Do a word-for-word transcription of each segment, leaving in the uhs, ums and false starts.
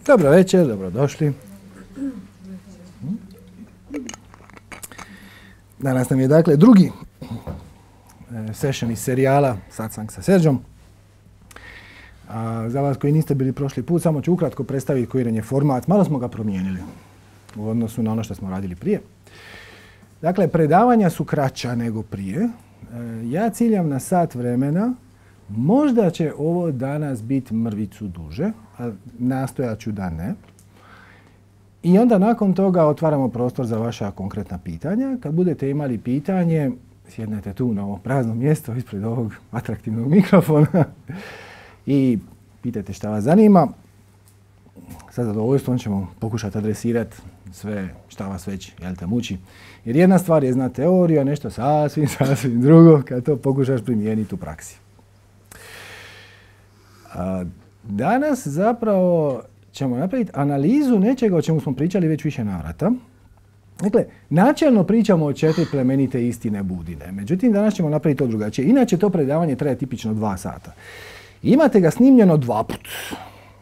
Dobro večer, dobrodošli. Danas nam je dakle drugi session iz serijala Satsang sa Serđom. A za vas koji niste bili prošli put, samo ću ukratko predstaviti koji nam je format. Malo smo ga promijenili u odnosu na ono što smo radili prije. Dakle, predavanja su kraća nego prije. Ja ciljam na sat vremena. Možda će ovo danas biti mrvicu duže, a nastojat ću da ne. I onda nakon toga otvaramo prostor za vaša konkretna pitanja. Kad budete imali pitanje, sjednete tu na ovo prazno mjesto ispred ovog atraktivnog mikrofona i pitajte šta vas zanima. Sa zadovoljstvom ćemo pokušati adresirati sve šta vas već jel te muči. Jer jedna stvar je znati teoriju, a nešto sasvim, sasvim drugo kad to pokušaš primijeniti u praksi. A danas zapravo ćemo napraviti analizu nečega o čemu smo pričali već više navrata. Dakle, načelno pričamo o četiri plemenite istine Budine. Međutim, danas ćemo napraviti to drugačije. Inače, to predavanje traje tipično dva sata. Imate ga snimljeno dva put.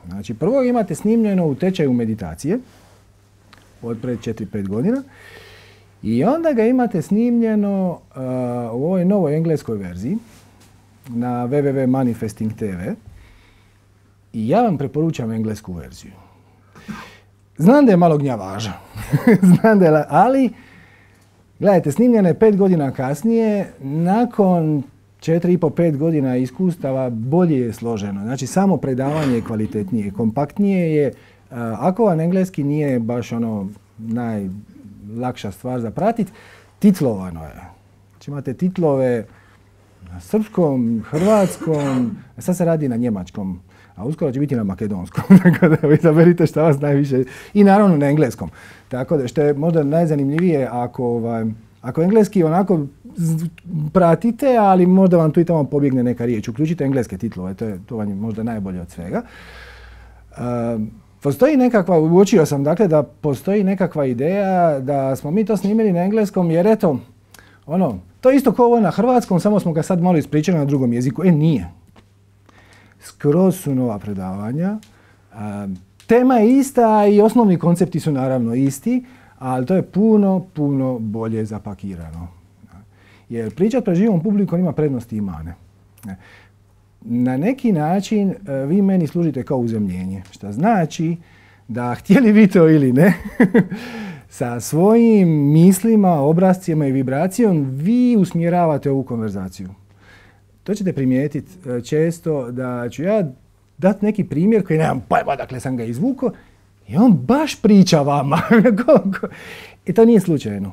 Znači, prvo imate snimljeno u tečaju meditacije od pred četiri pet godina. I onda ga imate snimljeno uh, u ovoj novoj engleskoj verziji na w w w dot manifesting dot t v. I ja vam preporučam englesku verziju. Znam da je malo gnjavaža, Znam da je, ali gledajte, snimljena je pet godina kasnije, nakon četiri i po pet godina iskustava bolje je složeno. Znači, samo predavanje je kvalitetnije, kompaktnije je. Ako vam engleski nije baš ono najlakša stvar za pratiti, titlovano je. Znači, imate titlove na srpskom, hrvatskom, sad se radi na njemačkom. A uskoro će biti na makedonskom, tako da vi izaberite šta vas najviše, i naravno na engleskom. Tako da što je možda najzanimljivije ako, ovaj, ako engleski onako pratite, ali možda vam tu i tamo pobjegne neka riječ. Uključite engleske titlove, to, je, to vam je možda najbolje od svega. Uh, postoji nekakva, uočio sam dakle da postoji nekakva ideja da smo mi to snimili na engleskom jer eto, ono, to je isto kao ovo na hrvatskom, samo smo ga sad malo ispričali na drugom jeziku. E, nije. Skroz su nova predavanja. A, tema je ista i osnovni koncepti su naravno isti, ali to je puno, puno bolje zapakirano. Jer pričat pred živom publikom ima prednosti i mane. Na neki način vi meni služite kao uzemljenje, što znači da htjeli vi to ili ne, sa svojim mislima, obrascima i vibracijom vi usmjeravate ovu konverzaciju. To ćete primijetiti često da ću ja dati neki primjer koji nemam pojma, dakle sam ga izvukao i on baš priča vama. I to nije slučajno.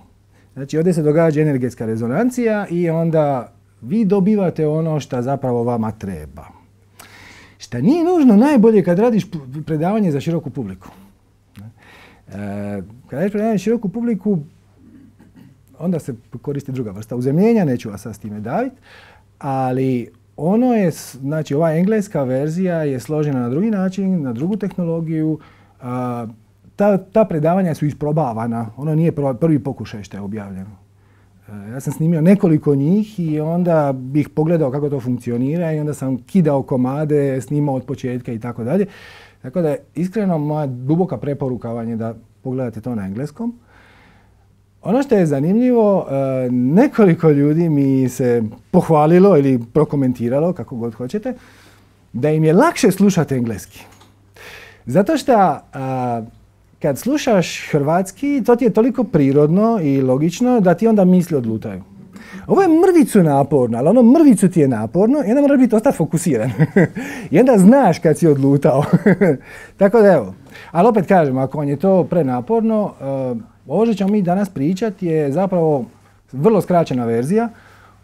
Znači, ovdje se događa energetska rezonancija i onda vi dobivate ono što zapravo vama treba. Što nije nužno najbolje kad radiš predavanje za široku publiku. E, kad radiš predavanje za široku publiku, onda se koristi druga vrsta uzemljenja, neću vas sad s time daviti. Ali ono je, znači ova engleska verzija je složena na drugi način, na drugu tehnologiju. A, ta, ta predavanja su isprobavana, ono nije prvi pokušaj što je objavljeno. A, ja sam snimio nekoliko njih i onda bih pogledao kako to funkcionira i onda sam kidao komade, snimao od početka i tako dalje. Tako da iskreno moja duboka preporuka vam je da pogledate to na engleskom. Ono što je zanimljivo, nekoliko ljudi mi se pohvalilo ili prokomentiralo, kako god hoćete, da im je lakše slušati engleski. Zato što kad slušaš hrvatski, to ti je toliko prirodno i logično da ti onda misli odlutaju. Ovo je mrvicu naporno, ali ono mrvicu ti je naporno i onda moraš biti dosta fokusiran. I onda znaš kad si odlutao. Tako da evo. Ali opet kažem, ako vam je to prenaporno, ovo što ćemo mi danas pričati je zapravo vrlo skraćena verzija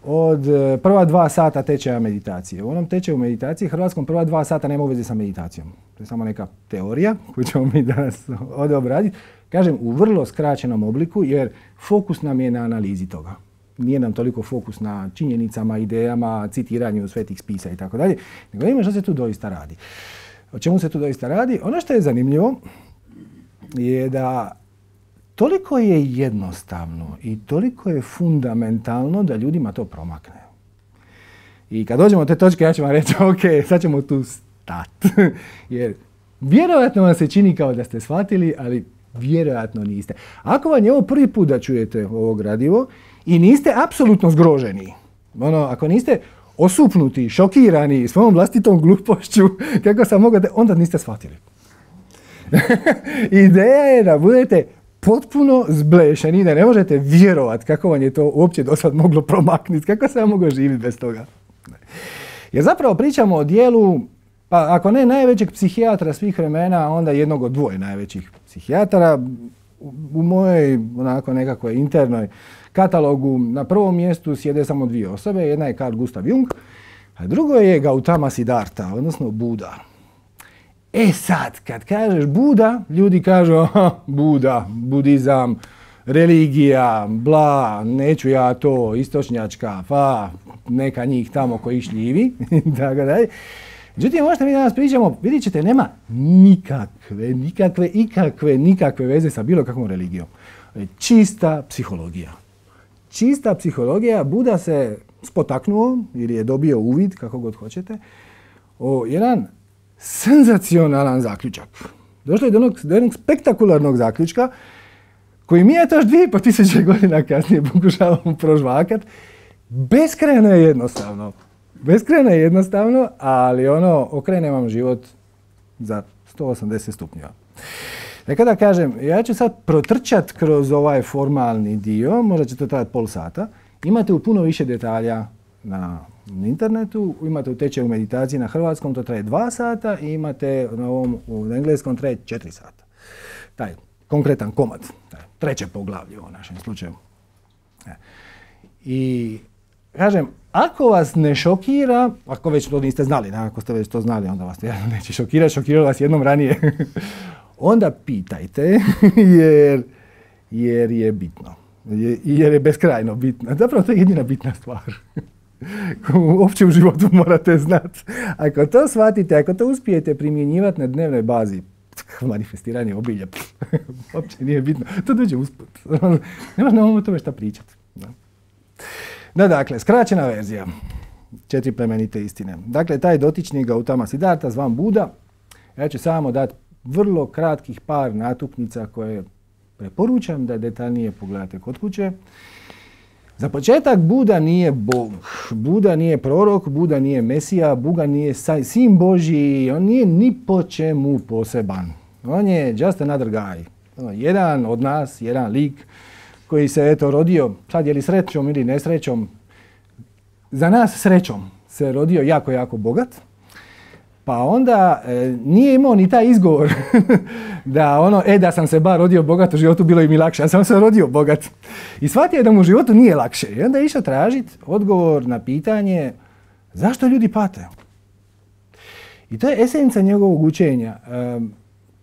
od prva dva sata tečaja meditacije. U onom tečaju meditacije hrvatskom prva dva sata nema uveze sa meditacijom. To je samo neka teorija koju ćemo mi danas ovdje obraditi. Kažem, u vrlo skraćenom obliku jer fokus nam je na analizi toga. Nije nam toliko fokus na činjenicama, idejama, citiranju svetih spisa i tako dalje. Nego vidimo što se tu doista radi. O čemu se tu doista radi? Ono što je zanimljivo je da toliko je jednostavno i toliko je fundamentalno da ljudima to promakne. I kad dođemo do te točke, ja ću vam reći, ok, sad ćemo tu stati. Jer Vjerojatno vam se čini kao da ste shvatili, ali vjerojatno niste. Ako vam je ovo prvi put da čujete ovo gradivo i niste apsolutno zgroženi, ono, ako niste osupnuti, šokirani svojom vlastitom glupošću, kako sam mogao da, onda niste shvatili. Ideja je da budete potpuno zblešeni, da ne možete vjerovati kako vam je to uopće do sad moglo promaknuti, kako sam mogao živjeti bez toga. Jer zapravo pričamo o dijelu, pa ako ne najvećeg psihijatra svih vremena, onda jednog od dvoje najvećih psihijatara. U mojoj onako nekakvoj internoj katalogu na prvom mjestu sjede samo dvije osobe. Jedna je Carl Gustav Jung, a drugo je Gautama Siddhartha, odnosno Buda. E sad, kad kažeš Buda, ljudi kažu aha, Buda, budizam, religija, bla, neću ja to, istočnjačka, pa neka njih tamo koji šljivi, tako dalje. Međutim, možete mi danas pričamo, vidjet ćete, nema nikakve, nikakve, ikakve, nikakve veze sa bilo kakvom religijom. Čista psihologija. Čista psihologija. Buda se spotaknuo ili je dobio uvid, kako god hoćete, o jedan senzacionalan zaključak. Došlo je do jednog, do jednog spektakularnog zaključka koji mi je to još dvije i po tisuće godina kasnije pokušavamo prožvakat. Beskrajno je jednostavno. Beskrajno je jednostavno, ali ono, okrene vam život za sto osamdeset stupnjeva. Dakle da kažem, ja ću sad protrčat kroz ovaj formalni dio, možda će to trajati pol sata. Imate u puno više detalja na internetu, imate u tečaju meditaciji na hrvatskom, to traje dva sata i imate na ovom, u engleskom traje četiri sata. Taj konkretan komad, taj treće poglavlje u našem slučaju. I kažem, ako vas ne šokira, ako već to niste znali, da, ako ste već to znali, onda vas neće šokirati, šokiralo vas jednom ranije, onda pitajte, jer, jer je bitno. Jer je beskrajno bitno. Zapravo to je jedina bitna stvar. Uopće u životu morate znati. Ako to shvatite, ako to uspijete primjenjivati na dnevnoj bazi, manifestiranje obilja, uopće nije bitno. To dođe usput. Nemaš na ovom tome šta pričati. Da, dakle, skraćena verzija. Četiri plemenite istine. Dakle, taj dotični Gautama Siddhartha, zvan Buda, ja ću samo dati vrlo kratkih par natuknica koje preporučam da detaljnije pogledate kod kuće. Za početak, Buda nije Bog, Buda nije prorok, Buda nije Mesija, Buda nije sin Božji, on nije ni po čemu poseban. On je just another guy. Jedan od nas, jedan lik koji se eto rodio, sad je li srećom ili nesrećom, za nas srećom se rodio jako, jako bogat. Pa onda e, nije imao ni taj izgovor da ono, e da sam se bar rodio bogat u životu bilo bi mi lakše, ja sam se rodio bogat. I shvatio je da mu u životu nije lakše. I onda je išao tražiti odgovor na pitanje zašto ljudi pate. I to je esenca njegovog učenja. E,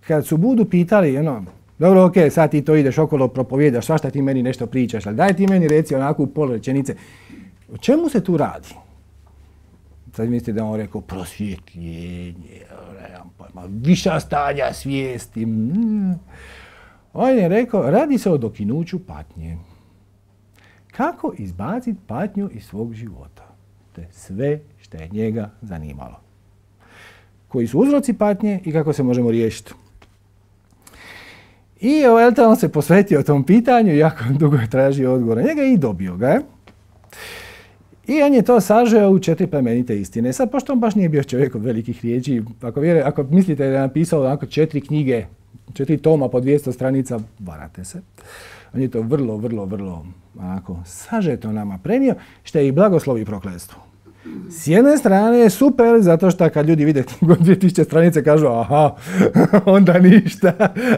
kad su Budu pitali, ono, dobro, ok, sad ti to ideš okolo, propovjedaš, svašta ti meni nešto pričaš, ali daj ti meni reci onako u pola rečenice, o čemu se tu radi? Sad mislite da on rekao prosvjetljenje, viša stanja svijesti. Mm. On je rekao, radi se o dokinuću patnje. Kako izbaciti patnju iz svog života? To je sve što je njega zanimalo. Koji su uzroci patnje i kako se možemo riješiti. I on se posvetio tom pitanju, jako dugo je tražio odgovor na njega i dobio ga je. I on je to sažeo u četiri plemenite istine. Sad, pošto on baš nije bio čovjek od velikih riječi, ako, vjere, ako mislite da je napisao onako četiri knjige, četiri toma po dvjesto stranica, varate se. On je to vrlo, vrlo, vrlo onako sažeto nama prenio, što je i blagoslov i prokletstvo. S jedne strane je super, zato što kad ljudi vide dvije tisuće stranice kažu aha, onda ništa.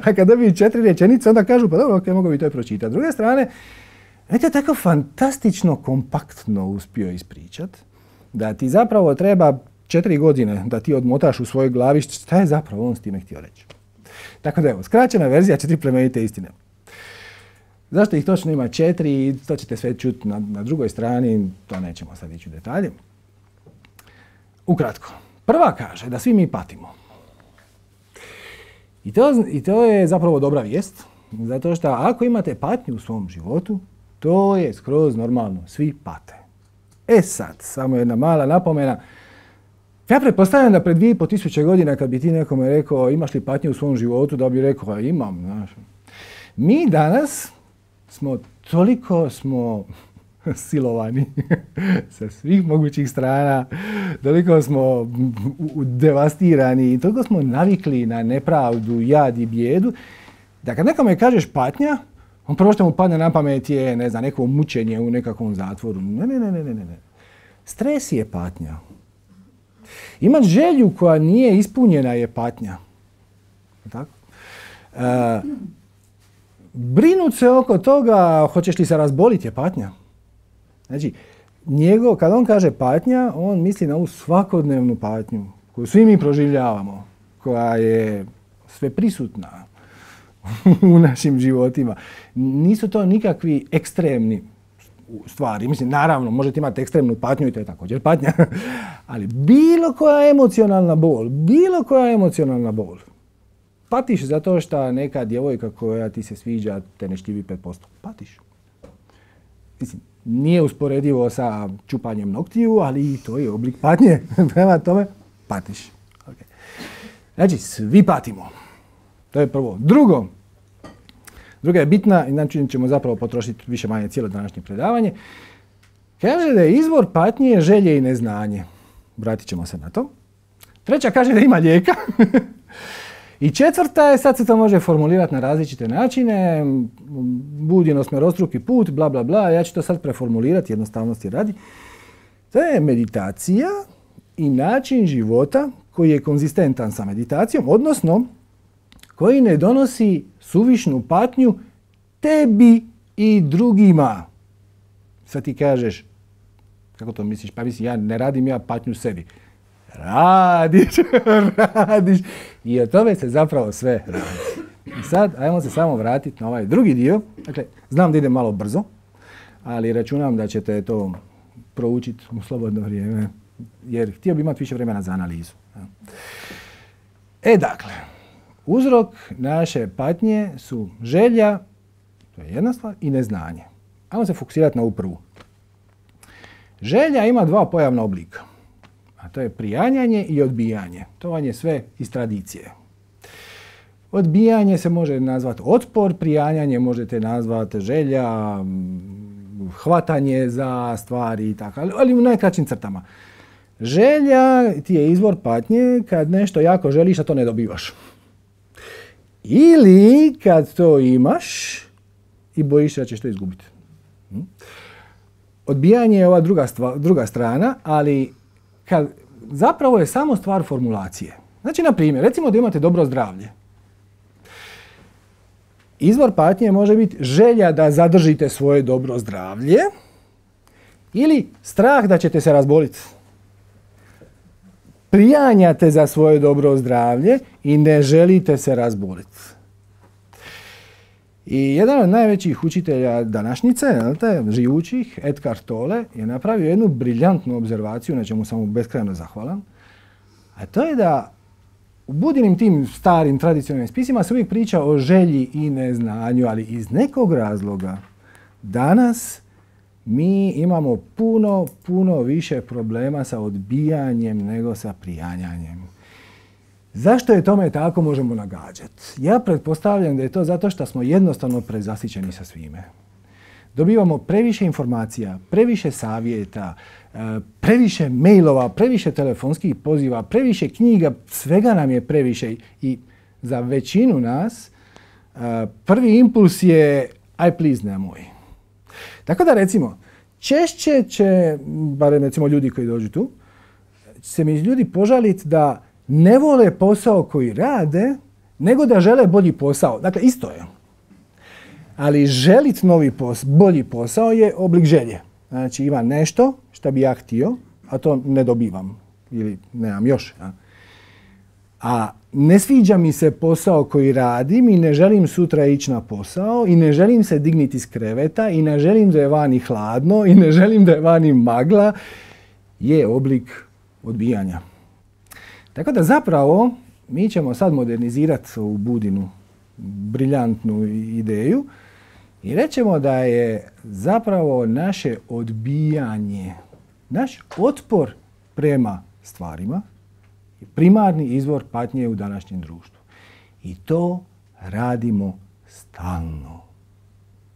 A kad dobiju četiri rečenice, onda kažu pa dobro, ok, mogu bi to i pročitati. S druge strane, je tako fantastično kompaktno uspio ispričat da ti zapravo treba četiri godine da ti odmotaš u svojoj glavi šta je zapravo on s time htio reći. Tako da evo, skraćena verzija četiri plemenite istine. Zašto ih točno ima četiri, to ćete sve čuti na, na drugoj strani, to nećemo sad ići u detalje. Ukratko, prva kaže da svi mi patimo. I to, i to je zapravo dobra vijest, zato što ako imate patnju u svom životu, to je skroz normalno, svi pate. E sad, samo jedna mala napomena, Ja pretpostavljam da pred dvije i po tisuće godina kad bi ti nekome rekao imaš li patnje u svom životu, da bi rekao imam. Znaš. Mi danas smo toliko smo silovani sa svih mogućih strana, toliko smo devastirani i toliko smo navikli na nepravdu, jad i bijedu, da kad nekome kažeš patnja, on prvo što mu padne na pamet je, ne znam, neko mučenje u nekakvom zatvoru. Ne, ne, ne, ne, ne, ne. Stres je patnja. Imat želju koja nije ispunjena je patnja. Tako? E, brinut se oko toga, hoćeš li se razboliti je patnja. Znači, njegov, kad on kaže patnja, on misli na ovu svakodnevnu patnju koju svi mi proživljavamo, koja je sve prisutna u našim životima. Nisu to nikakvi ekstremni stvari. Mislim, naravno, možete imati ekstremnu patnju i to je također patnja. Ali bilo koja emocionalna bol, bilo koja emocionalna bol, patiš zato što neka djevojka koja ti se sviđa te ne šljivi pet posto. Patiš. Mislim, nije usporedivo sa čupanjem noktiju, ali i to je oblik patnje. Prema tome, patiš. Okay. Znači, svi patimo. To je prvo. Drugo, druga je bitna, inače ćemo zapravo potrošiti više manje cijelo današnje predavanje. Kaže da je izvor patnje želje i neznanje. Vratit ćemo se na to. Treća kaže da ima lijeka. I četvrta je, sad se to može formulirati na različite načine, bud jednosmjerostruki put, bla bla bla, ja ću to sad preformulirati, jednostavnosti radi. To je meditacija i način života koji je konzistentan sa meditacijom, odnosno koji ne donosi suvišnu patnju tebi i drugima. Sad ti kažeš, kako to misliš? Pa mislim, ja ne radim ja patnju sebi. Radiš, radiš. I od tome se zapravo sve radi. I sad, ajmo se samo vratiti na ovaj drugi dio. Dakle, znam da ide malo brzo, ali računam da ćete to proučiti u slobodno vrijeme, jer htio bi imati više vremena za analizu. E, dakle, uzrok naše patnje su želja, to je jedna stvar, i neznanje. Ajmo se fokusirati na ovu prvu. Želja ima dva pojavna oblika. A to je prijanjanje i odbijanje. To vam je sve iz tradicije. Odbijanje se može nazvati otpor, prijanjanje možete nazvati želja, hvatanje za stvari i tako, ali u najkraćim crtama. Želja ti je izvor patnje kad nešto jako želiš, a to ne dobivaš. Ili kad to imaš i bojiš se da ćeš to izgubiti. Odbijanje je ova druga, stva, druga strana, ali kad, zapravo je samo stvar formulacije. Znači, na primjer, recimo da imate dobro zdravlje. Izvor patnje može biti želja da zadržite svoje dobro zdravlje ili strah da ćete se razboliti. Prijanjate za svoje dobro zdravlje i ne želite se razboliti. I jedan od najvećih učitelja današnjice, živućih, Eckhart Tolle, je napravio jednu briljantnu obzervaciju, na čemu sam mu beskrajno zahvalan, a to je da u Budinim tim starim tradicionalnim spisima se uvijek priča o želji i neznanju, ali iz nekog razloga danas mi imamo puno, puno više problema sa odbijanjem nego sa prijanjanjem. Zašto je tome tako, možemo nagađati. Ja pretpostavljam da je to zato što smo jednostavno prezasićeni sa svime. Dobivamo previše informacija, previše savjeta, previše mailova, previše telefonskih poziva, previše knjiga, svega nam je previše i za većinu nas prvi impuls je aj please nemoj. Tako da recimo, češće će, barem recimo ljudi koji dođu tu, se mi ljudi požaliti da ne vole posao koji rade, nego da žele bolji posao. Dakle, isto je. Ali želiti novi posao, bolji posao je oblik želje. Znači, ima nešto što bi ja htio, a to ne dobivam. Ili nemam još. A, a ne sviđa mi se posao koji radim i ne želim sutra ići na posao i ne želim se digniti iz kreveta i ne želim da je vani hladno i ne želim da je vani magla, je oblik odbijanja. Tako da zapravo mi ćemo sad modernizirati ovu Budinu briljantnu ideju i rećemo da je zapravo naše odbijanje, naš otpor prema stvarima, primarni izvor patnje u današnjem društvu. I to radimo stalno.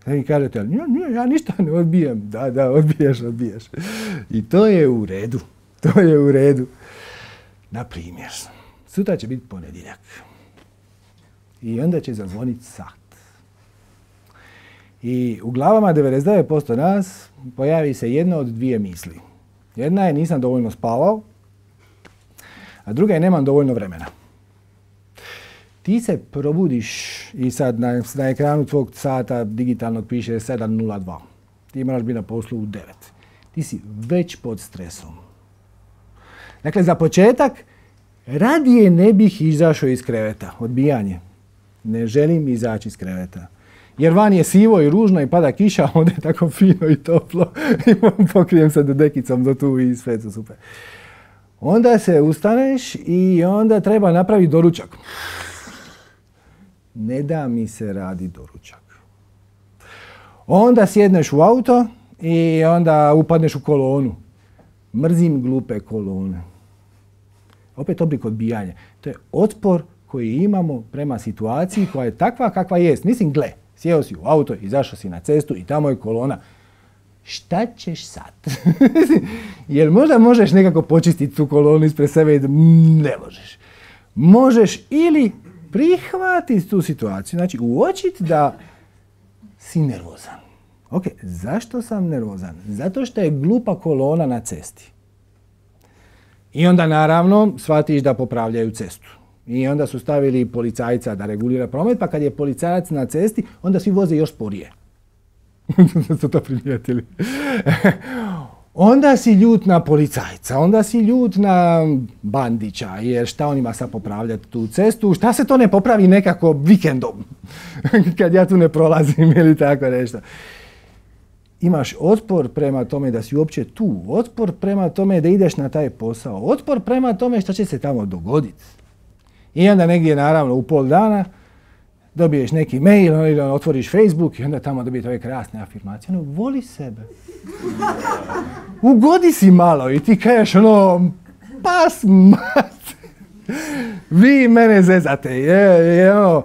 Sad vi kažete, ja, ja ništa ne odbijam. Da, da, odbijaš, odbijaš. I to je u redu. To je u redu. Na primjer, sutra će biti ponedjeljak. I onda će zazvoniti sat. I u glavama devedeset devet posto nas pojavi se jedna od dvije misli. Jedna je nisam dovoljno spavao, a druga je nemam dovoljno vremena. Ti se probudiš i sad na, na ekranu tvog sata digitalnog piše sedam nula dva. Ti moraš biti na poslu u devet. Ti si već pod stresom. Dakle, za početak, radije ne bih izašao iz kreveta. Odbijanje. Ne želim izaći iz kreveta. Jer van je sivo i ružno i pada kiša, a onda je tako fino i toplo. I pokrijem se dekicom do tu i sve su super. Onda se ustaneš i onda treba napraviti doručak. Ne da mi se radi doručak. Onda sjedneš u auto i onda upadneš u kolonu. Mrzim glupe kolone. Opet oblik odbijanja. To je otpor koji imamo prema situaciji koja je takva kakva jest. Mislim, gle, sjeo si u auto, izašao si na cestu i tamo je kolona. Šta ćeš sad? Jer možda možeš nekako počistiti tu kolonu ispred sebe i da ne možeš. Možeš ili prihvatiti tu situaciju, znači uočiti da si nervozan. Ok, zašto sam nervozan? Zato što je glupa kolona na cesti. I onda naravno shvatiš da popravljaju cestu. I onda su stavili policajca da regulira promet, pa kad je policajac na cesti, onda svi voze još sporije. Ste to primijetili? Onda si ljut na policajca, onda si ljut na Bandića, jer šta on ima sad popravljati tu cestu, šta se to ne popravi nekako vikendom, kad ja tu ne prolazim ili tako nešto. Imaš otpor prema tome da si uopće tu, otpor prema tome da ideš na taj posao, otpor prema tome šta će se tamo dogoditi. I onda negdje naravno u pol dana dobiješ neki mail, ili otvoriš Facebook i onda tamo dobiješ ove krasne afirmacije. Ono, voli sebe. Ugodi si malo i ti kažeš ono, pas mat. Vi mene zezate. Je, je, ono,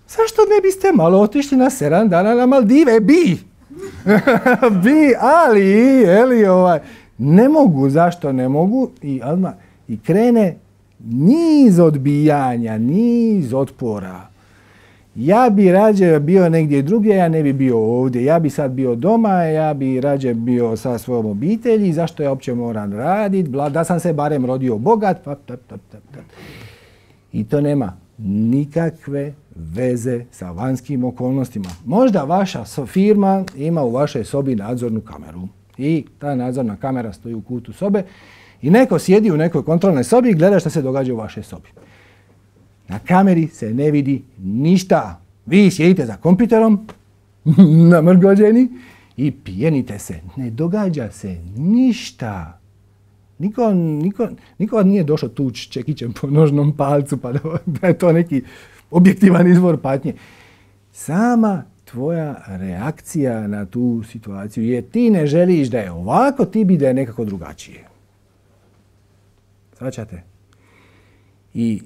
zašto ne biste malo otišli na sedam dana na Maldive? Bi! Bi, ali, eli, ovaj, ne mogu, zašto ne mogu? I, odmah, i krene niz odbijanja, niz otpora. Ja bi rađe bio negdje drugdje, ja ne bi bio ovdje. Ja bi sad bio doma, ja bi rađe bio sa svojom obitelji, zašto ja uopće moram raditi, da sam se barem rodio bogat. Pa, pa, pa, pa, pa. I to nema nikakve veze sa vanjskim okolnostima. Možda vaša firma ima u vašoj sobi nadzornu kameru i ta nadzorna kamera stoji u kutu sobe i neko sjedi u nekoj kontrolnoj sobi i gleda što se događa u vašoj sobi. Na kameri se ne vidi ništa. Vi sjedite za kompjuterom, namrgođeni, i pijenite se. Ne događa se ništa. Niko, niko, niko nije došao tuć čekićem po nožnom palcu pa da je to neki objektivan izvor patnje. Sama tvoja reakcija na tu situaciju je ti ne želiš da je ovako, ti bi da je nekako drugačije. Svačate? I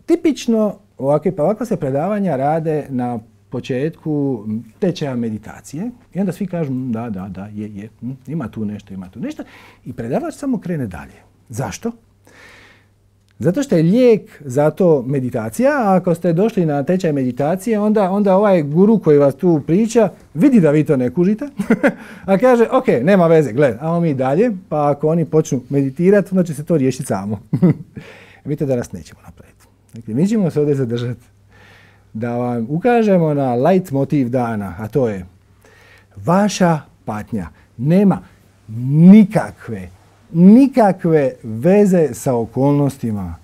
tipično ovakve, pa ovakva se predavanja rade na početku tečaja meditacije i onda svi kažu da, da, da, je, je, ima tu nešto, ima tu nešto i predavač samo krene dalje. Zašto? Zato što je lijek za to meditacija, a ako ste došli na tečaj meditacije, onda, onda ovaj guru koji vas tu priča vidi da vi to ne kužite, a kaže, ok, nema veze, gledaj, ajmo mi dalje, pa ako oni počnu meditirati, onda će se to riješiti samo. Vidite da nas nećemo napraviti. Dakle, mi ćemo se ovdje zadržati da vam ukažemo na light motiv dana, a to je vaša patnja nema nikakve, nikakve veze sa okolnostima.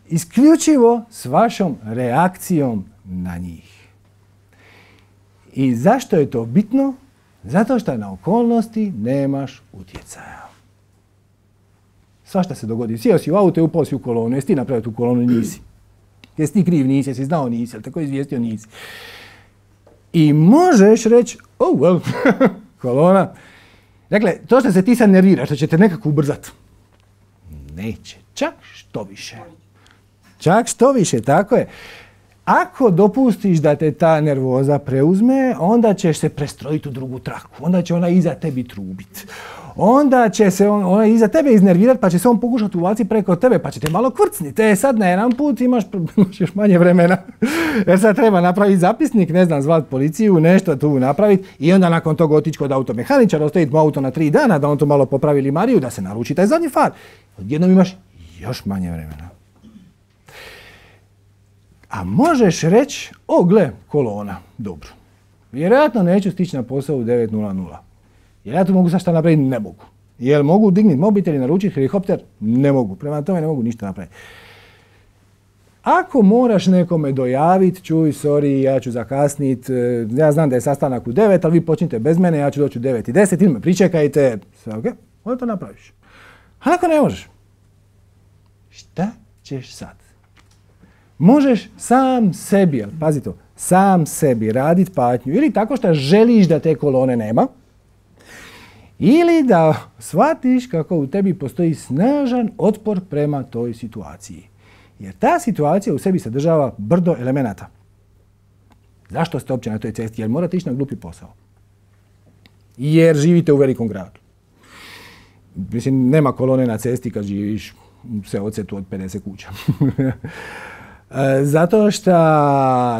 Isključivo s vašom reakcijom na njih. I zašto je to bitno? Zato što na okolnosti nemaš utjecaja. Svašta se dogodi. Sjeo si u auto i upao si u kolonu. Jesi ti napravio tu kolonu? Nisi. Jesi ti kriv? Nisi. Jesi znao? Nisi. Jel tako izvijestio? Nisi. I možeš reći, oh well, kolona. Dakle, to što se ti sad nerviraš, što će te nekako ubrzati. Neće Čak što više. Čak što više, tako je. Ako dopustiš da te ta nervoza preuzme, onda ćeš se prestrojiti u drugu traku. Onda će ona iza tebi trubiti. Onda će se on, ona iza tebe iznervirati, pa će se on pokušati uvaciti preko tebe, pa će te malo kvrcniti. E sad na jedan put imaš, imaš još manje vremena. Jer sad treba napraviti zapisnik, ne znam, zvati policiju, nešto tu napraviti i onda nakon toga otići kod automehaničara, ostaviti mu auto na tri dana, da on to malo popravi limariju, da se naruči taj zadnji far. Odjednom imaš još manje vremena. A možeš reći, o gle, kolona, dobro. Vjerojatno neću stići na posao u devet nula nula. Jel ja tu mogu sad šta napraviti? Ne mogu. Jel mogu dignuti mobitel i naručiti helikopter? Ne mogu. Prema tome ne mogu ništa napraviti. Ako moraš nekome dojaviti, čuj, sorry, ja ću zakasniti, ja znam da je sastanak u devet, ali vi počnite bez mene, ja ću doći u devet i deset, ili me pričekajte, sve ok, onda to napraviš. A ako ne možeš, šta ćeš sad? Možeš sam sebi, ali pazi to, sam sebi raditi patnju ili tako što želiš da te kolone nema, ili da shvatiš kako u tebi postoji snažan otpor prema toj situaciji. Jer ta situacija u sebi sadržava brdo elemenata. Zašto ste uopće na toj cesti? Jer morate ići na glupi posao. Jer živite u velikom gradu. Mislim, nema kolone na cesti kad živiš u seocetu od pedeset kuća. Zato što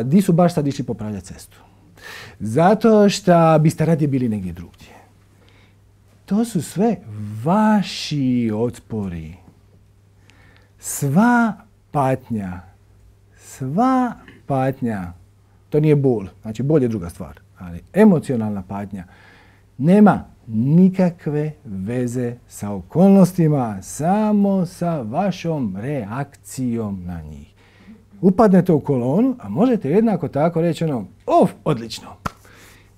di su baš sad išli popravljati cestu. Zato što biste radije bili negdje drugdje. To su sve vaši otpori. Sva patnja, sva patnja, to nije bol, znači bol je druga stvar, ali emocionalna patnja nema nikakve veze sa okolnostima, samo sa vašom reakcijom na njih. Upadnete u kolonu, a možete jednako tako reći ono, of, odlično,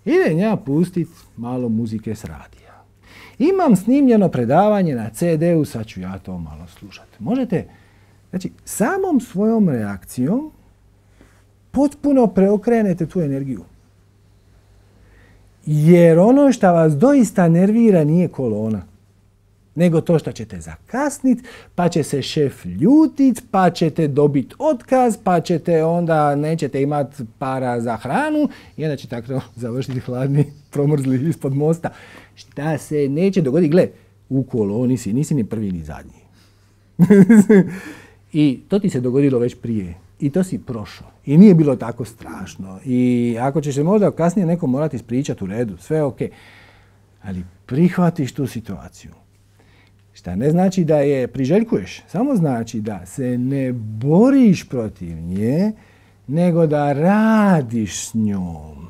idem ja pustit malo muzike s radija. Imam snimljeno predavanje na ce de u, sad ću ja to malo slušati. Možete, znači, samom svojom reakcijom potpuno preokrenete tu energiju. Jer ono što vas doista nervira nije kolona, nego to što ćete zakasniti, pa će se šef ljutit, pa ćete dobiti otkaz, pa ćete onda nećete imati para za hranu i onda će tako završiti hladni, promrzli ispod mosta. Šta se neće dogoditi? Gle, u koloni si, nisi ni prvi ni zadnji. I to ti se dogodilo već prije. I to si prošao. I nije bilo tako strašno. I ako će se možda kasnije neko morati ispričati u redu, sve je ok. Ali prihvatiš tu situaciju. Šta ne znači da je priželjkuješ, samo znači da se ne boriš protiv nje, nego da radiš s njom.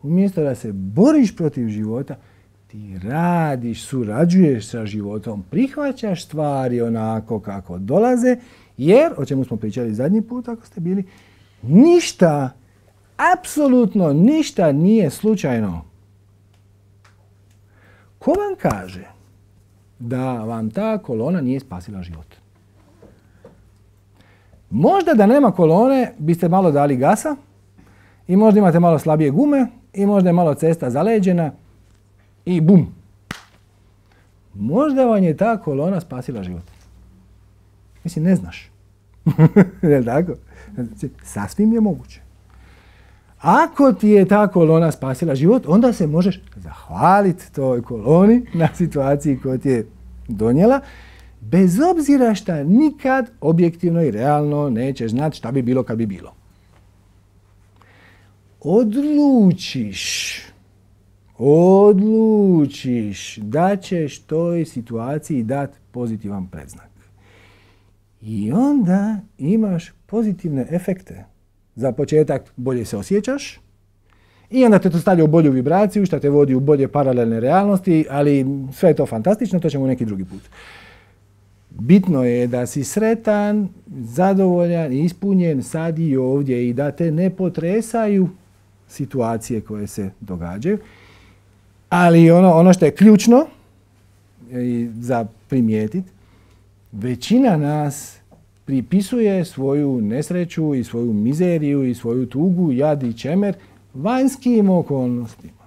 Umjesto da se boriš protiv života, ti radiš, surađuješ sa životom, prihvaćaš stvari onako kako dolaze, jer, o čemu smo pričali zadnji put ako ste bili, ništa, apsolutno ništa nije slučajno. Ko vam kaže da vam ta kolona nije spasila život? Možda da nema kolone biste malo dali gasa i možda imate malo slabije gume i možda je malo cesta zaleđena i bum. Možda vam je ta kolona spasila život. Mislim, ne znaš. Je li tako? Sasvim je moguće. Ako ti je ta kolona spasila život, onda se možeš zahvaliti toj koloni na situaciji koju ti je donijela, bez obzira šta nikad objektivno i realno nećeš znati šta bi bilo kad bi bilo. Odlučiš, odlučiš da ćeš toj situaciji dati pozitivan predznak. I onda imaš pozitivne efekte. Za početak bolje se osjećaš i onda te to stavlja u bolju vibraciju, što te vodi u bolje paralelne realnosti, ali sve je to fantastično, to ćemo neki drugi put. Bitno je da si sretan, zadovoljan, ispunjen sad i ovdje i da te ne potresaju situacije koje se događaju. Ali ono, ono što je ključno za primijetiti, većina nas pripisuje svoju nesreću i svoju mizeriju i svoju tugu, jad i čemer vanjskim okolnostima.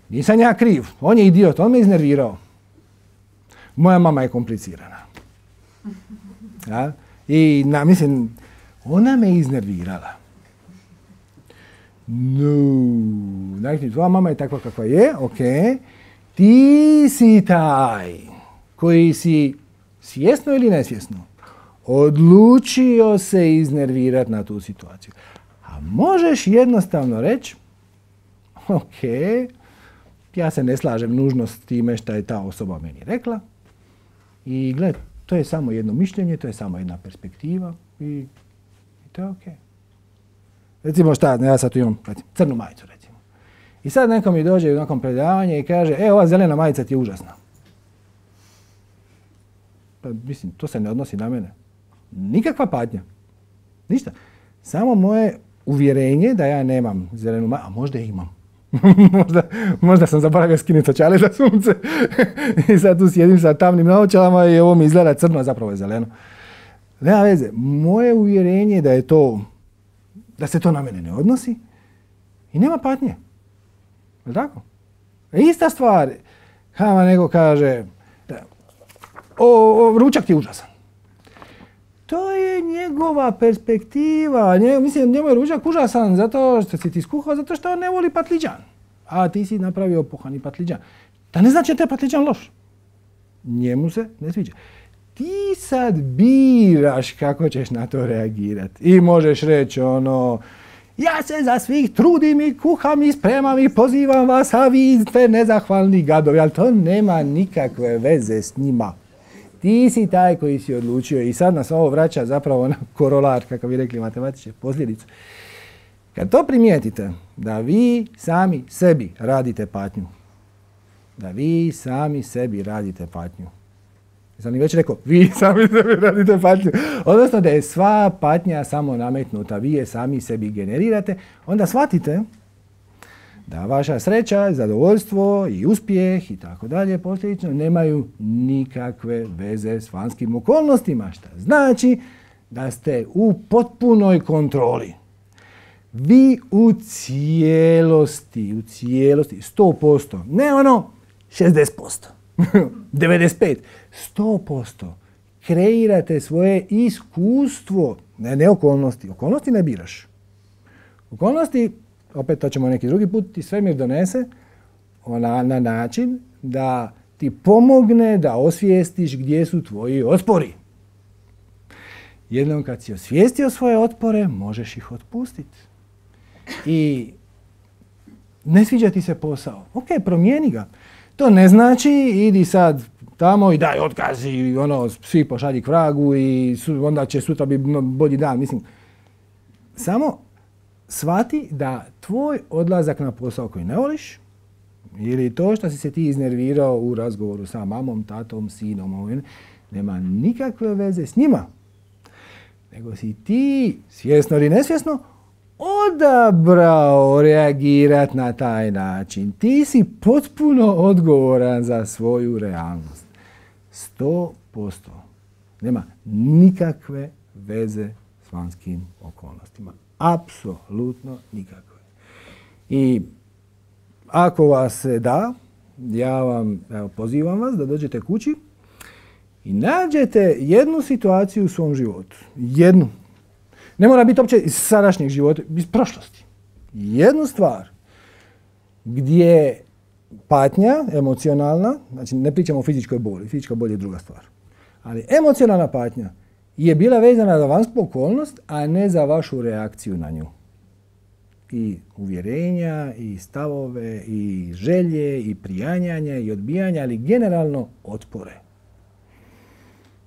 Nisam ja kriv, on je idiot, on me iznervirao. moja mama je komplicirana. Ja? I na, mislim, ona me iznervirala. No, dakle, tvoja mama je takva kakva je, ok. Ti si taj koji si svjesno ili nesvjesno odlučio se iznervirati na tu situaciju. A možeš jednostavno reći, ok, ja se ne slažem nužno s time što je ta osoba meni rekla i gled, to je samo jedno mišljenje, to je samo jedna perspektiva i, i to je ok. Recimo šta, ja sad tu imam recimo, crnu majicu recimo. I sad neko mi dođe u nekom predavanje i kaže, e, ova zelena majica ti je užasna. Pa mislim, to se ne odnosi na mene. Nikakva patnja. Ništa. Samo moje uvjerenje da ja nemam zelenu majicu, a možda je imam. možda, možda sam zaboravio skinuti očale za sunce. I sad tu sjedim sa tamnim naočalama i ovo mi izgleda crno, a zapravo je zeleno. Nema veze. Moje uvjerenje da je to, da se to na mene ne odnosi i nema patnje. Je li tako? E, ista stvar. Kama neko kaže, o, o, ručak ti je užasan. To je njegova perspektiva. Nje, mislim, njemu je ručak užasan zato što si ti skuhao, zato što on ne voli patliđan. A ti si napravio pohani patliđan. Da ne znači da je patliđan loš. Njemu se ne sviđa. Ti sad biraš kako ćeš na to reagirati. I možeš reći ono, ja se za svih trudim i kuham i spremam i pozivam vas, a vi ste nezahvalni gadovi. Ali to nema nikakve veze s njima. Ti si taj koji si odlučio i sad nas ovo vraća zapravo na korolar, kako bi rekli matematičke, posljedicu. Kad to primijetite, da vi sami sebi radite patnju, da vi sami sebi radite patnju, sam li već rekao, vi sami sebi radite patnju, odnosno da je sva patnja samo nametnuta, vi je sami sebi generirate, onda shvatite da vaša sreća, zadovoljstvo i uspjeh i tako dalje posljedično nemaju nikakve veze s vanjskim okolnostima, što znači da ste u potpunoj kontroli. Vi u cijelosti, u cijelosti, sto posto, ne ono šezdeset posto, devedeset pet, sto posto kreirate svoje iskustvo, ne, ne okolnosti, okolnosti ne biraš. Okolnosti, opet to ćemo neki drugi put, ti svemir donese ona, na način da ti pomogne da osvijestiš gdje su tvoji otpori. Jednom kad si osvijestio svoje otpore, možeš ih otpustiti. I ne sviđa ti se posao. Ok, promijeni ga. To ne znači idi sad tamo i daj otkaz i ono, svi pošalji k vragu i su, onda će sutra biti bolji dan. Mislim, samo shvati da tvoj odlazak na posao koji ne voliš ili to što si se ti iznervirao u razgovoru sa mamom, tatom, sinom, nema nikakve veze s njima. Nego si ti, svjesno ili nesvjesno, odabrao reagirati na taj način. Ti si potpuno odgovoran za svoju realnost. Sto posto. Nema nikakve veze s vanjskim okolnostima. Apsolutno nikakve. I ako vas se da, ja vam evo, pozivam vas da dođete kući i nađete jednu situaciju u svom životu. Jednu. Ne mora biti uopće iz sadašnjeg života, iz prošlosti. Jednu stvar gdje patnja, emocionalna, znači ne pričamo o fizičkoj boli, fizička bol je druga stvar, ali emocionalna patnja je bila vezana za vanjsku okolnost, a ne za vašu reakciju na nju. I uvjerenja, i stavove, i želje, i prijanjanja, i odbijanja, ali generalno otpore.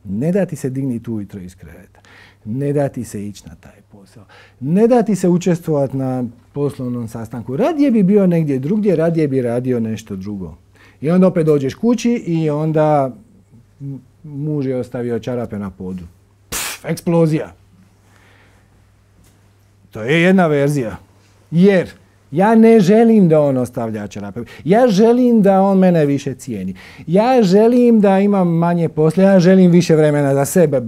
Ne da ti se digniti ujutro iz kreveta. Ne da ti se ići na taj posao. Ne da ti se učestvovati na poslovnom sastanku. Radije bi bio negdje drugdje, radije bi radio nešto drugo. I onda opet dođeš kući i onda muž je ostavio čarape na podu. Pff, eksplozija. To je jedna verzija. Jer ja ne želim da on ostavlja čarape. Ja želim da on mene više cijeni. Ja želim da imam manje posla. Ja želim više vremena za sebe.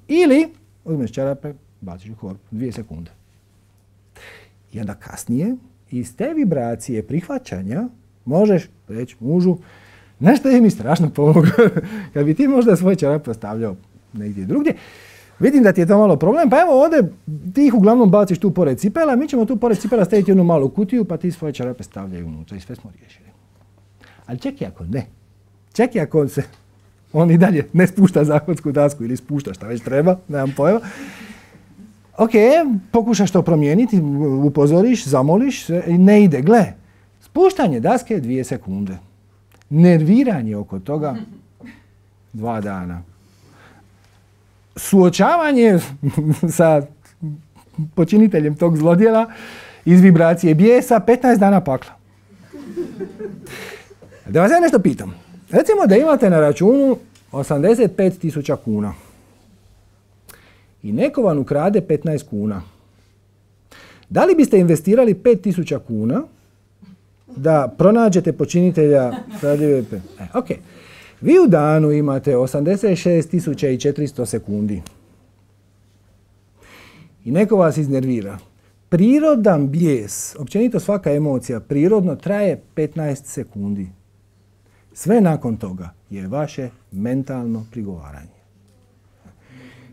Ili uzmeš čarape, baciš u korpu. Dvije sekunde. I onda kasnije iz te vibracije prihvaćanja možeš reći mužu, Znaš što je mi strašno pomoglo? Kad bi ti možda svoje čarape ostavljao negdje drugdje, vidim da ti je to malo problem, pa evo ovdje ti ih uglavnom baciš tu pored cipela, mi ćemo tu pored cipela staviti jednu malu kutiju, pa ti svoje čarape stavljaju unutra i sve smo riješili. Ali ček i ako ne. Ček i ako se on i dalje ne spušta zahodsku dasku ili spušta šta već treba, nemam pojma. Ok, pokušaš to promijeniti, upozoriš, zamoliš, ne ide. Gle, spuštanje daske je dvije sekunde. Nerviranje oko toga dva dana. Suočavanje sa počiniteljem tog zlodjela iz vibracije bijesa petnaest dana pakla. Da vas ja nešto pitam. Recimo da imate na računu osamdeset pet tisuća kuna i neko vam ukrade petnaest kuna. Da li biste investirali pet tisuća kuna da pronađete počinitelja? E, ok. Vi u danu imate osamdeset šest tisuća četiristo sekundi i neko vas iznervira. Prirodan bijes, općenito svaka emocija, prirodno traje petnaest sekundi. Sve nakon toga je vaše mentalno prigovaranje.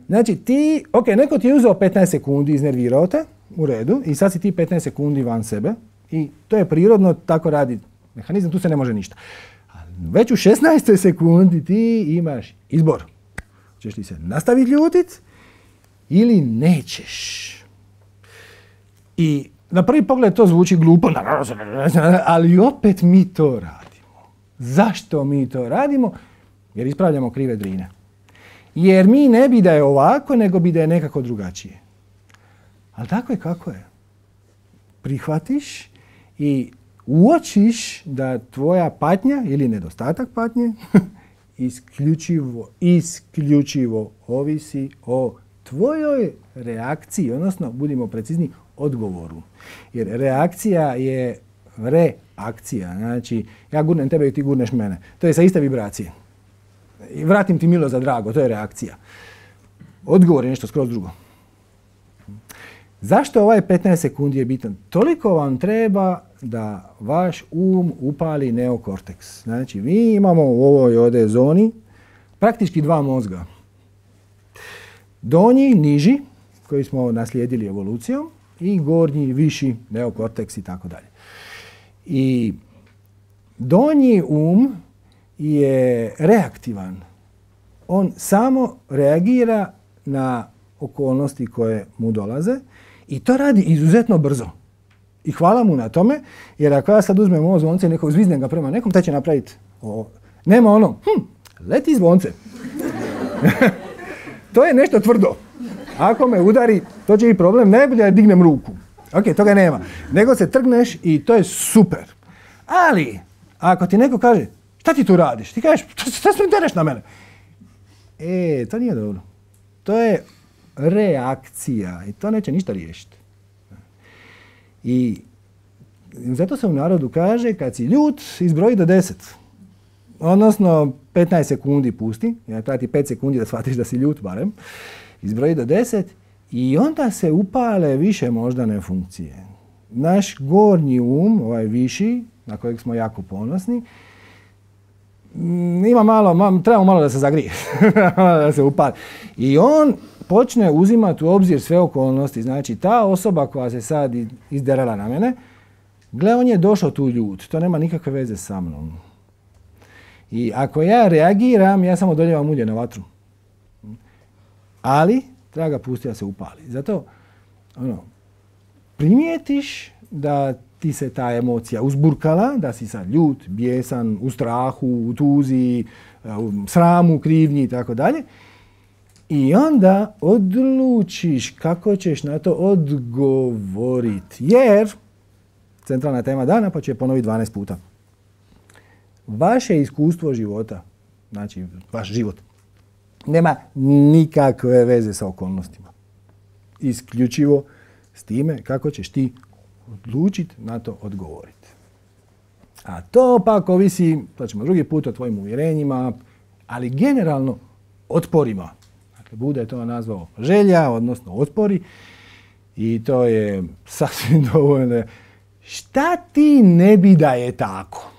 Znači ti, ok, neko ti je uzeo petnaest sekundi, iznervirao te, u redu, i sad si ti petnaest sekundi van sebe i to je prirodno, tako radi mehanizam, tu se ne može ništa. Već u šesnaestoj sekundi ti imaš izbor. Češ li se nastaviti ljutit ili nećeš? I na prvi pogled to zvuči glupo, ali opet mi to radimo. Zašto mi to radimo? Jer ispravljamo krive drine. Jer mi ne bi da je ovako, nego bi da je nekako drugačije. Ali tako je kako je. Prihvatiš i uočiš da tvoja patnja ili nedostatak patnje isključivo, isključivo ovisi o tvojoj reakciji, odnosno, budimo precizni, odgovoru. Jer reakcija je reakcija. Znači, ja gurnem tebe i ti gurneš mene. To je sa iste vibracije. I vratim ti milo za drago, to je reakcija. Odgovor je nešto skroz drugo. Zašto ovaj petnaest sekundi je bitan? Toliko vam treba da vaš um upali neokorteks. Znači, mi imamo u ovoj ovdje zoni praktički dva mozga. Donji, niži, koji smo naslijedili evolucijom, i gornji, viši, neokorteks i tako dalje. I donji um je reaktivan. On samo reagira na okolnosti koje mu dolaze i to radi izuzetno brzo. I hvala mu na tome, jer ako ja sad uzmem ovo zvonce i nekog zviznem ga prema nekom, taj će napraviti ovo. Nema ono, hm, leti zvonce. To je nešto tvrdo. Ako me udari, to će i problem, najbolje da dignem ruku. Ok, toga nema. Nego se trgneš i to je super. Ali, ako ti neko kaže, šta ti tu radiš? Ti kažeš, šta se intereš na mene? E, to nije dobro. To je reakcija i to neće ništa riješiti. I zato se u narodu kaže, kad si ljut, izbroji do deset. Odnosno, petnaest sekundi pusti, ja trati pet sekundi da shvatiš da si ljut barem, izbroji do deset i onda se upale više moždane funkcije. Naš gornji um, ovaj viši, na kojeg smo jako ponosni, ima malo, trebamo malo da se zagrije, da se upali. I on počne uzimati u obzir sve okolnosti. Znači, ta osoba koja se sad izderala na mene, gle, on je došao tu ljut, to nema nikakve veze sa mnom. I ako ja reagiram, ja samo doljevam ulje na vatru. Ali, treba ga pustiti da se upali. Zato, ono, primijetiš da ti se ta emocija uzburkala, da si sad ljut, bijesan, u strahu, u tuzi, u sramu, krivnji i tako dalje. I onda odlučiš kako ćeš na to odgovoriti. Jer, centralna tema dana, pa ću je ponoviti dvanaest puta. Vaše iskustvo života, znači vaš život, nema nikakve veze sa okolnostima. Isključivo s time kako ćeš ti odlučiti na to odgovoriti. A to pak ovisi, to ćemo drugi put, o tvojim uvjerenjima, ali generalno otporima. Dakle, Buda je to nazvao želja, odnosno otpori, i to je sasvim dovoljno. Šta ti ne bi da je tako?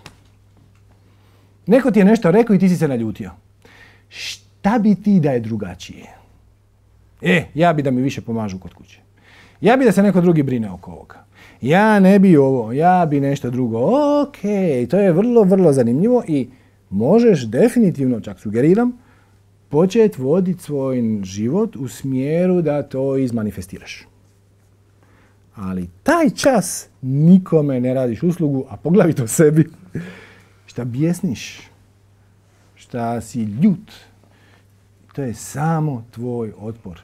Neko ti je nešto rekao i ti si se naljutio. Šta bi ti da je drugačije? E, ja bi da mi više pomažu kod kuće. Ja bi da se neko drugi brine oko ovoga. Ja ne bi ovo, ja bi nešto drugo. Ok, to je vrlo, vrlo zanimljivo i možeš definitivno, čak sugeriram, početi voditi svoj život u smjeru da to izmanifestiraš. Ali taj čas nikome ne radiš uslugu, a poglavito sebi. Šta bjesniš, šta si ljut, to je samo tvoj otpor.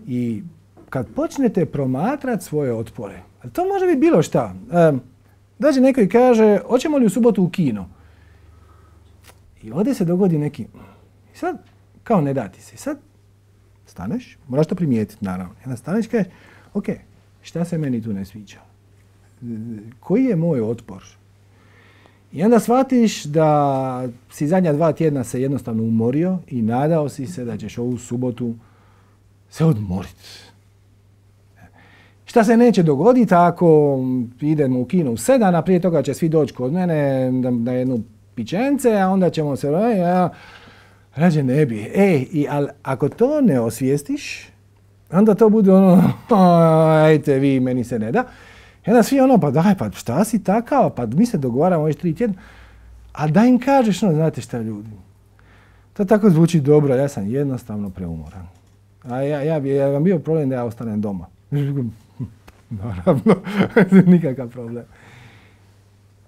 I kad počnete promatrati svoje otpore, a to može biti bilo šta. Um, dođe neko i kaže, hoćemo li u subotu u kino? I ovdje se dogodi neki... I sad, kao ne dati se. I sad staneš, moraš to primijetiti naravno. I onda staneš i kažeš, ok, šta se meni tu ne sviđa? Koji je moj otpor? I onda shvatiš da si zadnja dva tjedna se jednostavno umorio i nadao si se da ćeš ovu subotu se odmoriti. Šta se neće dogoditi ako idemo u kino u sedam, a prije toga će svi doći kod mene na jednu pićence, a onda ćemo se... Ja, rađe ne bi. Ej, i, ali ako to ne osvijestiš, onda to bude ono, ajte vi, meni se ne da. I onda svi ono, pa daj, pa šta si takav, pa mi se dogovaramo već tri tjedna. A da im kažeš, no, znate šta ljudi, to tako zvuči dobro, ja sam jednostavno preumoran. A ja, ja bi ja vam bio problem da ja ostanem doma. Naravno, nikakav problem.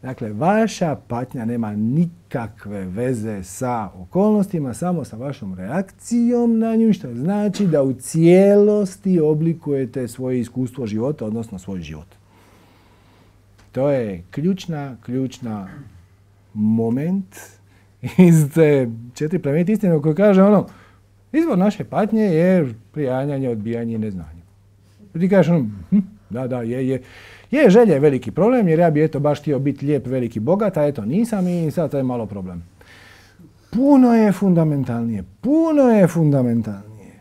Dakle, vaša patnja nema nikakve veze sa okolnostima, samo sa vašom reakcijom na nju, što znači da u cijelosti oblikujete svoje iskustvo života, odnosno svoj život. To je ključna, ključna moment iz te četiri plemenite istine koje kaže ono, izvor naše patnje je prijanjanje, odbijanje i neznanje. Ti kažeš ono, hm, da, da, je, je. Je, želja je veliki problem, jer ja bi eto baš htio biti lijep, veliki, bogat, a eto nisam i sad to je malo problem. Puno je fundamentalnije, puno je fundamentalnije.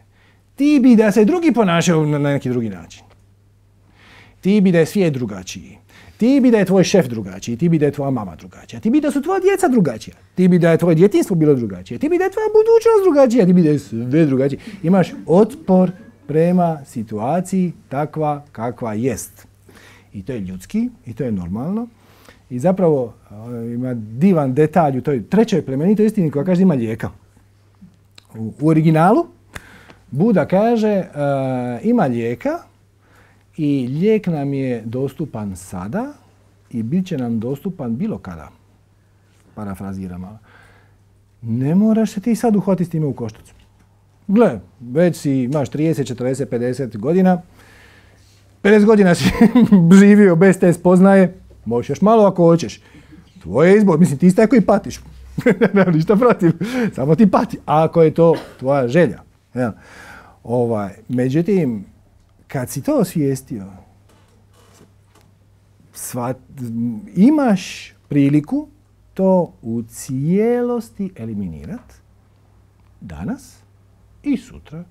Ti bi da se drugi ponašaju na neki drugi način. Ti bi da je svijet drugačiji. Ti bi da je tvoj šef drugačiji, ti bi da je tvoja mama drugačija, ti bi da su tvoja djeca drugačija, ti bi da je tvoje djetinjstvo bilo drugačije, ti bi da je tvoja budućnost drugačija, ti bi da je sve drugačije. Imaš otpor prema situaciji takva kakva jest. I to je ljudski, i to je normalno. I zapravo ima divan detalj u toj trećoj plemenitoj istini koja kaže da ima lijeka. U, u originalu Buda kaže uh, ima lijeka i lijek nam je dostupan sada i bit će nam dostupan bilo kada. Parafraziram malo. Ne moraš se ti sad uhvatiti s time u koštac. Gle, već si imaš trideset, četrdeset, pedeset godina, pedeset godina si živio bez te spoznaje, možeš još malo ako hoćeš. Tvoj je izbor, mislim ti si taj koji patiš. Nema ništa protiv, samo ti pati, ako je to tvoja želja. Ja. Ovaj, međutim, kad si to osvijestio, sva, imaš priliku to u cijelosti eliminirati danas i sutra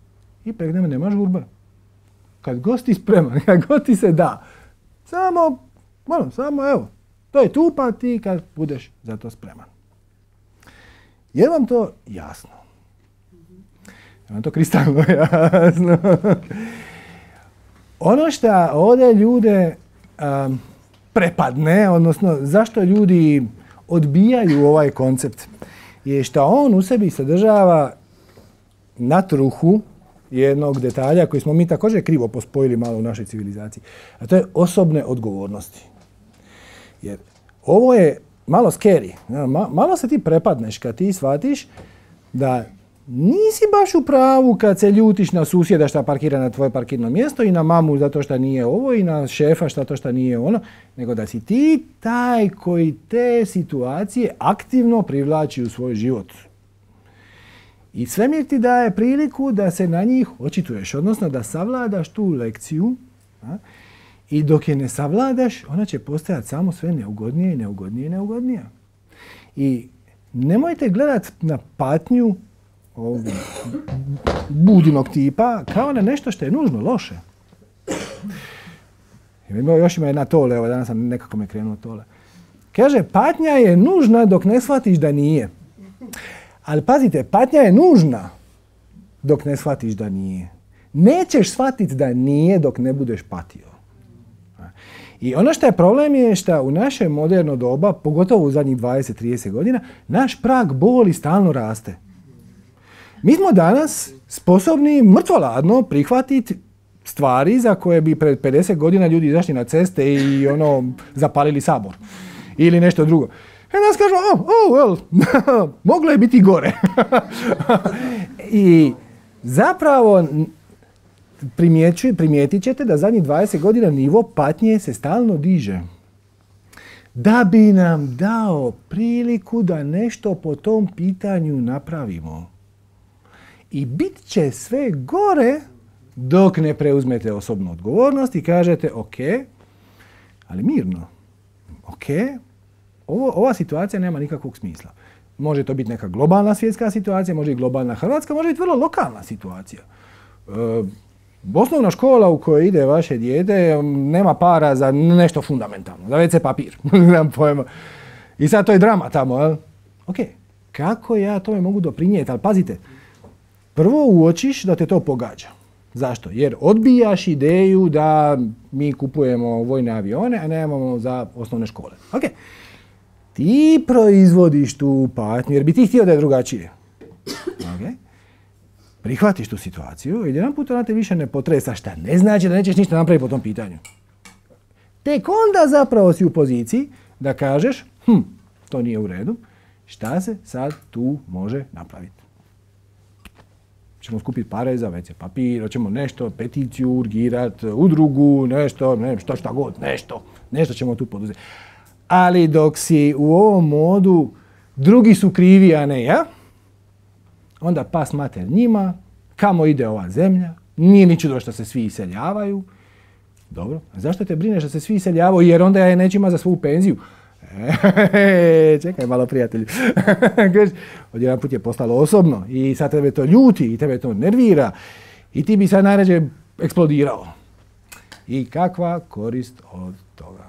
i pregneme nemaš žurbe. Kad god si spreman, kad god ti se da, samo, ono, samo evo, to je tu pa ti kad budeš za to spreman. Je vam to jasno? Je vam to kristalno jasno? Ono što ovdje ljude um, prepadne, odnosno zašto ljudi odbijaju ovaj koncept, je što on u sebi sadržava natruhu jednog detalja koji smo mi također krivo pospojili malo u našoj civilizaciji, a to je osobne odgovornosti. Jer ovo je malo scary, malo se ti prepadneš kad ti shvatiš da nisi baš u pravu kad se ljutiš na susjeda što parkira na tvoje parkirno mjesto i na mamu zato što nije ovo i na šefa što to što nije ono, nego da si ti taj koji te situacije aktivno privlači u svoj život. I svemir ti daje priliku da se na njih očituješ, odnosno da savladaš tu lekciju, a? I dok je ne savladaš, ona će postajati samo sve neugodnije i neugodnije i neugodnije. I nemojte gledati na patnju ovog budinog tipa kao na nešto što je nužno loše. Još ima jedna tole, evo danas sam nekako me krenuo tole. Kaže, patnja je nužna dok ne shvatiš da nije. Ali pazite, patnja je nužna dok ne shvatiš da nije. Nećeš shvatiti da nije dok ne budeš patio. I ono što je problem je što u naše moderno doba, pogotovo u zadnjih dvadeset do trideset godina, naš prag boli stalno raste. Mi smo danas sposobni mrtvoladno prihvatiti stvari za koje bi pred pedeset godina ljudi izašli na ceste i ono zapalili Sabor. Ili nešto drugo. I nas kažu, oh, oh, well, moglo je biti gore. I zapravo primijetit ćete da zadnjih dvadeset godina nivo patnje se stalno diže. Da bi nam dao priliku da nešto po tom pitanju napravimo. I bit će sve gore dok ne preuzmete osobnu odgovornost i kažete, ok, ali mirno, ok, ovo, ova situacija nema nikakvog smisla. Može to biti neka globalna svjetska situacija, može i globalna hrvatska, može biti vrlo lokalna situacija. E, osnovna škola u kojoj ide vaše dijete nema para za nešto fundamentalno, za ve ce papir. Nemam pojma. I sad to je drama tamo, jel? Ok, kako ja tome mogu doprinijeti? Ali pazite, prvo uočiš da te to pogađa. Zašto? Jer odbijaš ideju da mi kupujemo vojne avione, a nemamo za osnovne škole. Ok. Ti proizvodiš tu patnju, jer bi ti htio da je drugačije. Okay. Prihvatiš tu situaciju i jedan put ona te više ne potresa, šta ne znači da nećeš ništa napraviti po tom pitanju. Tek onda zapravo si u poziciji da kažeš, hm, to nije u redu, šta se sad tu može napraviti. Ćemo skupiti pare za ve ce papir, hoćemo nešto, peticiju urgirati, udrugu, nešto, ne, što šta god, nešto, nešto ćemo tu poduzeti. Ali dok si u ovom modu, drugi su krivi, a ne ja, onda pas mater njima, kamo ide ova zemlja, nije ni čudo što se svi iseljavaju. Dobro, a zašto te brineš da se svi iseljavaju, jer onda ja neću imati za svoju penziju? E, čekaj malo, prijatelju. Odjedan put je postalo osobno i sad tebe to ljuti i tebe to nervira i ti bi sad najrađe eksplodirao. I kakva korist od toga?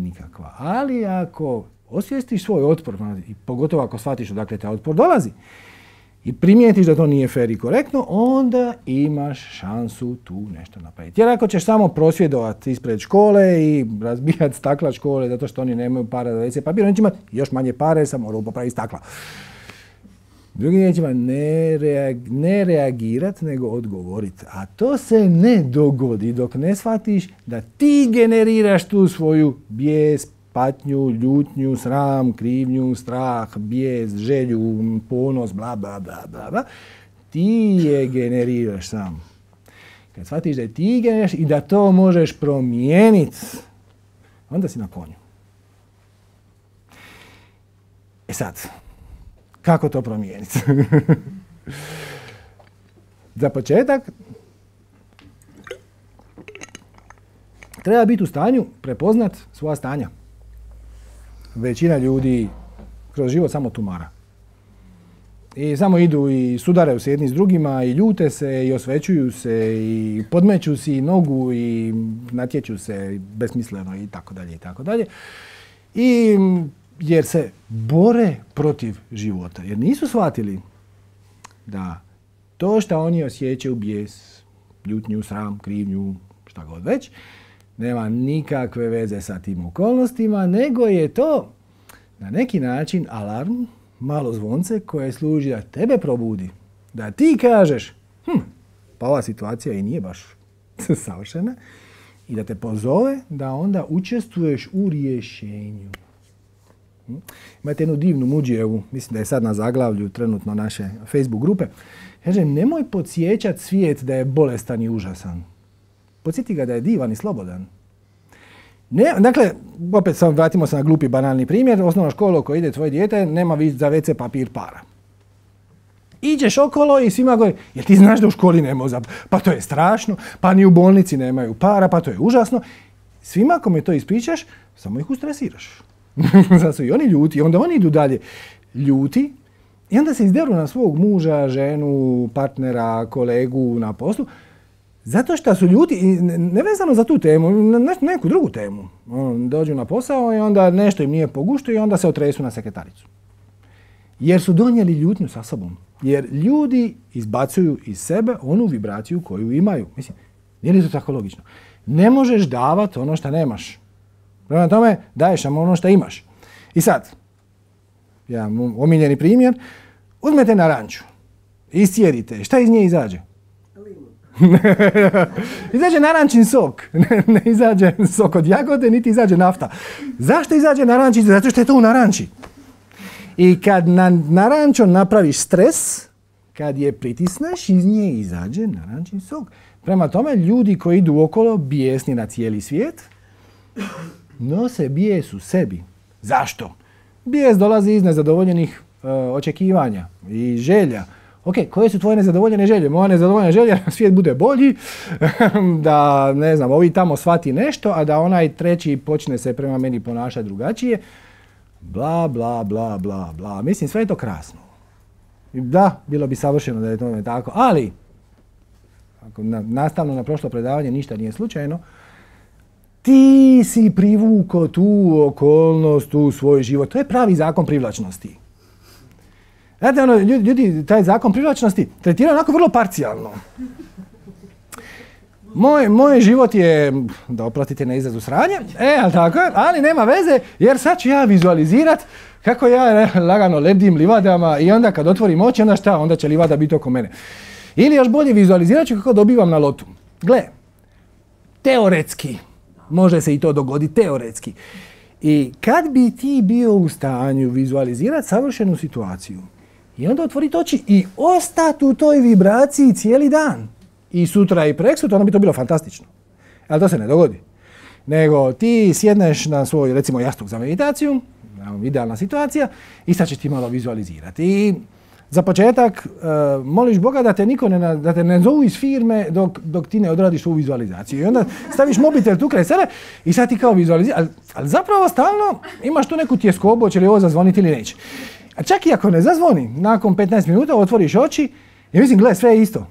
Nikakva. Ali ako osvijestiš svoj otpor, i pogotovo ako shvatiš odakle taj otpor dolazi, i primijetiš da to nije fer i korektno, onda imaš šansu tu nešto napraviti. Jer ako ćeš samo prosvjedovati ispred škole i razbijati stakla škole zato što oni nemaju para za ve ce papir, oni će imati još manje pare, samo moraju popraviti stakla. Drugim riječima, ne, reag, ne reagirati, nego odgovoriti. A to se ne dogodi dok ne shvatiš da ti generiraš tu svoju bijes, patnju, ljutnju, sram, krivnju, strah, bijes, želju, ponos, bla, bla, bla, bla, bla. Ti je generiraš sam. Kad shvatiš da je ti generiraš i da to možeš promijeniti, onda si na konju. E sad, kako to promijeniti? Za početak, treba biti u stanju prepoznat svoja stanja. Većina ljudi kroz život samo tumara. I samo idu i sudaraju se jedni s drugima i ljute se i osvećuju se i podmeću si nogu i natječu se besmisleno i tako dalje i tako dalje. I jer se bore protiv života. Jer nisu shvatili da to što oni osjećaju bijes, ljutnju, sram, krivnju, šta god već, nema nikakve veze sa tim okolnostima, nego je to na neki način alarm, malo zvonce koje služi da tebe probudi. Da ti kažeš, hm, pa ova situacija i nije baš savršena, i da te pozove da onda učestvuješ u rješenju. Hm? Imate jednu divnu Muđijevu, mislim da je sad na zaglavlju trenutno naše Facebook grupe. Kaže, nemoj podsjećati svijet da je bolestan i užasan. Podsjeti ga da je divan i slobodan. Ne, dakle, opet sam, vratimo se na glupi banalni primjer. Osnovna škola u kojoj ide tvoje dijete nema za ve ce papir para. Iđeš okolo i svima govori, jer ti znaš da u školi nema za... Pa to je strašno, pa ni u bolnici nemaju para, pa to je užasno. Svima ako mi to ispričaš, samo ih ustresiraš. Zato su i oni ljuti, onda oni idu dalje ljuti i onda se izderu na svog muža, ženu, partnera, kolegu na poslu. Zato što su ljudi, ne vezano za tu temu, na neku drugu temu, dođu na posao i onda nešto im nije po guštu i onda se otresu na sekretaricu. Jer su donijeli ljutnju sa sobom. Jer ljudi izbacuju iz sebe onu vibraciju koju imaju. Mislim, nije li to tako logično? Ne možeš davati ono što nemaš. Prema tome, daješ samo ono što imaš. I sad, jedan omiljeni primjer, uzmete naranču, iscijedite, šta iz nje izađe? Izađe narančin sok, ne, ne izađe sok od jagode, niti izađe nafta. Zašto izađe narančin? Zato što je to u naranči. I kad na naranču napraviš stres, kad je pritisneš, iz nje izađe narančin sok. Prema tome, ljudi koji idu okolo bijesni na cijeli svijet, nose bijes u sebi. Zašto? Bijes dolazi iz nezadovoljenih uh, očekivanja i želja. Ok, koje su tvoje nezadovoljene želje? Moja nezadovoljena želja da svijet bude bolji, da, ne znam, ovi tamo shvati nešto, a da onaj treći počne se prema meni ponašati drugačije. Bla, bla, bla, bla, bla. Mislim, sve je to krasno. Da, bilo bi savršeno da je to tako, ali ako na, nastavno na prošlo predavanje ništa nije slučajno, ti si privukao tu okolnost u svoj život. To je pravi zakon privlačnosti. Znate, ono, ljudi, taj zakon privlačnosti tretiraju onako vrlo parcijalno. Moj, moj život je, da oplatite na izrazu sranje, e, ali tako je, ali nema veze, jer sad ću ja vizualizirat kako ja lagano lebdim livadama i onda kad otvorim oči, onda šta, onda će livada biti oko mene. Ili još bolje vizualizirat ću kako dobivam na lotu. Gle, teoretski, može se i to dogoditi, teoretski. I kad bi ti bio u stanju vizualizirati savršenu situaciju i onda otvoriti oči i ostati u toj vibraciji cijeli dan, i sutra i preksutra, onda bi to bilo fantastično. Ali to se ne dogodi. Nego ti sjedneš na svoj, recimo, jastuk za meditaciju, idealna situacija, i sad ćeš ti malo vizualizirati. I za početak uh, moliš Boga da te niko ne, da te ne zovu iz firme dok, dok ti ne odradiš ovu vizualizaciju. I onda staviš mobitel tu kraj sebe i sad ti kao vizualiziraš. Ali, ali zapravo stalno imaš tu neku tjeskobu, će li ovo zazvoniti ili neće. A čak i ako ne zazvoni, nakon petnaest minuta otvoriš oči i mislim, gle, sve je isto.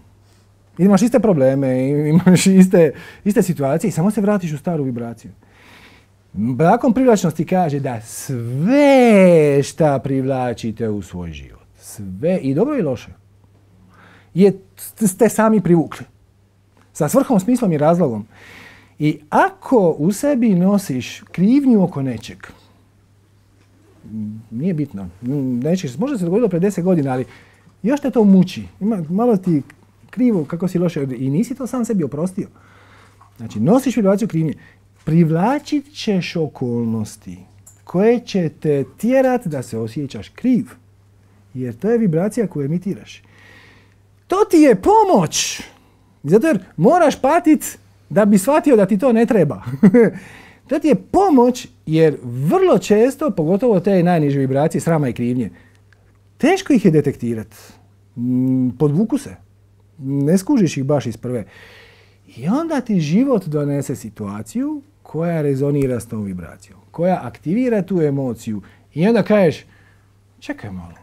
Imaš iste probleme, imaš iste, iste situacije i samo se vratiš u staru vibraciju. Zakon privlačnosti kaže da sve šta privlačite u svoj život, sve, i dobro i loše, je, ste sami privukli. Sa svrhom, smislom i razlogom. I ako u sebi nosiš krivnju oko nečeg, nije bitno, nećeš, možda se dogodilo pred deset godina, ali još te to muči. Ima, malo ti krivo, kako si loše, i nisi to sam sebi oprostio. Znači, nosiš vibraciju krivnje. Privlačit ćeš okolnosti koje će te tjerat da se osjećaš kriv. Jer to je vibracija koju emitiraš. To ti je pomoć. Zato jer moraš patit da bi shvatio da ti to ne treba. To ti je pomoć jer vrlo često, pogotovo te najniže vibracije, srama i krivnje, teško ih je detektirati. Podvuku se. Ne skužiš ih baš iz prve. I onda ti život donese situaciju koja rezonira s tom vibracijom, koja aktivira tu emociju. I onda kažeš, čekaj malo,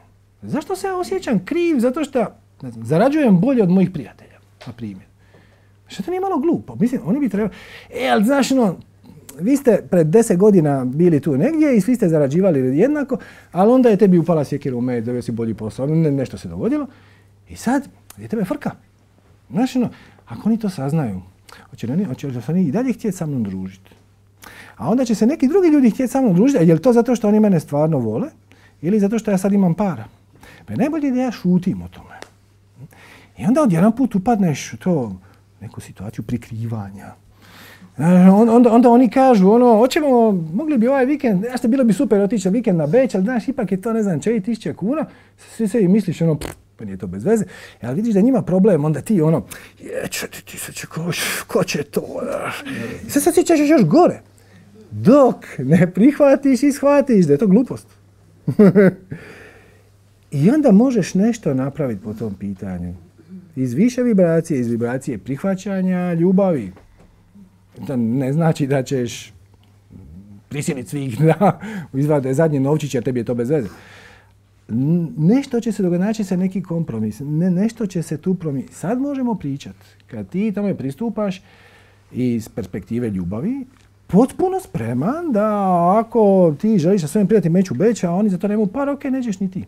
zašto se ja osjećam kriv? Zato što, ne znam, zarađujem bolje od mojih prijatelja, na primjer. Što to nije malo glupo? Mislim, oni bi trebali... E, ali znaš, no, vi ste pred deset godina bili tu negdje i svi ste zarađivali jednako, ali onda je tebi upala sjekira u med, dobio si bolji posao, ne, nešto se dogodilo. I sad, je tebe frka. Znaš, no, ako oni to saznaju, hoće li oni, hoće li oni i dalje htjeti sa mnom družiti? A onda će se neki drugi ljudi htjeti sa mnom družiti, a je li to zato što oni mene stvarno vole ili zato što ja sad imam para? Pa je najbolje da ja šutim o tome. I onda odjedan put upadneš u to, neku situaciju prikrivanja. Onda, onda oni kažu, ono, hoćemo, mogli bi ovaj vikend, ja što bilo bi super otići vikend na Beč, ali znaš, ipak je to, ne znam, četiri tisuće kuna, svi se i misliš, ono, pff, pa nije to bez veze, ali vidiš da njima problem, onda ti, ono, je, četiri tisuće, ko, ko će to, i sad se osjećaš još gore, dok ne prihvatiš i shvatiš da je to glupost. I onda možeš nešto napraviti po tom pitanju. Iz više vibracije, iz vibracije prihvaćanja, ljubavi. To ne znači da ćeš prisiliti svih da izvade zadnje novčiće, jer tebi je to bez veze. nešto će se dogoditi, naći se neki kompromis, ne, nešto će se tu promijeniti. Sad možemo pričati. Kad ti tamo pristupaš iz perspektive ljubavi, potpuno spreman da ako ti želiš sa svojim prijateljima ići u Beč, a oni za to nemaju par, ok, nećeš ni ti.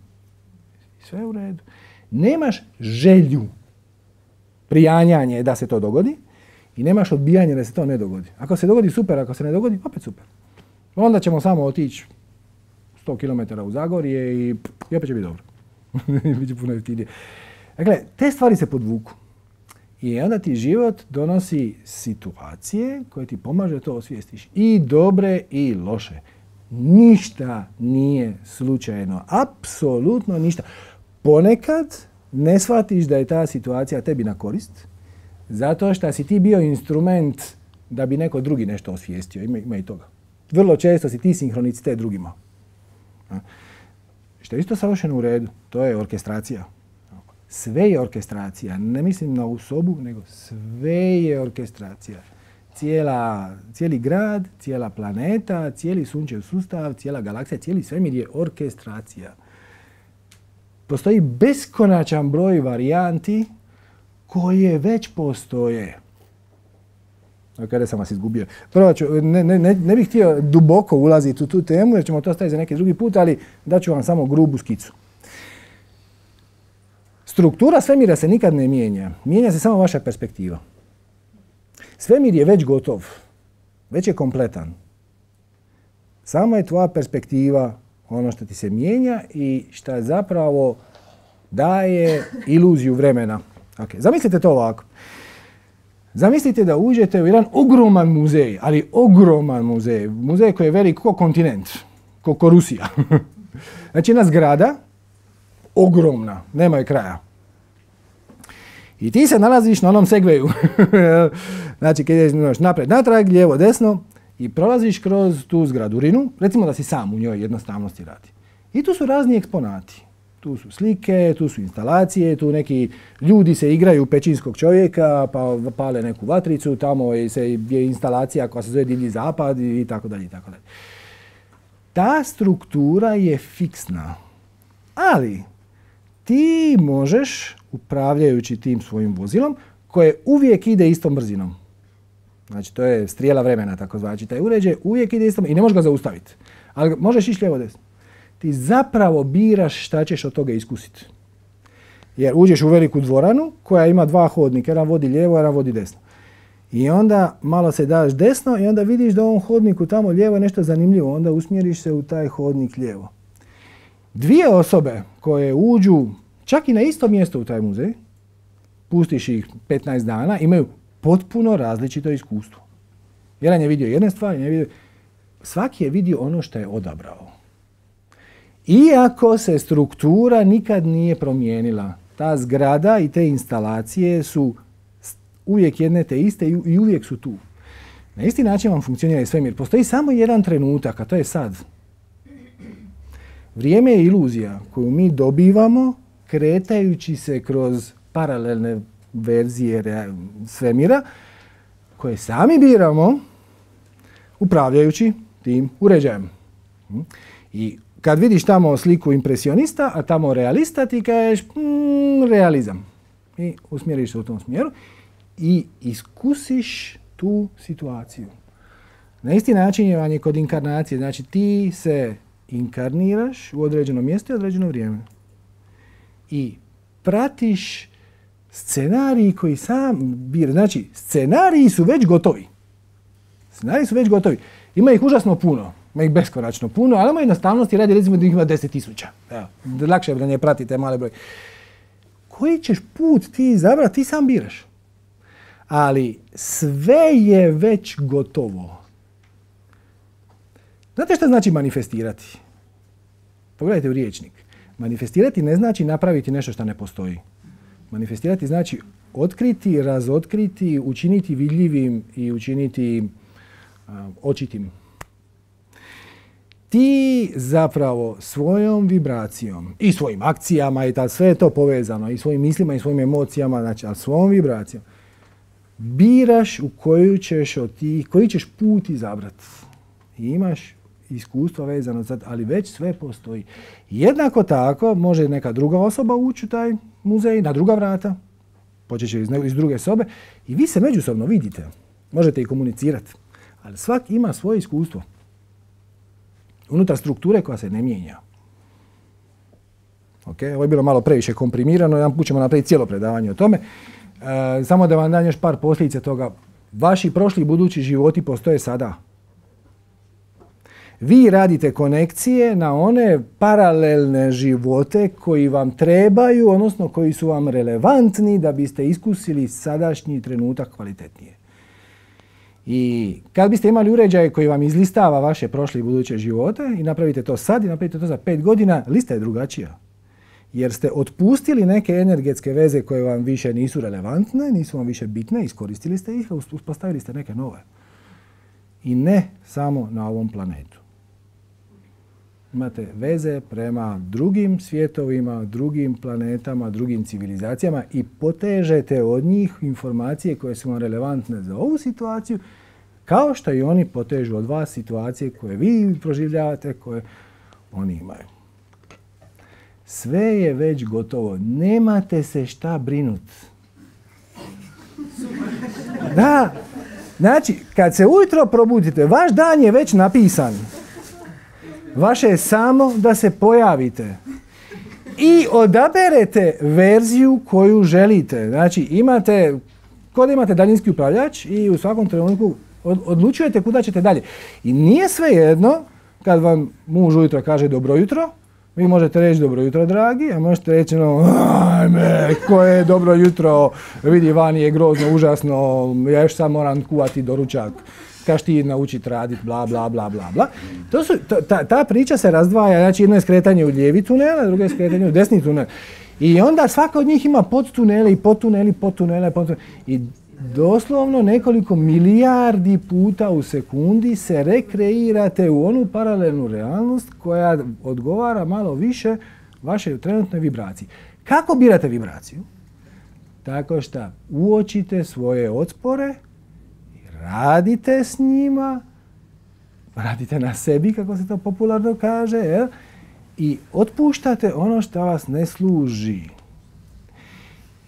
Sve u redu. Nemaš želju, prijanjanje da se to dogodi i nemaš odbijanje da se to ne dogodi. Ako se dogodi, super, ako se ne dogodi, opet super. Onda ćemo samo otići sto kilometara u Zagorje i, i opet će biti dobro. Biće puno jeftinije. Dakle, te stvari se podvuku. I onda ti život donosi situacije koje ti pomaže da to osvijestiš. I dobre i loše. Ništa nije slučajno. Apsolutno ništa. Ponekad ne shvatiš da je ta situacija tebi na korist, zato što si ti bio instrument da bi neko drugi nešto osvijestio. Ima, ima i toga. Vrlo često si ti sinhronicitet drugima. Što je isto savršeno u redu. To je orkestracija. Sve je orkestracija. Ne mislim na ovu sobu, nego sve je orkestracija. Cijela, cijeli grad, cijela planeta, cijeli sunčev sustav, cijela galaksija, cijeli svemir je orkestracija. Postoji beskonačan broj varijanti koje već postoje. Kada sam vas izgubio. Prvo ću, ne, ne, ne bih htio duboko ulaziti u tu temu jer ćemo to staviti za neki drugi put, ali daću vam samo grubu skicu. Struktura svemira se nikad ne mijenja. Mijenja se samo vaša perspektiva. Svemir je već gotov. Već je kompletan. Samo je tvoja perspektiva ono što ti se mijenja i što zapravo daje iluziju vremena. Okay. Zamislite to ovako. Zamislite da uđete u jedan ogroman muzej, ali ogroman muzej. Muzej koji je velik kao kontinent, kao ko Rusija. Znači jedna zgrada, ogromna, nema je kraja. I ti se nalaziš na onom segveju. Znači kad ideš naprijed, natrag, lijevo, desno i prolaziš kroz tu zgradurinu, recimo da si sam u njoj jednostavnosti radi. I tu su razni eksponati. Tu su slike, tu su instalacije, tu neki ljudi se igraju pećinskog čovjeka, pa pale neku vatricu, tamo je, se, je instalacija koja se zove Divlji zapad i tako dalje i tako dalje. Ta struktura je fiksna, ali ti možeš, upravljajući tim svojim vozilom, koje uvijek ide istom brzinom. Znači, to je strijela vremena, tako znači. Taj uređaj uvijek ide istom i ne možeš ga zaustaviti. Ali možeš ići lijevo desno. Ti zapravo biraš šta ćeš od toga iskusiti. Jer uđeš u veliku dvoranu koja ima dva hodnika, jedan vodi lijevo, jedan vodi desno. I onda malo se daš desno i onda vidiš da u ovom hodniku tamo lijevo je nešto zanimljivo. Onda usmjeriš se u taj hodnik lijevo. Dvije osobe koje uđu čak i na isto mjesto u taj muzej, pustiš ih petnaest dana, imaju potpuno različito iskustvo. Jedan je vidio jedne stvari, je vidio... svaki je vidio ono što je odabrao. Iako se struktura nikad nije promijenila, ta zgrada i te instalacije su uvijek jedne te iste i uvijek su tu. Na isti način vam funkcionira i svemir. Postoji samo jedan trenutak, a to je sad. Vrijeme je iluzija koju mi dobivamo kretajući se kroz paralelne verzije svemira koje sami biramo upravljajući tim uređajem. I kad vidiš tamo sliku impresionista, a tamo realista, ti kažeš mm, realizam. I usmjeriš se u tom smjeru i iskusiš tu situaciju. Na isti način je vam je kod inkarnacije. Znači ti se inkarniraš u određeno mjesto i određeno vrijeme. I pratiš scenarij koji sam bira. Znači scenariji su već gotovi. Scenariji su već gotovi. Ima ih užasno puno. Ima ih beskonačno puno, ali ima jednostavnosti radi recimo da ih ima deset tisuća. Lakše je da ne pratite male broj. Koji ćeš put ti izabrati, ti sam biraš. Ali sve je već gotovo. Znate što znači manifestirati? Pogledajte u riječnik. Manifestirati ne znači napraviti nešto što ne postoji. Manifestirati znači otkriti, razotkriti, učiniti vidljivim i učiniti uh, očitim. Ti zapravo svojom vibracijom i svojim akcijama i ta, sve je to povezano i svojim mislima i svojim emocijama, znači, ali svojom vibracijom biraš u koju ćeš od tih, koji ćeš put izabrati. I imaš iskustva vezano za to, ali već sve postoji. Jednako tako može neka druga osoba ući u taj muzej na druga vrata, počeće iz, iz druge sobe i vi se međusobno vidite. Možete i komunicirati, ali svak ima svoje iskustvo. Unutar strukture koja se ne mijenja. Okay? Ovo je bilo malo previše komprimirano, jedan put ćemo napraviti cijelo predavanje o tome. E, samo da vam dam još par posljedica toga. Vaši prošli i budući životi postoje sada. Vi radite konekcije na one paralelne živote koji vam trebaju, odnosno koji su vam relevantni da biste iskusili sadašnji trenutak kvalitetnije. I kad biste imali uređaj koji vam izlistava vaše prošle i buduće živote i napravite to sad i napravite to za pet godina, lista je drugačija. Jer ste otpustili neke energetske veze koje vam više nisu relevantne, nisu vam više bitne, iskoristili ste ih, a uspostavili ste neke nove. I ne samo na ovom planetu. Imate veze prema drugim svjetovima, drugim planetama, drugim civilizacijama i potežete od njih informacije koje su vam relevantne za ovu situaciju, kao što i oni potežu od vas situacije koje vi proživljavate, koje oni imaju. Sve je već gotovo. Nemate se šta brinuti. Da. Znači, kad se ujutro probudite, vaš dan je već napisan. Vaše je samo da se pojavite. I odaberete verziju koju želite. Znači, imate, kod imate daljinski upravljač i u svakom trenutku odlučujete kuda ćete dalje. I nije svejedno kad vam muž ujutro kaže dobro jutro, vi možete reći dobro jutro, dragi, a možete reći no, ajme, koje je dobro jutro, vidi, vani je grozno, užasno, ja još sad moram kuvati doručak, kaš ti naučiti raditi, bla, bla, bla, bla, bla. To su, ta, ta priča se razdvaja, znači jedno je skretanje u lijevi tunel, a drugo je skretanje u desni tunel. I onda svaka od njih ima podtunele i podtunele i podtunele, podtunele. I doslovno nekoliko milijardi puta u sekundi se rekreirate u onu paralelnu realnost koja odgovara malo više vašoj trenutnoj vibraciji. Kako birate vibraciju? Tako što uočite svoje otpore, radite s njima, radite na sebi, kako se to popularno kaže, jel? I otpuštate ono što vas ne služi.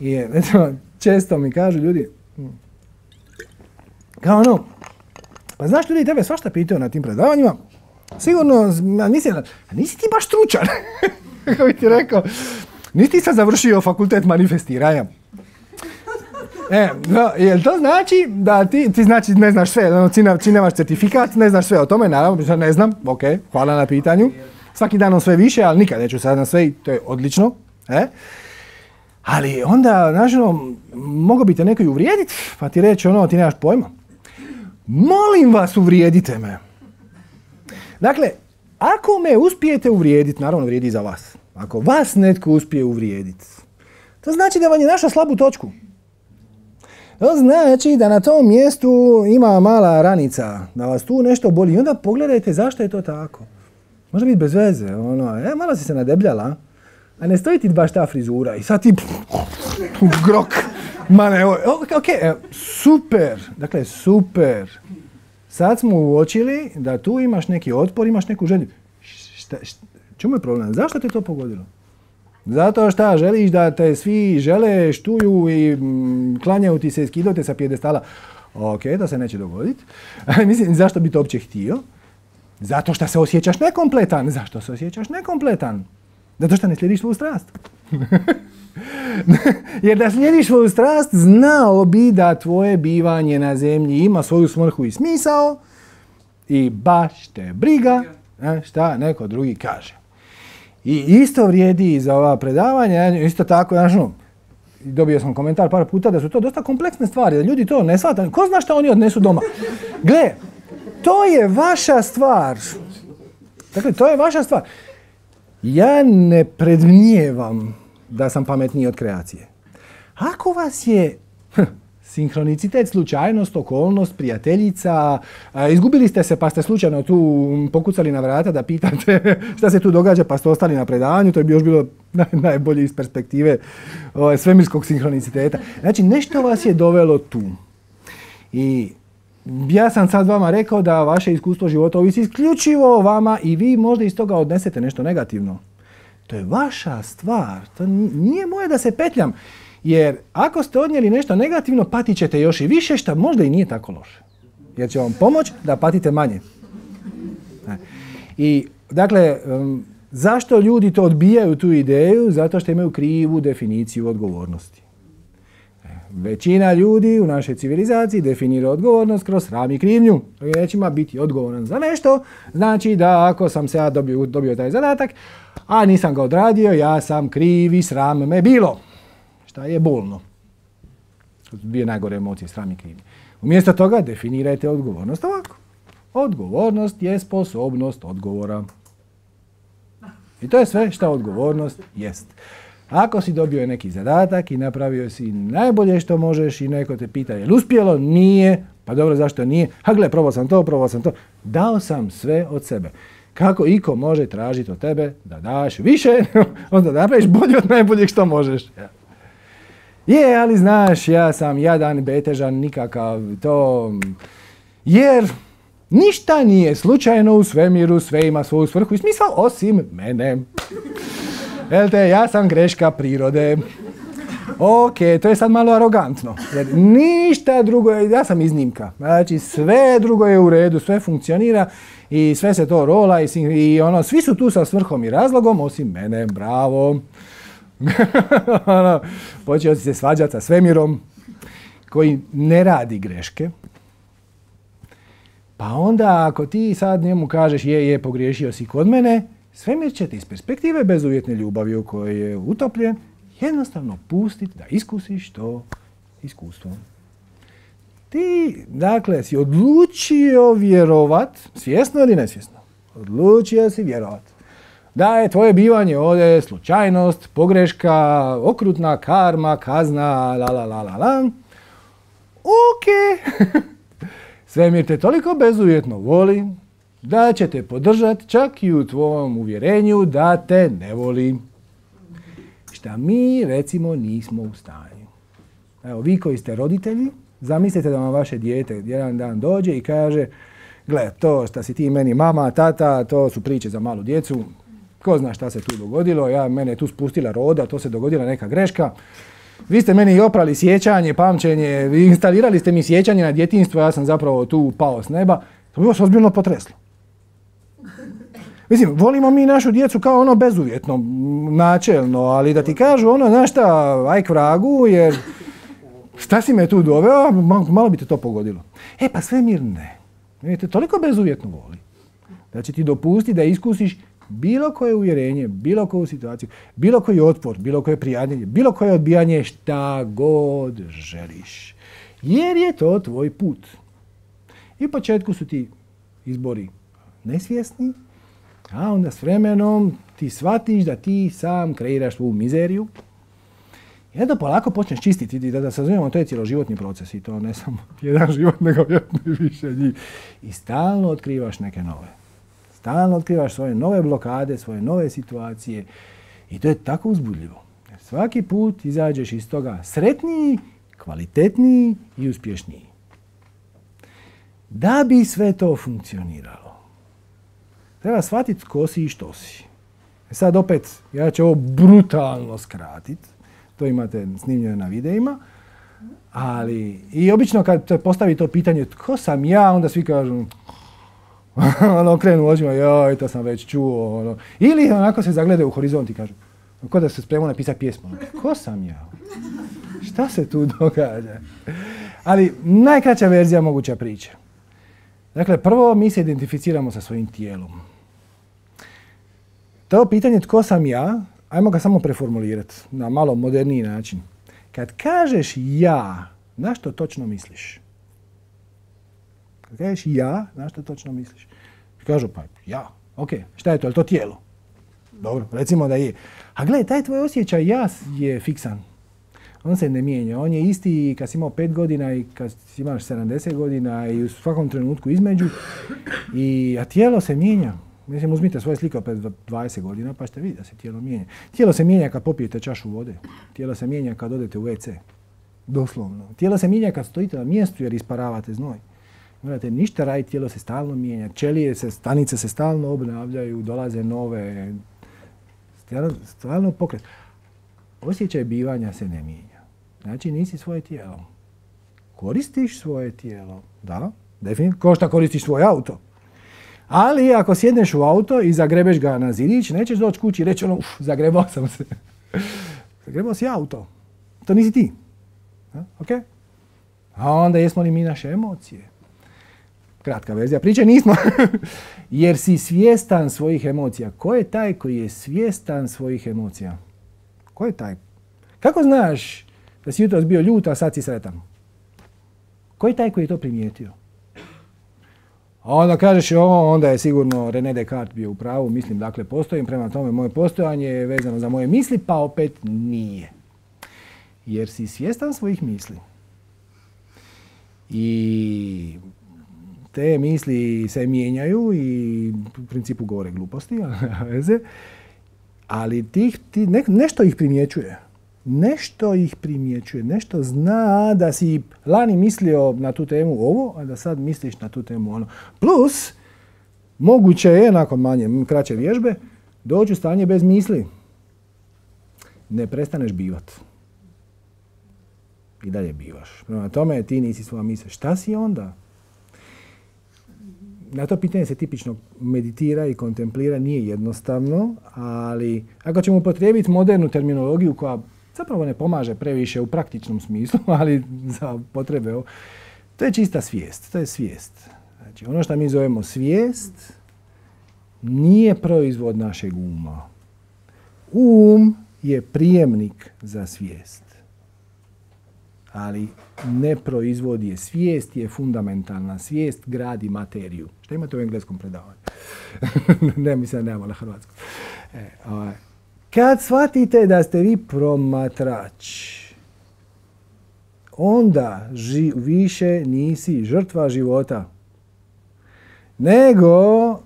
I eto, često mi kažu ljudi, kao ono, pa znaš ljudi tebe svašta pitaju na tim predavanjima, sigurno, nisi, nisi ti baš stručan, kako bi ti rekao, nisi ti sad završio fakultet manifestiranja. E, no, jel to znači da ti, ti znači ne znaš sve, ono, ti nemaš certifikat, ne znaš sve o tome, naravno, ne znam, ok, hvala na pitanju, svaki dan on sve više, ali nikad neću sad na sve i to je odlično, e? Ali onda, znaš, ono, mogu bi te neko i uvrijediti, pa ti reći ono, ti nemaš pojma. Molim vas, uvrijedite me. Dakle, ako me uspijete uvrijediti, naravno vrijedi za vas. Ako vas netko uspije uvrijediti, to znači da vam je našao slabu točku. To znači da na tom mjestu ima mala ranica, da vas tu nešto boli. I onda pogledajte zašto je to tako. Može biti bez veze, ono, e, malo si se nadebljala, a ne stoji ti baš ta frizura i sad ti grok. Ma ne, ok, super, dakle super. Sad smo uočili da tu imaš neki otpor, imaš neku želju. Šta, šta, čemu je problem? Zašto te to pogodilo? Zato šta želiš da te svi žele, štuju i mm, klanjaju ti se, skidaju te sa pijedestala. Ok, to se neće dogoditi. Mislim, zašto bi to uopće htio? Zato što se osjećaš nekompletan. Zašto se osjećaš nekompletan? Zato što ne slijediš svoju strast. Jer da slijediš svoju strast, znao bi da tvoje bivanje na zemlji ima svoju svrhu i smisao i baš te briga šta neko drugi kaže. I isto vrijedi i za ova predavanja, isto tako, znaš, no, dobio sam komentar par puta da su to dosta kompleksne stvari, da ljudi to ne shvataju. Ko zna šta oni odnesu doma? Gle, to je vaša stvar. Dakle, to je vaša stvar. Ja ne predmnijevam da sam pametniji od kreacije. Ako vas je hm, sinkronicitet, slučajnost, okolnost, prijateljica, a, izgubili ste se pa ste slučajno tu pokucali na vrata da pitate šta se tu događa pa ste ostali na predavanju, to je bi još bilo naj, najbolje iz perspektive o, svemirskog sinkroniciteta. Znači, nešto vas je dovelo tu. I ja sam sad vama rekao da vaše iskustvo života ovisi isključivo o vama i vi možda iz toga odnesete nešto negativno. To je vaša stvar. To nije moje da se petljam. Jer ako ste odnijeli nešto negativno, patit ćete još i više, što možda i nije tako loše. Jer će vam pomoći da patite manje. I, dakle, um, zašto ljudi to odbijaju tu ideju? Zato što imaju krivu definiciju odgovornosti. Većina ljudi u našoj civilizaciji definira odgovornost kroz sram i krivnju. Nećima biti odgovoran za nešto, znači da ako sam se ja dobio, dobio taj zadatak, a nisam ga odradio, ja sam kriv i sram me bilo. Šta je bolno? Dvije najgore emocije, sram i krivnje. Umjesto toga definirajte odgovornost ovako. Odgovornost je sposobnost odgovora. I to je sve što odgovornost jest. Ako si dobio neki zadatak i napravio si najbolje što možeš i neko te pita je li uspjelo, nije, pa dobro zašto nije, a gle, probao sam to, probao sam to, dao sam sve od sebe. Kako iko može tražiti od tebe da daš više, onda da napraviš bolje od najboljeg što možeš. Je, ali znaš, ja sam jadan, betežan, nikakav to, jer ništa nije slučajno u svemiru, sve ima svoju svrhu i smisao osim mene. Jel te, ja sam greška prirode. Ok, to je sad malo arogantno. Jer ništa drugo je, ja sam iznimka. Znači sve drugo je u redu, sve funkcionira i sve se to rola i, i ono, svi su tu sa svrhom i razlogom osim mene, bravo. ono, počeo si se svađati sa svemirom koji ne radi greške. Pa onda ako ti sad njemu kažeš je, je, pogriješio si kod mene, svemir će te iz perspektive bezuvjetne ljubavi u kojoj je utopljen jednostavno pustiti da iskusiš to iskustvo. Ti, dakle, si odlučio vjerovat, svjesno ili nesvjesno, odlučio si vjerovat da je tvoje bivanje ovdje slučajnost, pogreška, okrutna karma, kazna, la la la la la. Ok. Svemir te toliko bezuvjetno voli da će te podržati čak i u tvojom uvjerenju da te ne voli. Šta mi, recimo, nismo u stanju. Evo, vi koji ste roditelji, zamislite da vam vaše dijete jedan dan dođe i kaže gle, to šta si ti meni mama, tata, to su priče za malu djecu. Ko zna šta se tu dogodilo, ja, mene je tu spustila roda, to se dogodila neka greška. Vi ste meni i oprali sjećanje, pamćenje, instalirali ste mi sjećanje na djetinjstvo, ja sam zapravo tu pao s neba. To bi vas ozbiljno potreslo. Mislim, volimo mi našu djecu kao ono bezuvjetno, načelno, ali da ti kažu ono, znaš šta, aj k vragu, jer šta si me tu doveo, malo bi te to pogodilo. E pa svemir ne. Te toliko bezuvjetno voli da će ti dopustiti da iskusiš bilo koje uvjerenje, bilo koju situaciju, bilo koji otpor, bilo koje prijadnjenje, bilo koje odbijanje, šta god želiš. Jer je to tvoj put. I u početku su ti izbori nesvjesni, a onda s vremenom ti shvatiš da ti sam kreiraš svoju mizeriju. I da polako počneš čistiti, da, da sazumijemo, to je cjeloživotni proces i to ne samo jedan život, nego vjerojatno i više njih. I stalno otkrivaš neke nove. Stalno otkrivaš svoje nove blokade, svoje nove situacije i to je tako uzbudljivo. Jer svaki put izađeš iz toga sretniji, kvalitetniji i uspješniji. Da bi sve to funkcioniralo, treba shvatiti tko si i što si. E sad opet, ja ću ovo brutalno skratiti. To imate snimljeno na videima. Ali, i obično kad postavi to pitanje tko sam ja, onda svi kažu ono, krenu očima, joj, to sam već čuo. Ono. Ili onako se zaglede u horizont i kažu, kao da se spremao napisati pjesmu. Tko sam ja? Šta se tu događa? Ali najkraća verzija moguća priče. Dakle, prvo mi se identificiramo sa svojim tijelom. To pitanje tko sam ja, ajmo ga samo preformulirati na malo moderniji način. Kad kažeš ja, na što točno misliš? Kad kažeš ja, na što točno misliš? Kažu pa ja, ok, šta je to, je li to tijelo? Dobro, recimo da je. A gledaj, taj tvoj osjećaj ja je fiksan. On se ne mijenja, on je isti kad si imao pet godina i kad si imaš sedamdeset godina i u svakom trenutku između. I, a tijelo se mijenja. Mislim, uzmite svoje slike opet dvadeset godina pa ćete vidjeti da se tijelo mijenja. Tijelo se mijenja kad popijete čašu vode. Tijelo se mijenja kad odete u ve ce. Doslovno. Tijelo se mijenja kad stojite na mjestu jer isparavate znoj. Morate ništa raditi, tijelo se stalno mijenja, ćelije se, stanice se stalno obnavljaju, dolaze nove, stalno pokret. Osjećaj bivanja se ne mijenja. Znači nisi svoje tijelo. Koristiš svoje tijelo, da, definitivno, kao što koristiš svoj auto. Ali ako sjedneš u auto i zagrebeš ga na zidić, nećeš doći kući i reći ono, uf, zagrebao sam se. Zagrebao si auto. To nisi ti. A, okay? A onda jesmo li mi naše emocije? Kratka verzija priče, nismo. Jer si svjestan svojih emocija. Ko je taj koji je svjestan svojih emocija? Ko je taj? Kako znaš da si jutros bio ljut, a sad si sretan? Ko je taj koji je to primijetio? A onda kažeš, o, onda je sigurno René Descartes bio u pravu, mislim, dakle, postojim, prema tome moje postojanje je vezano za moje misli, pa opet nije. Jer si svjestan svojih misli. I te misli se mijenjaju i u principu govore gluposti, ali tih, ti, ne, nešto ih primjećuje. Nešto ih primjećuje, nešto zna da si lani mislio na tu temu ovo, a da sad misliš na tu temu ono. Plus, moguće je, nakon manje, kraće vježbe, doći u stanje bez misli. Ne prestaneš bivat. I dalje bivaš. Prema tome, ti nisi svoja misla. Šta si onda? Na to pitanje se tipično meditira i kontemplira, nije jednostavno, ali ako ćemo upotrijebiti modernu terminologiju koja zapravo ne pomaže previše u praktičnom smislu, ali za potrebe ovo, to je čista svijest, to je svijest. Znači, ono što mi zovemo svijest nije proizvod našeg uma. Um je prijemnik za svijest, ali ne proizvodi je. Svijest je fundamentalna. Svijest gradi materiju. Što imate u engleskom predavanju? Ne, mislim da nemamo na hrvatskom. E, ovaj. Kad shvatite da ste vi promatrač, onda ži, više nisi žrtva života, nego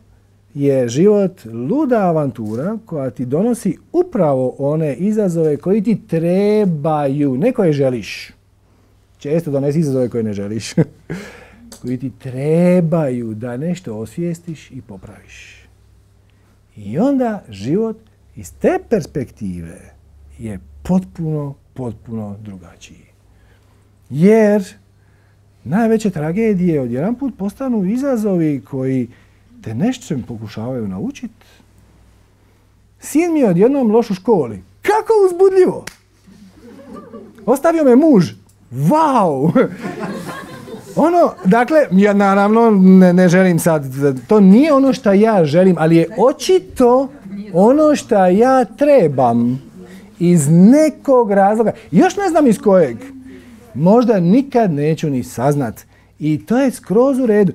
je život luda avantura koja ti donosi upravo one izazove koji ti trebaju, ne koje želiš. Često donesi izazove koje ne želiš. Koji ti trebaju da nešto osvijestiš i popraviš. I onda život iz te perspektive je potpuno, potpuno drugačiji. Jer najveće tragedije odjedanput postanu izazovi koji te nešto pokušavaju naučiti. Sin mi je odjednom loš u školi. Kako uzbudljivo! Ostavio me muž. Vau! Ono, dakle, ja naravno ne, ne želim sad, to nije ono što ja želim, ali je očito ono što ja trebam iz nekog razloga. Još ne znam iz kojeg. Možda nikad neću ni saznat. I to je skroz u redu.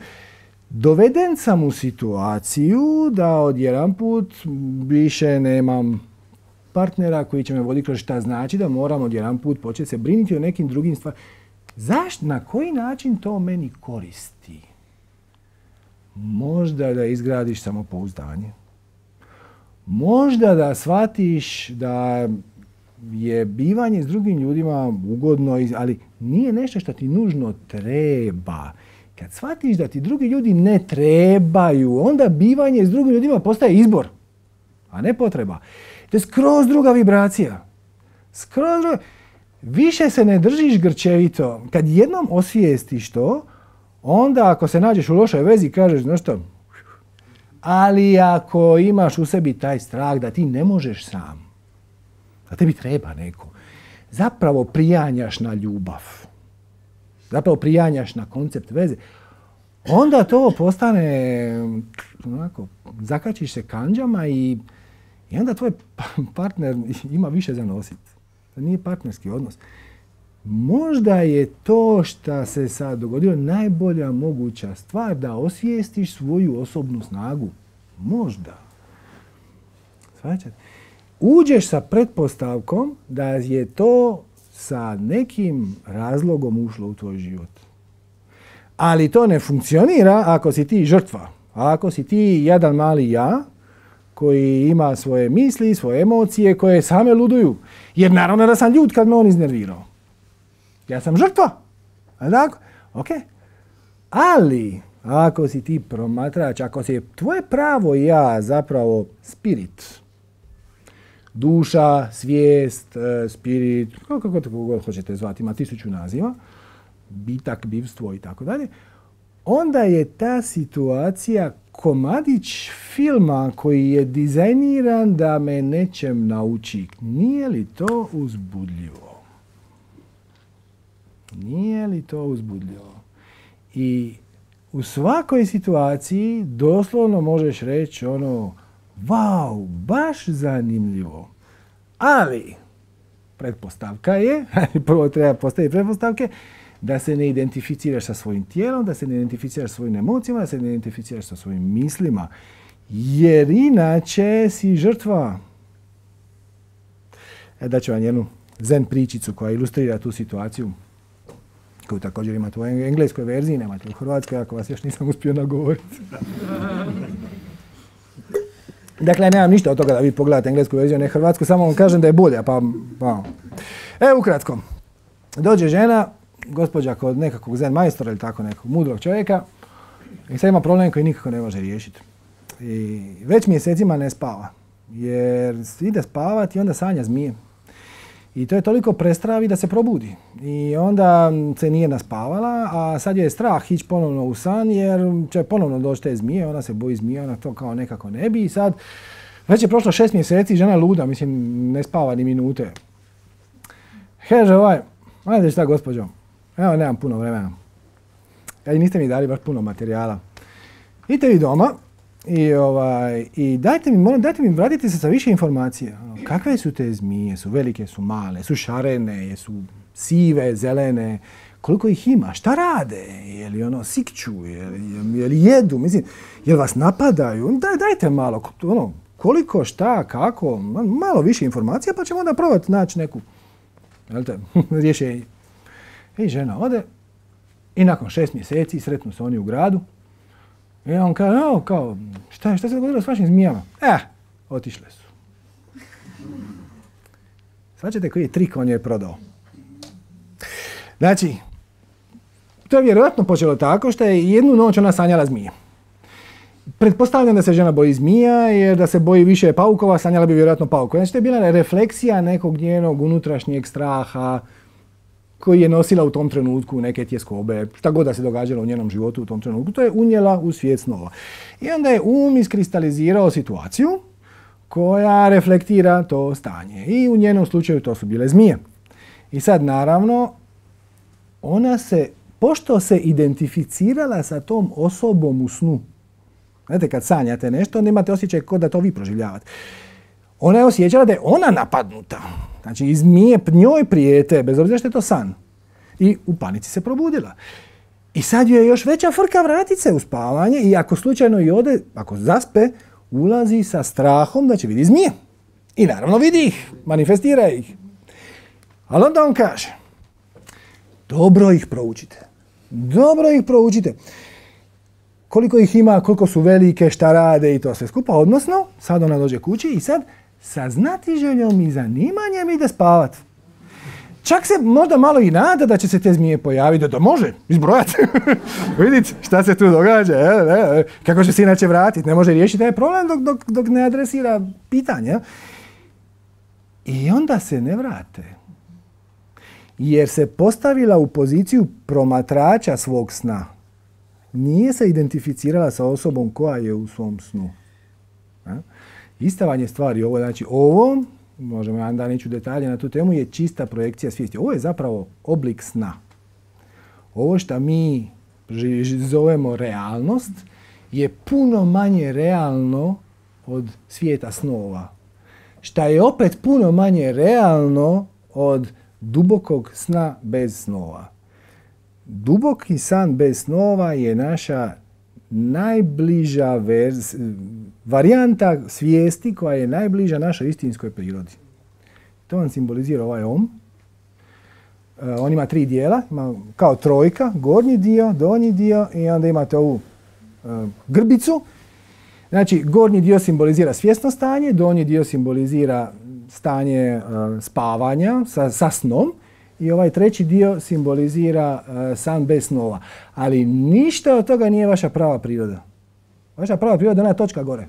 Doveden sam u situaciju da odjedanput više nemam partnera koji će me voditi kroz šta znači da moram odjedanput početi se brinuti o nekim drugim stvarima. Zašto? Na koji način to meni koristi? Možda da izgradiš samopouzdanje. Možda da shvatiš da je bivanje s drugim ljudima ugodno, ali nije nešto što ti nužno treba. Kad shvatiš da ti drugi ljudi ne trebaju, onda bivanje s drugim ljudima postaje izbor, a ne potreba. To je skroz druga vibracija. Skroz druga. Više se ne držiš grčevito. Kad jednom osvijestiš to, onda ako se nađeš u lošoj vezi, kažeš, znaš što, ali ako imaš u sebi taj strah da ti ne možeš sam, da tebi treba neko, zapravo prijanjaš na ljubav. Zapravo prijanjaš na koncept veze. Onda to postane, onako, zakačiš se kandžama i, i onda tvoj partner ima više za nosit. To nije partnerski odnos. Možda je to što se sad dogodilo najbolja moguća stvar da osvijestiš svoju osobnu snagu. Možda. Svačate? Uđeš sa pretpostavkom da je to sa nekim razlogom ušlo u tvoj život. Ali to ne funkcionira ako si ti žrtva. A ako si ti jedan mali ja koji ima svoje misli, svoje emocije koje same luduju. Jer naravno da sam ljut kad me on iznervirao. Ja sam žrtva. A tako? Ok. Ali, ako si ti promatrač, ako si tvoje pravo ja zapravo spirit, duša, svijest, spirit, kako god hoćete zvati, ima tisuću naziva, bitak, bivstvo i tako dalje, onda je ta situacija komadić filma koji je dizajniran da me nečem nauči. Nije li to uzbudljivo? Nije li to uzbudljivo? I u svakoj situaciji doslovno možeš reći ono, wow, baš zanimljivo. Ali, pretpostavka je, prvo treba postaviti pretpostavke, da se ne identificiraš sa svojim tijelom, da se ne identificiraš sa svojim emocijama, da se ne identificiraš sa svojim mislima. Jer inače si žrtva. E, daću vam jednu zen pričicu koja ilustrira tu situaciju, koju također imate u engleskoj verziji, nemate u hrvatskoj, ako vas još nisam uspio nagovoriti. Dakle, nemam ništa od toga da vi pogledate englesku verziju, ne hrvatsku, samo vam kažem da je bolja, pa... pa. E, ukratko. Dođe žena, gospođa kod nekakvog zen majstora ili tako nekog mudrog čovjeka i sad ima problem koji nikako ne može riješiti. I već mjesecima ne spava, jer ide spavati i onda sanja zmije. I to je toliko prestravi da se probudi. I onda se nije naspavala, a sad je strah ići ponovno u san jer će ponovno doći te zmije, ona se boji zmije, ona to kao nekako ne bi. I sad već je prošlo šest mjeseci, žena je luda, mislim ne spava ni minute. Kaže ovaj, ajde šta gospođo, evo nemam puno vremena. I niste mi dali baš puno materijala. Idite vi doma i, ovaj, i dajte mi, molim, dajte mi, vratite se sa više informacija. Kakve su te zmije? Su velike, su male, su šarene, su sive, zelene? Koliko ih ima? Šta rade? Je li ono sikću? Je li, je li jedu? Mislim, je li vas napadaju? Daj, dajte malo, ono, koliko, šta, kako, malo više informacija pa ćemo onda probati naći neku rješenje. I žena ode i nakon šest mjeseci sretnu se oni u gradu. I on kaže, o, kao, šta, šta se dogodilo s vašim zmijama? Eh, otišle su. Svačate koji je trik on je prodao. Znači, to je vjerojatno počelo tako što je jednu noć ona sanjala zmije. Pretpostavljam da se žena boji zmija, jer da se boji više paukova, sanjala bi vjerojatno paukova. Znači, to je bila refleksija nekog njenog unutrašnjeg straha koji je nosila u tom trenutku neke tjeskobe, šta god da se događalo u njenom životu u tom trenutku, to je unijela u svijet snova. I onda je um iskristalizirao situaciju koja reflektira to stanje. I u njenom slučaju to su bile zmije. I sad naravno, ona se, pošto se identificirala sa tom osobom u snu, znate, kad sanjate nešto, onda imate osjećaj kao da to vi proživljavate. Ona je osjećala da je ona napadnuta. Znači, i zmije njoj prijete, bez obzira što je to san. I u panici se probudila. I sad joj je još veća frka vratit se u spavanje i ako slučajno i ode, ako zaspe, ulazi sa strahom da će vidi zmije. I naravno vidi ih, manifestira ih. Ali onda on kaže, dobro ih proučite. Dobro ih proučite. Koliko ih ima, koliko su velike, šta rade i to sve skupa. Odnosno, sad ona dođe kući i sad sa znatiželjom i zanimanjem ide spavat. Čak se možda malo i nada da će se te zmije pojaviti, da to može izbrojati. Vidite šta se tu događa, e, e, kako će se inače vratiti, ne može riješiti taj problem dok, dok, dok ne adresira pitanje. I onda se ne vrate. Jer se postavila u poziciju promatrača svog sna. Nije se identificirala sa osobom koja je u svom snu. E? Ista vam je stvar i ovo, znači ovo, možemo jedan dan ići u detalje na tu temu, je čista projekcija svijesti. Ovo je zapravo oblik sna. Ovo što mi zovemo realnost je puno manje realno od svijeta snova. Šta je opet puno manje realno od dubokog sna bez snova. Duboki san bez snova je naša najbliža verz, varijanta svijesti koja je najbliža našoj istinskoj prirodi. To vam simbolizira ovaj om. E, on ima tri dijela, ima kao trojka, gornji dio, donji dio i onda imate ovu e, grbicu. Znači, gornji dio simbolizira svjesno stanje, donji dio simbolizira stanje e, spavanja sa, sa snom i ovaj treći dio simbolizira uh, san bez snova. Ali ništa od toga nije vaša prava priroda. Vaša prava priroda je ona točka gore,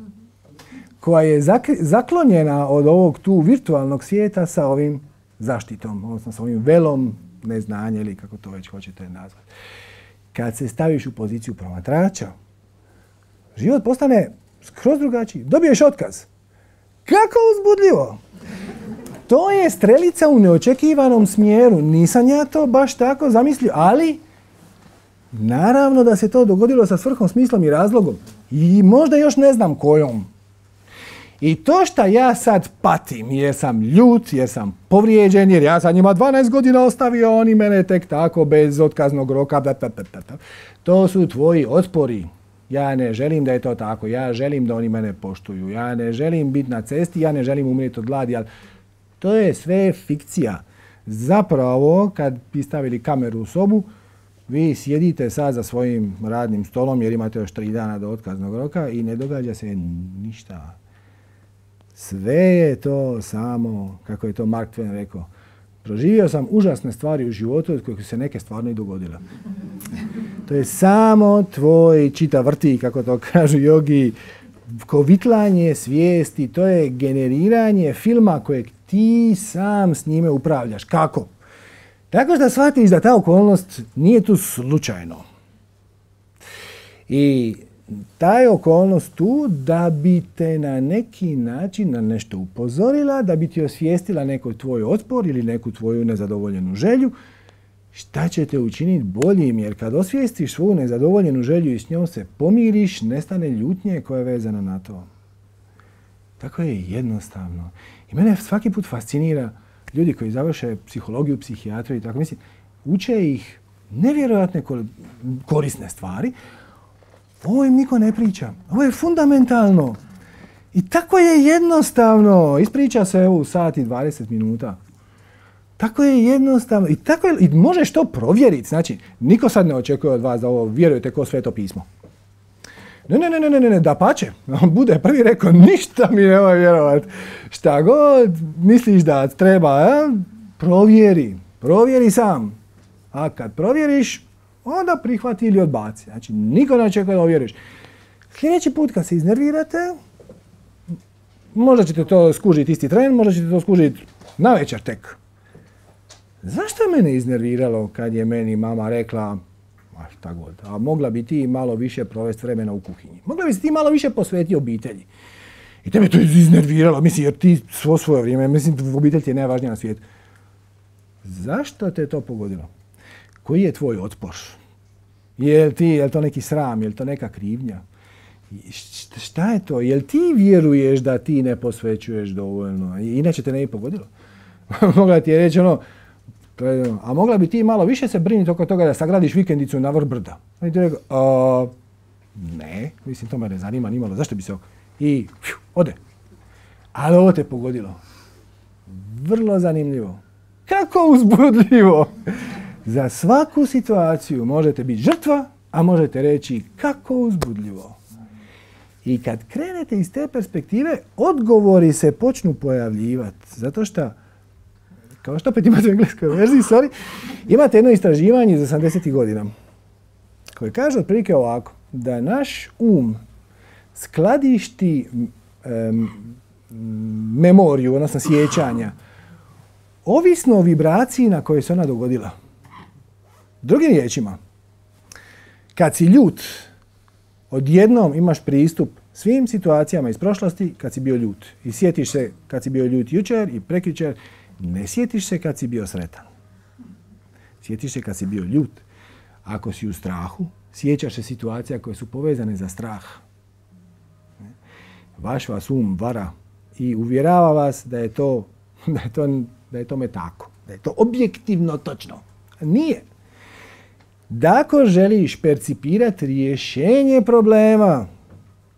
koja je zak- zaklonjena od ovog tu virtualnog svijeta sa ovim zaštitom, odnosno sa ovim velom neznanja ili kako to već hoćete nazvati. Kad se staviš u poziciju promatrača, život postane skroz drugačiji. Dobiješ otkaz. Kako uzbudljivo! To je strelica u neočekivanom smjeru. Nisam ja to baš tako zamislio, ali naravno da se to dogodilo sa svrhom, smislom i razlogom. I možda još ne znam kojom. I to što ja sad patim, jer sam ljut, jer sam povrijeđen, jer ja sam njima dvanaest godina ostavio, oni mene tek tako bez otkaznog roka, da, da, da, da. To su tvoji otpori. Ja ne želim da je to tako, ja želim da oni mene poštuju, ja ne želim biti na cesti, ja ne želim umrijeti od gladi, ali to je sve fikcija. Zapravo, kad bi stavili kameru u sobu, vi sjedite sad za svojim radnim stolom jer imate još tri dana do otkaznog roka i ne događa se ništa. Sve je to samo, kako je to Mark Twain rekao, proživio sam užasne stvari u životu od kojih su se neke stvarno i dogodile. To je samo tvoj čita vrti, kako to kažu jogi, kovitlanje svijesti, to je generiranje filma kojeg ti sam s njime upravljaš. Kako? Tako što shvatiš da ta okolnost nije tu slučajno. I ta je okolnost tu da bi te na neki način na nešto upozorila, da bi ti osvijestila neko tvoj otpor ili neku tvoju nezadovoljenu želju. Šta će te učiniti boljim? Jer kad osvijestiš svoju nezadovoljenu želju i s njom se pomiriš, nestane ljutnje koja je vezana na to. Tako je jednostavno. I mene svaki put fascinira ljudi koji završe psihologiju, psihijatriju i tako, mislim, uče ih nevjerojatne korisne stvari. Ovo im niko ne priča. Ovo je fundamentalno. I tako je jednostavno. Ispriča se evo u sat i dvadeset minuta. Tako je jednostavno. I, tako je, i možeš to provjeriti. Znači, niko sad ne očekuje od vas da ovo vjerujete ko Sveto pismo. Ne, ne, ne, ne, ne, ne, dapače. On bude prvi rekao, ništa mi nemoj vjerovati. Šta god misliš da treba, a? provjeri. Provjeri sam. A kad provjeriš, onda prihvati ili odbaci. Znači, niko ne očekuje da ovjeriš. Sljedeći put kad se iznervirate, možda ćete to skužiti isti tren, možda ćete to skužiti na večer tek. Zašto je mene iznerviralo kad je meni mama rekla, a šta god, a mogla bi ti malo više provesti vremena u kuhinji. Mogla bi se ti malo više posvetiti obitelji. I tebe to iznerviralo, mislim, jer ti svo svoje vrijeme, mislim, obitelj ti je najvažnija na svijetu. Zašto te to pogodilo? Koji je tvoj otpor? Je li ti, je li to neki sram, je li to neka krivnja? Šta je to? Je li ti vjeruješ da ti ne posvećuješ dovoljno? Inače te ne bi pogodilo. Mogla ti je reći ono, a mogla bi ti malo više se brinuti oko toga da sagradiš vikendicu na vrh brda. I ti rekao, a, ne, mislim, to me ne zanima nimalo, zašto bi se oko... I fju, ode. Ali ovo te pogodilo. Vrlo zanimljivo. Kako uzbudljivo! Za svaku situaciju možete biti žrtva, a možete reći kako uzbudljivo. I kad krenete iz te perspektive, odgovori se počnu pojavljivati. Zato što, kao što opet imate u engleskoj verziji, sorry, imate jedno istraživanje iz osamdesetih godina koje kaže otprilike ovako, da naš um skladišti um, memoriju, odnosno sjećanja, ovisno o vibraciji na kojoj se ona dogodila. Drugim riječima, kad si ljut, odjednom imaš pristup svim situacijama iz prošlosti kad si bio ljut. I sjetiš se kad si bio ljut jučer i prekjučer, ne sjetiš se kad si bio sretan. Sjetiš se kad si bio ljut. Ako si u strahu, sjećaš se situacija koje su povezane za strah. Vaš vas um vara i uvjerava vas da je to, da je to, da je tome tako. Da je to objektivno točno. Nije. Da ako želiš percipirati rješenje problema,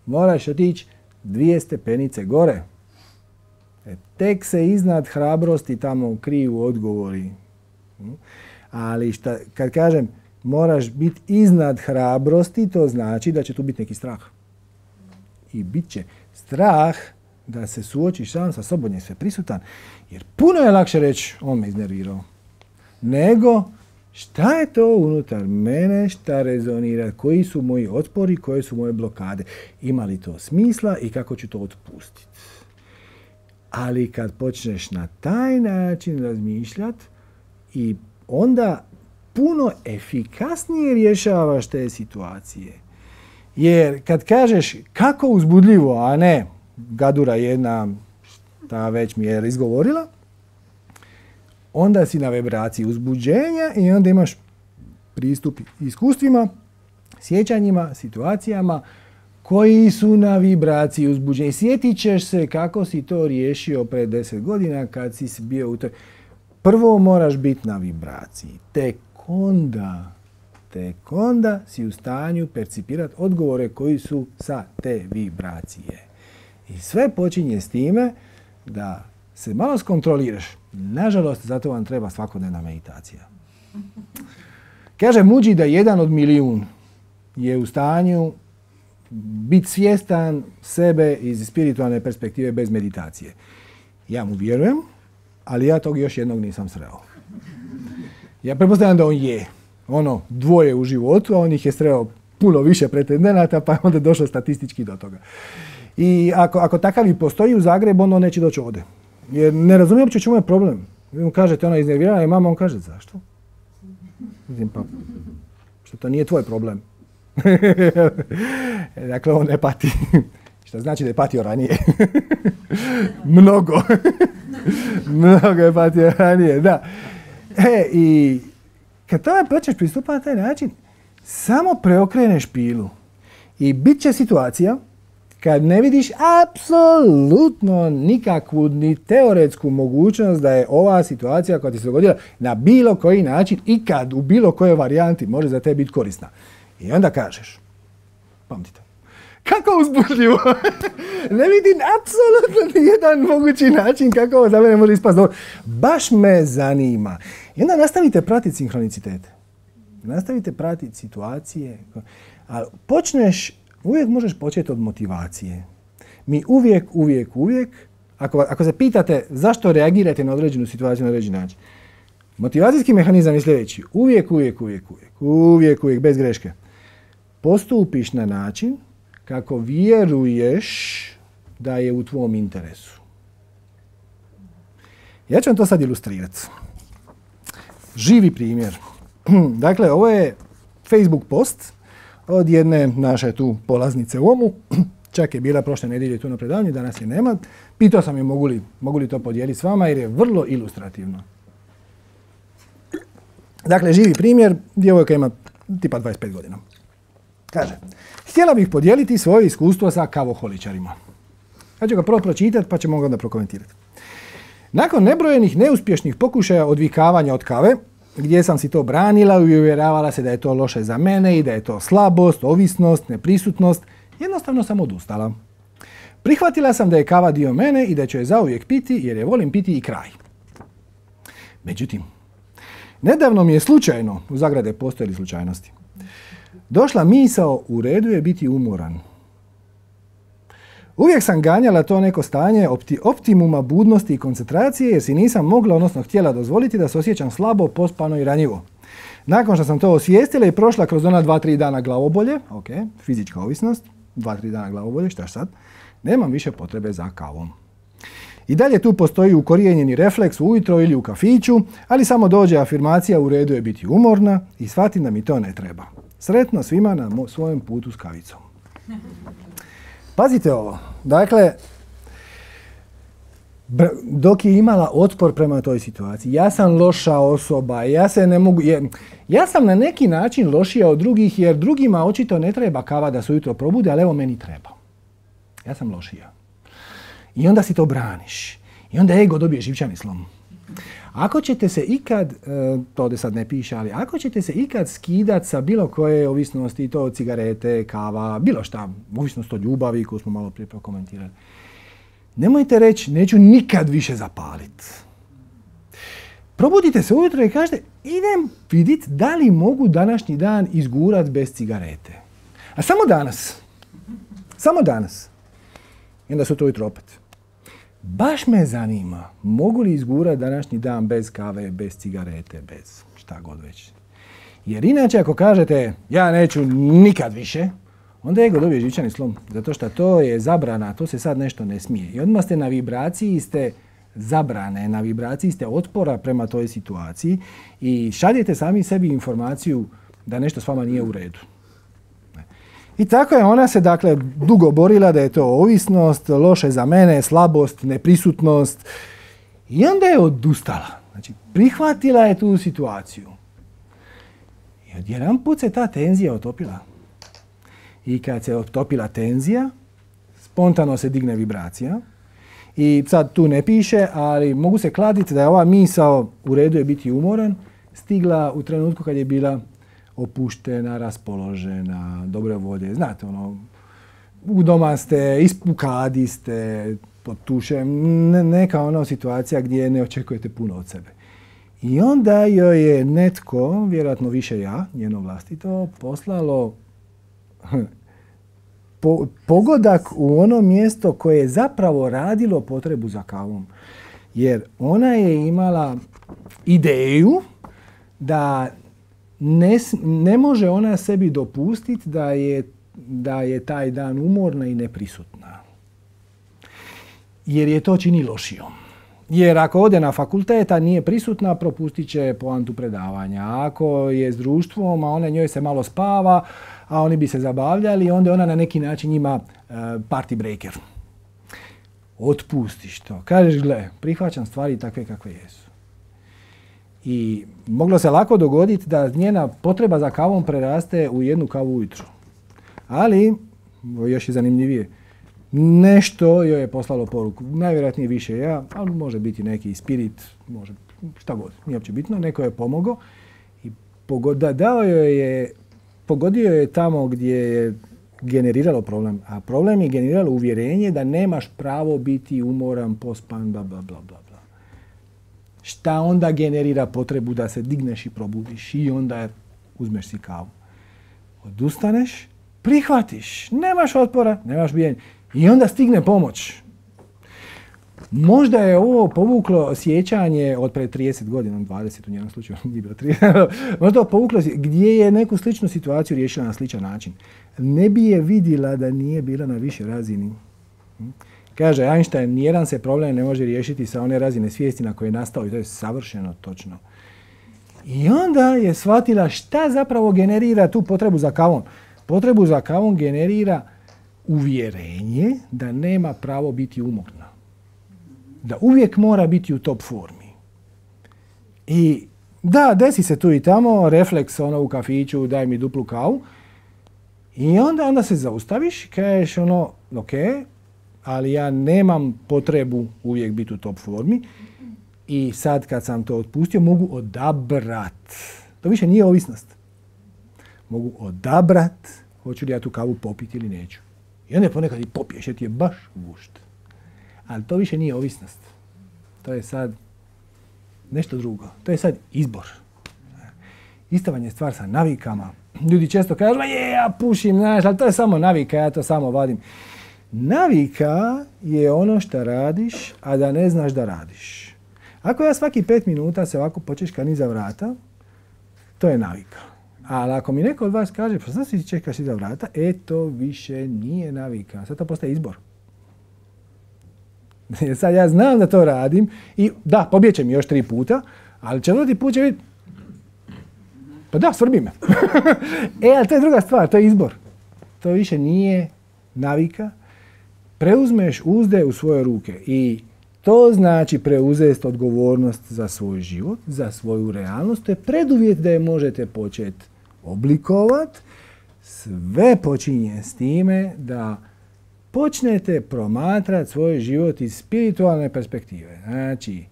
moraš otići dvije stepenice gore. E, tek se iznad hrabrosti tamo kriju odgovori. Ali šta, kad kažem moraš biti iznad hrabrosti, to znači da će tu biti neki strah. I bit će strah da se suočiš sam sa sobom, je sve prisutan. Jer puno je lakše reći, on me iznervirao. nego šta je to unutar mene, šta rezonira, koji su moji otpori, koje su moje blokade. Ima li to smisla i kako ću to otpustiti. Ali kad počneš na taj način razmišljati i onda puno efikasnije rješavaš te situacije. Jer kad kažeš kako uzbudljivo, a ne gadura jedna, ta već mi je izgovorila, onda si na vibraciji uzbuđenja i onda imaš pristup iskustvima, sjećanjima, situacijama koji su na vibraciji uzbuđenja. I sjetit ćeš se kako si to riješio pred deset godina kad si bio u toj... Prvo moraš biti na vibraciji, tek onda, tek onda si u stanju percipirati odgovore koji su sa te vibracije. I sve počinje s time da se malo skontroliraš. Nažalost, zato vam treba svakodnevna meditacija. Kaže Muđi da jedan od milijun je u stanju biti svjestan sebe iz spiritualne perspektive bez meditacije. Ja mu vjerujem, ali ja tog još jednog nisam sreo. Ja pretpostavljam da on je. Ono, dvoje u životu, a on ih je sreo puno više pretendenata, pa je onda došlo statistički do toga. I ako, ako takav i postoji u Zagrebu, on neće doći ovdje. Jer ne razumijem uopće čemu je problem. Vi mu kažete, ona je iznervirana i mama, on kaže, zašto? Mislim, pa, što to nije tvoj problem. Dakle, on ne pati. Što znači da je patio ranije. Mnogo. Mnogo je patio ranije, da. E, i kad tome počneš pristupati na taj način, samo preokreneš pilu. I bit će situacija kad ne vidiš apsolutno nikakvu ni teoretsku mogućnost da je ova situacija koja ti se dogodila na bilo koji način i kad u bilo kojoj varijanti može za te biti korisna. I onda kažeš, pamtite, kako uzbudljivo, ne vidim apsolutno nijedan mogući način kako ovo za mene može ispasti dobro. Baš me zanima. I onda nastavite pratiti sinhronicitete. Nastavite pratiti situacije. Ali počneš, uvijek možeš početi od motivacije. Mi uvijek, uvijek, uvijek, ako, ako se pitate zašto reagirate na određenu situaciju na određeni način, motivacijski mehanizam je sljedeći. Uvijek, uvijek, uvijek, uvijek, uvijek, uvijek, bez greške. Postupiš na način kako vjeruješ da je u tvom interesu. Ja ću vam to sad ilustrirati. Živi primjer. Dakle, ovo je Facebook post od jedne naše tu polaznice u Omu. Čak je bila prošle nedjelje tu na predavanju, danas je nema. Pitao sam je mogu li, mogu li to podijeliti s vama jer je vrlo ilustrativno. Dakle, živi primjer, djevojka ima tipa dvadeset pet godina. Kaže, htjela bih podijeliti svoje iskustvo sa kavoholičarima. Ja ću ga prvo pročitati pa ćemo ga onda prokomentirati. Nakon nebrojenih neuspješnih pokušaja odvikavanja od kave, gdje sam si to branila i uvjeravala se da je to loše za mene i da je to slabost, ovisnost, neprisutnost, jednostavno sam odustala. Prihvatila sam da je kava dio mene i da ću je zauvijek piti jer je volim piti i kraj. Međutim, nedavno mi je slučajno, u zagrade postoje li slučajnosti, došla misao u redu je biti umoran. Uvijek sam ganjala to neko stanje opti, optimuma budnosti i koncentracije jer si nisam mogla, odnosno htjela dozvoliti da se osjećam slabo, pospano i ranjivo. Nakon što sam to osvijestila i prošla kroz ona dva tri dana glavobolje, ok, fizička ovisnost, dva tri dana glavobolje, šta sad, nemam više potrebe za kavom. I dalje tu postoji ukorijenjeni refleks ujutro ili u kafiću, ali samo dođe afirmacija u redu je biti umorna i shvatim da mi to ne treba. Sretno svima na mo- svojem putu s kavicom. Pazite ovo. Dakle, dok je imala otpor prema toj situaciji, ja sam loša osoba, ja se ne mogu... Je, ja sam na neki način lošija od drugih jer drugima očito ne treba kava da se ujutro probude, ali evo meni treba. Ja sam lošija. I onda si to braniš. I onda ego dobije živčani slom. Ako ćete se ikad, to ovdje sad ne piše, ali ako ćete se ikad skidat sa bilo koje ovisnosti, to cigarete, kava, bilo šta, ovisnost od ljubavi koju smo malo prije prokomentirali, nemojte reći neću nikad više zapaliti. Probudite se ujutro i kažete idem vidjeti da li mogu današnji dan izgurat bez cigarete. A samo danas. Samo danas. I onda sutra ujutro opet. baš me zanima, mogu li izgurati današnji dan bez kave, bez cigarete, bez šta god već. Jer inače ako kažete ja neću nikad više, onda ego dobije živčani slom. Zato što to je zabrana, to se sad nešto ne smije. I odmah ste na vibraciji, ste zabrane, na vibraciji ste otpora prema toj situaciji i šaljete sami sebi informaciju da nešto s vama nije u redu. I tako je ona se dakle dugo borila da je to ovisnost, loše za mene, slabost, neprisutnost. I onda je odustala. Znači, prihvatila je tu situaciju. I odjedan put se ta tenzija otopila. I kad se otopila tenzija, spontano se digne vibracija. I sad tu ne piše, ali mogu se kladiti da je ova misao u redu je biti umoran stigla u trenutku kad je bila opuštena, raspoložena, dobre volje. Znate, ono, u doma ste, u kadi ste, pod tušem, ne, neka ona situacija gdje ne očekujete puno od sebe. I onda joj je netko, vjerojatno više ja, njeno vlastito, poslalo po, pogodak u ono mjesto koje je zapravo radilo potrebu za kavom. Jer ona je imala ideju da ne, ne može ona sebi dopustiti da je, da je taj dan umorna i neprisutna. Jer je to čini lošijom. Jer ako ode na fakultet, a nije prisutna, propustit će poantu predavanja. Ako je s društvom, a ona njoj se malo spava, a oni bi se zabavljali, onda ona na neki način ima uh, party breaker. Otpustiš to. Kažeš, gle, prihvaćam stvari takve kakve jesu. I moglo se lako dogoditi da njena potreba za kavom preraste u jednu kavu ujutro. Ali, još je zanimljivije, nešto joj je poslalo poruku. Najvjerojatnije više ja, ali može biti neki spirit, može šta god, nije uopće bitno. Neko je pomogao i pogoda, dao joj je, pogodio je tamo gdje je generiralo problem. A problem je generiralo uvjerenje da nemaš pravo biti umoran, pospan, bla, bla, bla, bla. Šta onda generira potrebu da se digneš i probudiš i onda uzmeš si kavu. Odustaneš, prihvatiš, nemaš otpora, nemaš bijenja. I onda stigne pomoć. Možda je ovo povuklo sjećanje od pred trideset godina, dvadeset u njenom slučaju, nije bilo trideset, možda je povuklo gdje je neku sličnu situaciju riješila na sličan način. Ne bi je vidjela da nije bila na višoj razini. Kaže Einstein, nijedan se problem ne može riješiti sa one razine svijesti na koje je nastao i to je savršeno točno. I onda je shvatila šta zapravo generira tu potrebu za kavom. Potrebu za kavom generira uvjerenje da nema pravo biti umorna. Da uvijek mora biti u top formi. I da, desi se tu i tamo, refleks ono u kafiću, daj mi duplu kavu. I onda, onda se zaustaviš, kažeš ono, ok, ali ja nemam potrebu uvijek biti u top formi i sad kad sam to otpustio mogu odabrat. To više nije ovisnost. Mogu odabrat hoću li ja tu kavu popiti ili neću. I onda ponekad i popiješ jer ti je baš gušt. Ali to više nije ovisnost. To je sad nešto drugo. To je sad izbor. Ista vam je stvar sa navikama. Ljudi često kažu, je, ja pušim, znaš, ali to je samo navika, ja to samo vadim. Navika je ono što radiš, a da ne znaš da radiš. Ako ja svaki pet minuta se ovako počeškam iza vrata, to je navika. Ali ako mi neko od vas kaže, pa sad si čekaš iza vrata, e to više nije navika. Sad to postaje izbor. Sad ja znam da to radim i da, pobjeće mi još tri puta, ali četvrti put će vidjeti, pa da, svrbi me. E, ali to je druga stvar, to je izbor. To više nije navika. Preuzmeš uzde u svoje ruke i to znači preuzeti odgovornost za svoj život, za svoju realnost. To je preduvjet da je možete početi oblikovati. Sve počinje s time da počnete promatrati svoj život iz spiritualne perspektive. Znači,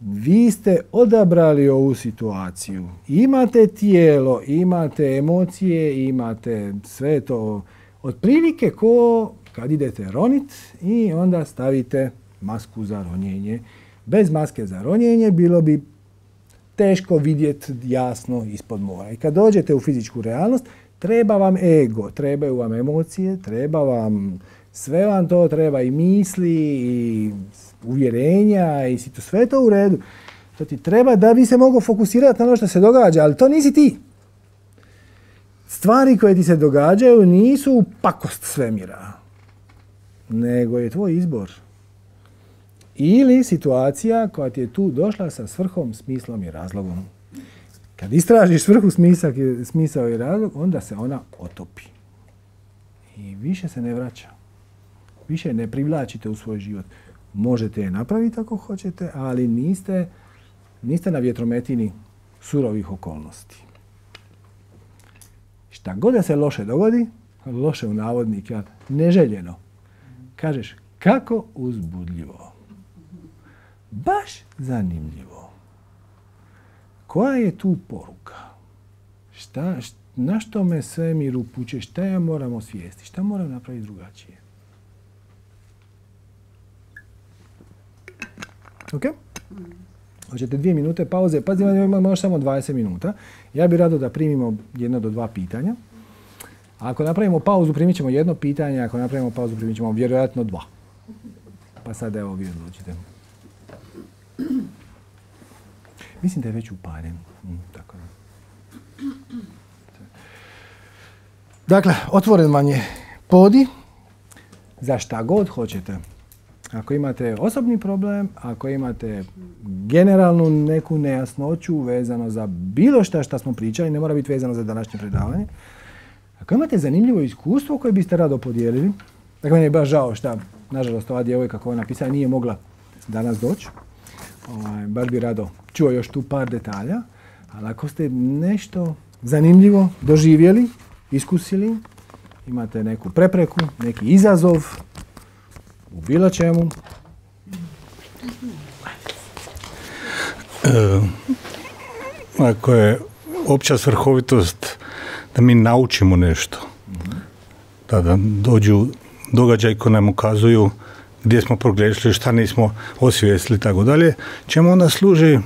vi ste odabrali ovu situaciju. Imate tijelo, imate emocije, imate sve to otprilike ko kad idete ronit i onda stavite masku za ronjenje. Bez maske za ronjenje bilo bi teško vidjeti jasno ispod mora. I kad dođete u fizičku realnost, treba vam ego, trebaju vam emocije, treba vam Sve vam to treba, i misli, i uvjerenja, i si to sve to u redu. To ti treba da bi se mogao fokusirati na ono što se događa, ali to nisi ti. Stvari koje ti se događaju nisu pakost svemira, nego je tvoj izbor. Ili situacija koja ti je tu došla sa svrhom, smislom i razlogom. Kad istražiš svrhu, smisak, smisao i razlog, onda se ona otopi. I više se ne vraća. Više ne privlačite u svoj život. Možete je napraviti ako hoćete, ali niste, niste na vjetrometini surovih okolnosti. Šta god da se loše dogodi, loše u navodnika, neželjeno, kažeš kako uzbudljivo. Baš zanimljivo. Koja je tu poruka? Šta, šta, na što me svemir upućuje? Šta ja moram osvijestiti? Šta moram napraviti drugačije? Ok? Hoćete dvije minute pauze. Pazite, imamo još samo dvadeset minuta. Ja bih rado da primimo jedno do dva pitanja. Ako napravimo pauzu, primit ćemo jedno pitanje. Ako napravimo pauzu, primit ćemo vjerojatno dva. Pa sad evo vi odlučite. Mislim da je već upaljen. Mm, tako da. Dakle, otvoren vam je podi za šta god hoćete. Ako imate osobni problem, ako imate generalnu neku nejasnoću vezano za bilo šta što smo pričali, ne mora biti vezano za današnje predavanje. Ako imate zanimljivo iskustvo koje biste rado podijelili, dakle, meni je baš žao šta, nažalost, ova djevojka koja je napisala nije mogla danas doći. Ovaj, bar bi rado čuo još tu par detalja, ali ako ste nešto zanimljivo doživjeli, iskusili, imate neku prepreku, neki izazov u bilo čemu. E, ako je opća svrhovitost da mi naučimo nešto, mm-hmm. da, da dođu događaji koji nam ukazuju gdje smo pogriješili, šta nismo osvijestili i tako dalje, čemu onda služi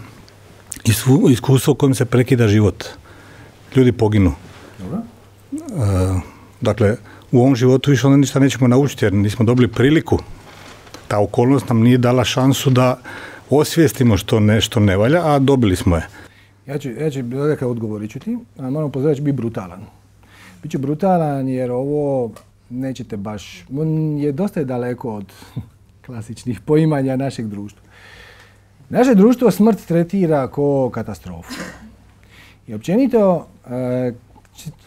iskustvo kojim se prekida život. Ljudi poginu. Dobro. E, dakle, u ovom životu više onda ništa nećemo naučiti jer nismo dobili priliku. Ta okolnost nam nije dala šansu da osvijestimo što nešto ne valja, a dobili smo je. Ja ću, ja ću dakle, odgovorit ću ti, a moram pozoriti da ću biti brutalan. Biću brutalan jer ovo nećete baš, on je dosta daleko od klasičnih poimanja našeg društva. Naše društvo smrt tretira kao katastrofu. I općenito,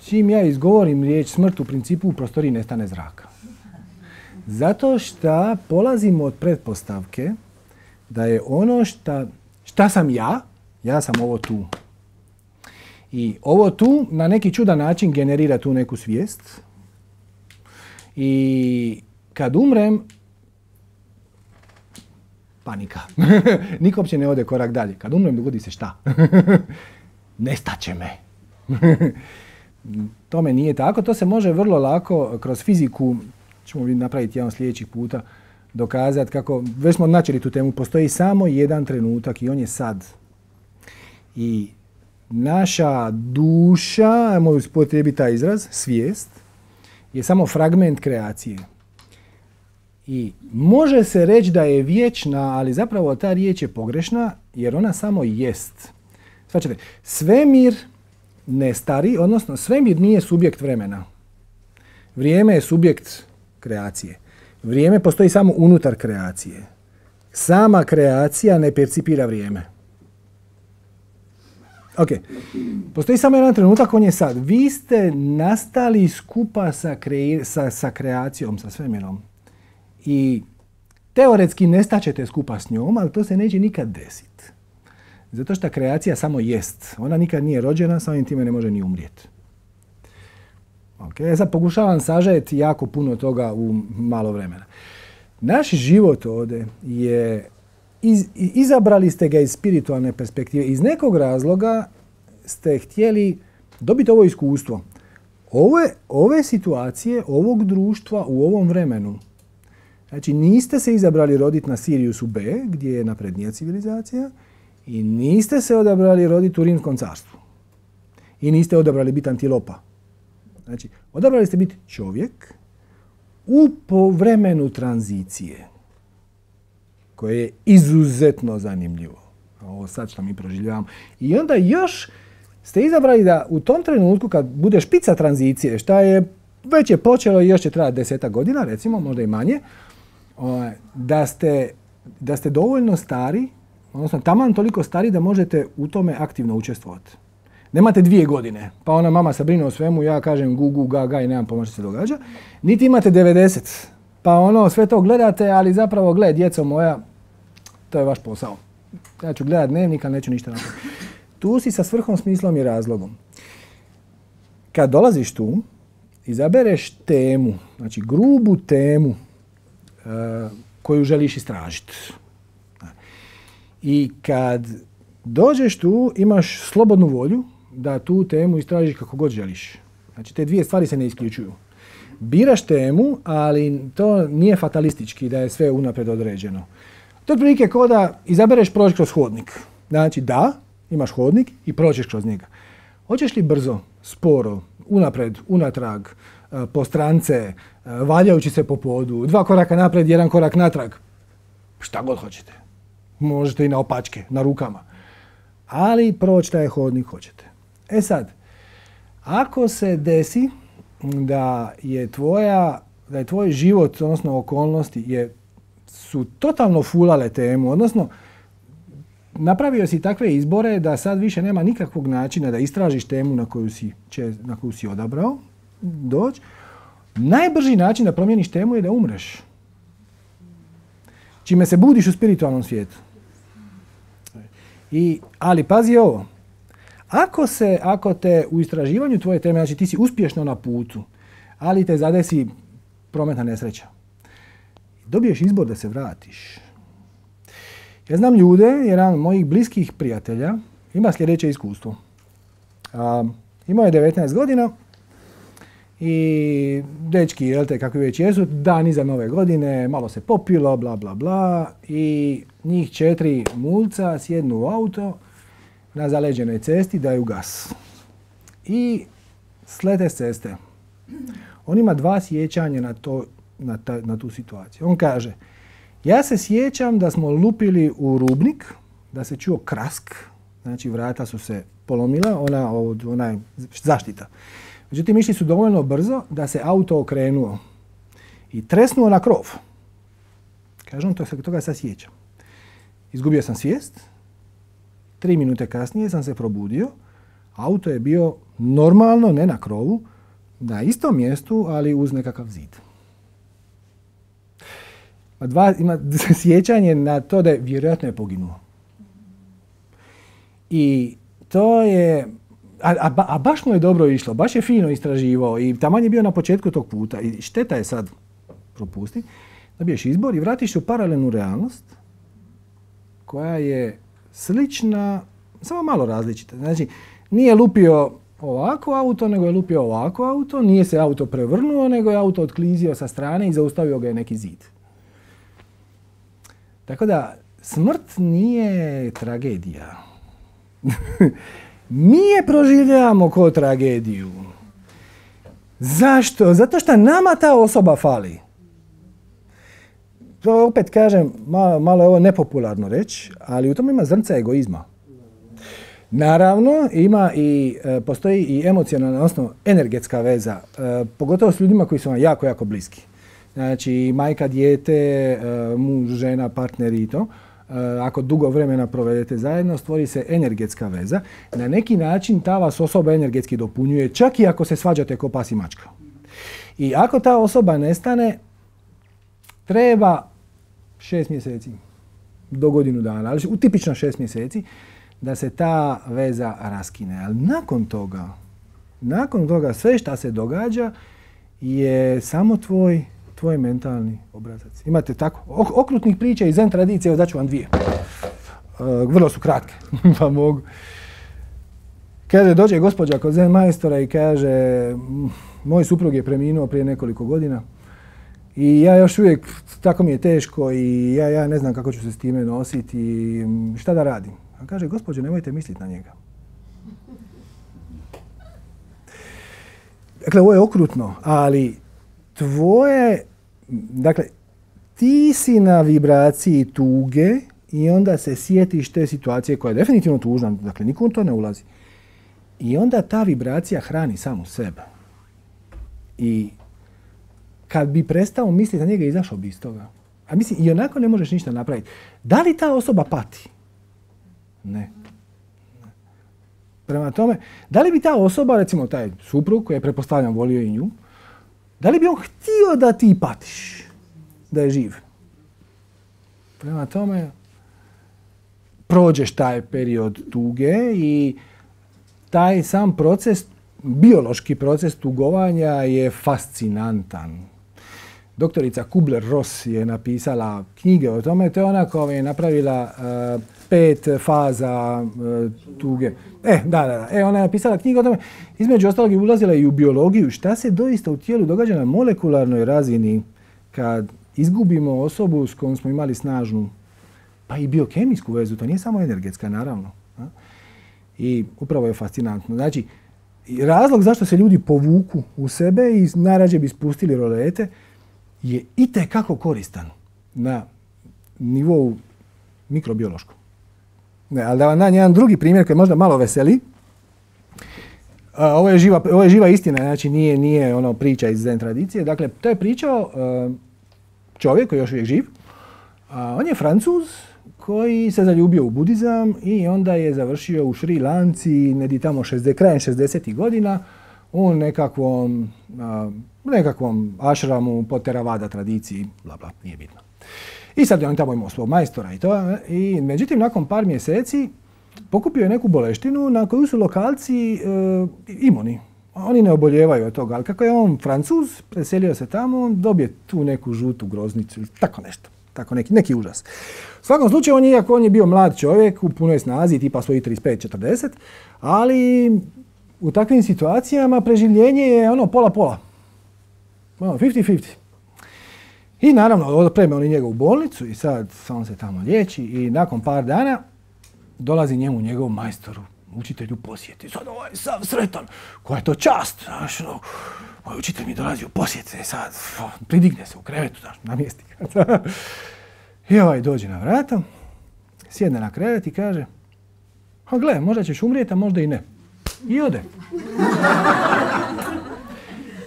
čim ja izgovorim riječ smrt, u principu u prostoriji nestane zraka. Zato što polazimo od pretpostavke da je ono šta, šta sam ja, ja sam ovo tu. I ovo tu na neki čudan način generira tu neku svijest. I kad umrem, panika. Niko uopće ne ode korak dalje. Kad umrem, dogodi se šta? Nestaće me. Tome nije tako. To se može vrlo lako kroz fiziku, ćemo napraviti jedan sljedećih puta, dokazati kako, već smo načeli tu temu, postoji samo jedan trenutak i on je sad. I naša duša, ajmo upotrijebiti taj izraz, svijest, je samo fragment kreacije. I može se reći da je vječna, ali zapravo ta riječ je pogrešna jer ona samo jest. Svačate, svemir ne stari, odnosno svemir nije subjekt vremena. Vrijeme je subjekt kreacije. Vrijeme postoji samo unutar kreacije. Sama kreacija ne percipira vrijeme. Ok, postoji samo jedan trenutak, on je sad. Vi ste nastali skupa sa, kre... sa, sa kreacijom, sa svemirom. I teoretski nestaćete skupa s njom, ali to se neće nikad desiti. Zato što kreacija samo jest. Ona nikad nije rođena, samim time ne može ni umrijeti. Okay. Ja sad pokušavam sažeti jako puno toga u malo vremena. Naš život ovdje je, iz, izabrali ste ga iz spiritualne perspektive. Iz nekog razloga ste htjeli dobiti ovo iskustvo. Ove, ove situacije, ovog društva u ovom vremenu. Znači niste se izabrali roditi na Siriusu B, gdje je naprednija civilizacija, i niste se odabrali roditi u Rimskom carstvu. I niste odabrali biti antilopa. Znači, odabrali ste biti čovjek u vremenu tranzicije, koje je izuzetno zanimljivo. Ovo sad što mi proživljavamo. I onda još ste izabrali da u tom trenutku kad bude špica tranzicije, šta je već je počelo i još će trajati desetak godina, recimo, možda i manje, da ste, da ste dovoljno stari, odnosno taman toliko stari da možete u tome aktivno učestvovati. Nemate dvije godine, pa ona mama se brine o svemu, ja kažem gu, gu, ga, ga i nemam pojma što se događa. Niti imate devedeset, pa ono sve to gledate, ali zapravo gled, djeco moja, to je vaš posao. Ja ću gledat dnevnik, ali neću ništa napraviti. Tu si sa svrhom, smislom i razlogom. Kad dolaziš tu, izabereš temu, znači grubu temu uh, koju želiš istražiti. I kad dođeš tu, imaš slobodnu volju da tu temu istražiš kako god želiš. Znači te dvije stvari se ne isključuju. Biraš temu, ali to nije fatalistički da je sve unaprijed određeno. To je otprilike kao da izabereš proći kroz hodnik. Znači da, imaš hodnik i prođeš kroz njega. Hoćeš li brzo, sporo, unaprijed, unatrag, po strance, valjajući se po podu, dva koraka naprijed, jedan korak natrag, šta god hoćete. Možete i na opačke, na rukama. Ali proći taj hodnik hoćete. E sad, ako se desi da je tvoja, da je tvoj život, odnosno okolnosti, je, su totalno fulale temu, odnosno napravio si takve izbore da sad više nema nikakvog načina da istražiš temu na koju si, na koju si odabrao doći, najbrži način da promijeniš temu je da umreš. Čime se budiš u spiritualnom svijetu. I, ali pazi ovo, ako, se, ako te u istraživanju tvoje teme, znači ti si uspješno na putu, ali te zadesi prometna nesreća, dobiješ izbor da se vratiš. Ja znam ljude, jedan od mojih bliskih prijatelja ima sljedeće iskustvo. A, imao je devetnaest godina i dečki, jel te, kakvi već jesu, dan iza nove godine, malo se popilo, bla, bla, bla, i njih četiri mulca sjednu u auto na zaleđenoj cesti, daju gas. I slete s ceste. On ima dva sjećanja na, to, na, ta, na tu situaciju. On kaže, ja se sjećam da smo lupili u rubnik, da se čuo krask, znači vrata su se polomila, ona, ona zaštita. Međutim, išli su dovoljno brzo da se auto okrenuo i tresnuo na krov. Kažem, to se toga sad sjećam. Izgubio sam svijest, tri minute kasnije sam se probudio, auto je bio normalno, ne na krovu, na istom mjestu, ali uz nekakav zid. Dva, ima sjećanje na to da je vjerojatno je poginuo. I to je, a, a, a baš mu je dobro išlo, baš je fino istraživao i taman je bio na početku tog puta. I šteta je sad propusti, dobiješ izbor i vratiš se u paralelnu realnost koja je slična, samo malo različita. Znači, nije lupio ovako auto, nego je lupio ovako auto, nije se auto prevrnuo, nego je auto otklizio sa strane i zaustavio ga je neki zid. Tako da, smrt nije tragedija. Mi je proživljavamo kao tragediju. Zašto? Zato što nama ta osoba fali. To opet kažem, malo, malo je ovo nepopularno reći, ali u tom ima zrnca egoizma. Naravno, ima i, e, postoji i emocionalna, odnosno energetska veza, e, pogotovo s ljudima koji su vam jako, jako bliski. Znači, majka, dijete, e, muž, žena, partneri i to. E, ako dugo vremena provedete zajedno, stvori se energetska veza. Na neki način ta vas osoba energetski dopunjuje, čak i ako se svađate ko pas i mačka. I ako ta osoba nestane, treba šest mjeseci do godinu dana, ali u tipično šest mjeseci, da se ta veza raskine. Ali nakon toga, nakon toga sve što se događa je samo tvoj, tvoj mentalni obrazac. Imate tako okrutnih priča iz zen tradicije, evo daću vam dvije. Uh, vrlo su kratke, pa mogu. Kaže, dođe gospođa kod zen majstora i kaže, moj suprug je preminuo prije nekoliko godina i ja još uvijek, tako mi je teško i ja, ja ne znam kako ću se s time nositi i šta da radim. A kaže, gospođo, nemojte misliti na njega. Dakle, ovo je okrutno, ali tvoje dakle, ti si na vibraciji tuge i onda se sjetiš te situacije koja je definitivno tužna, dakle nikom to ne ulazi. I onda ta vibracija hrani samu sebe. I kad bi prestao misliti na njega, izašao bi iz toga. A mislim, i onako ne možeš ništa napraviti. Da li ta osoba pati? Ne. Prema tome, da li bi ta osoba, recimo taj suprug koji je pretpostavljam volio i nju, da li bi on htio da ti patiš? Da je živ? Prema tome, prođeš taj period tuge i taj sam proces, biološki proces tugovanja je fascinantan. Doktorica Kubler-Ross je napisala knjige o tome, to je ona koja je napravila uh, pet faza uh, tuge. E, da, da, da. E, ona je napisala knjigu o tome, između ostalog je ulazila i u biologiju, šta se doista u tijelu događa na molekularnoj razini kad izgubimo osobu s kojom smo imali snažnu, pa i biokemijsku vezu, to nije samo energetska, naravno. A? I upravo je fascinantno. Znači, razlog zašto se ljudi povuku u sebe i najrađe bi spustili rolete je itekako koristan na nivou mikrobiološkom. Ne, ali da vam dam jedan drugi primjer koji možda malo veseli. A, ovo, je živa, ovo je živa istina, znači nije, nije ono priča iz zen tradicije. Dakle, to je pričao uh, čovjek koji je još uvijek živ. A, on je Francuz koji se zaljubio u budizam i onda je završio u Šri Lanci negdje tamo šezdeset, krajem šezdesetih godina u nekakvom, a, nekakvom ašramu po Theravada tradiciji, bla bla, nije bitno. I sad je on tamo imao svog majstora i to. I međutim, nakon par mjeseci pokupio je neku boleštinu na koju su lokalci e, imuni. Oni ne oboljevaju od toga, ali kako je on Francuz, preselio se tamo, on dobije tu neku žutu groznicu ili tako nešto. Tako neki, neki užas. U svakom slučaju, on je, iako on je bio mlad čovjek u punoj snazi, tipa svojih trideset pet četrdeset, ali u takvim situacijama preživljenje je ono pola-pola. Ono, fifty fifty. I naravno, odpreme oni njega u bolnicu i sad on se tamo liječi i nakon par dana dolazi njemu njegov majstoru, učitelju posjeti. Sad ovaj sav sretan, koja je to čast, znaš, no, moj učitelj mi dolazi u posjet, i sad o, pridigne se u krevetu, znaš, namjesti ga. I ovaj dođe na vrata, sjedne na krevet i kaže, a gle, možda ćeš umrijeti, a možda i ne. I ode.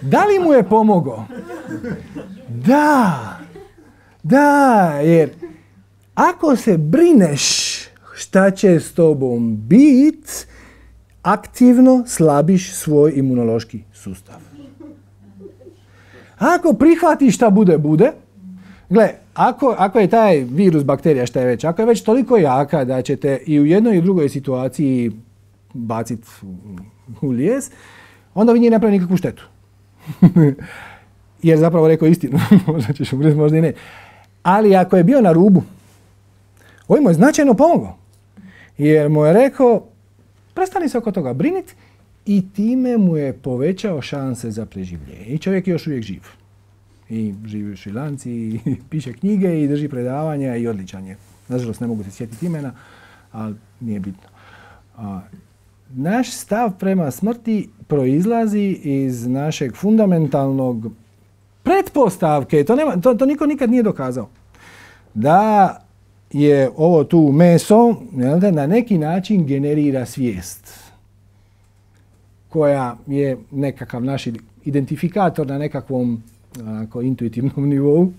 Da li mu je pomogao? Da, da, jer ako se brineš šta će s tobom bit, aktivno slabiš svoj imunološki sustav. Ako prihvatiš šta bude, bude. Gle, ako, ako je taj virus, bakterija, šta je već, ako je već toliko jaka da ćete i u jednoj i u drugoj situaciji baciti u lijes, onda vi nije napravili nikakvu štetu. Jer zapravo rekao istinu, možda ćeš umrijeti, možda i ne. Ali ako je bio na rubu, ovo mu je značajno pomogao. Jer mu je rekao, prestani se oko toga briniti i time mu je povećao šanse za preživljenje. I čovjek je još uvijek živ. I živi u Šri Lanci, i piše knjige, i drži predavanja, i odličan je. Nažalost, ne mogu se sjetiti imena, ali nije bitno. A, naš stav prema smrti proizlazi iz našeg fundamentalnog pretpostavke, to, nema, to, to niko nikad nije dokazao, da je ovo tu meso, na neki način generira svijest koja je nekakav naš identifikator na nekakvom onako, intuitivnom nivou.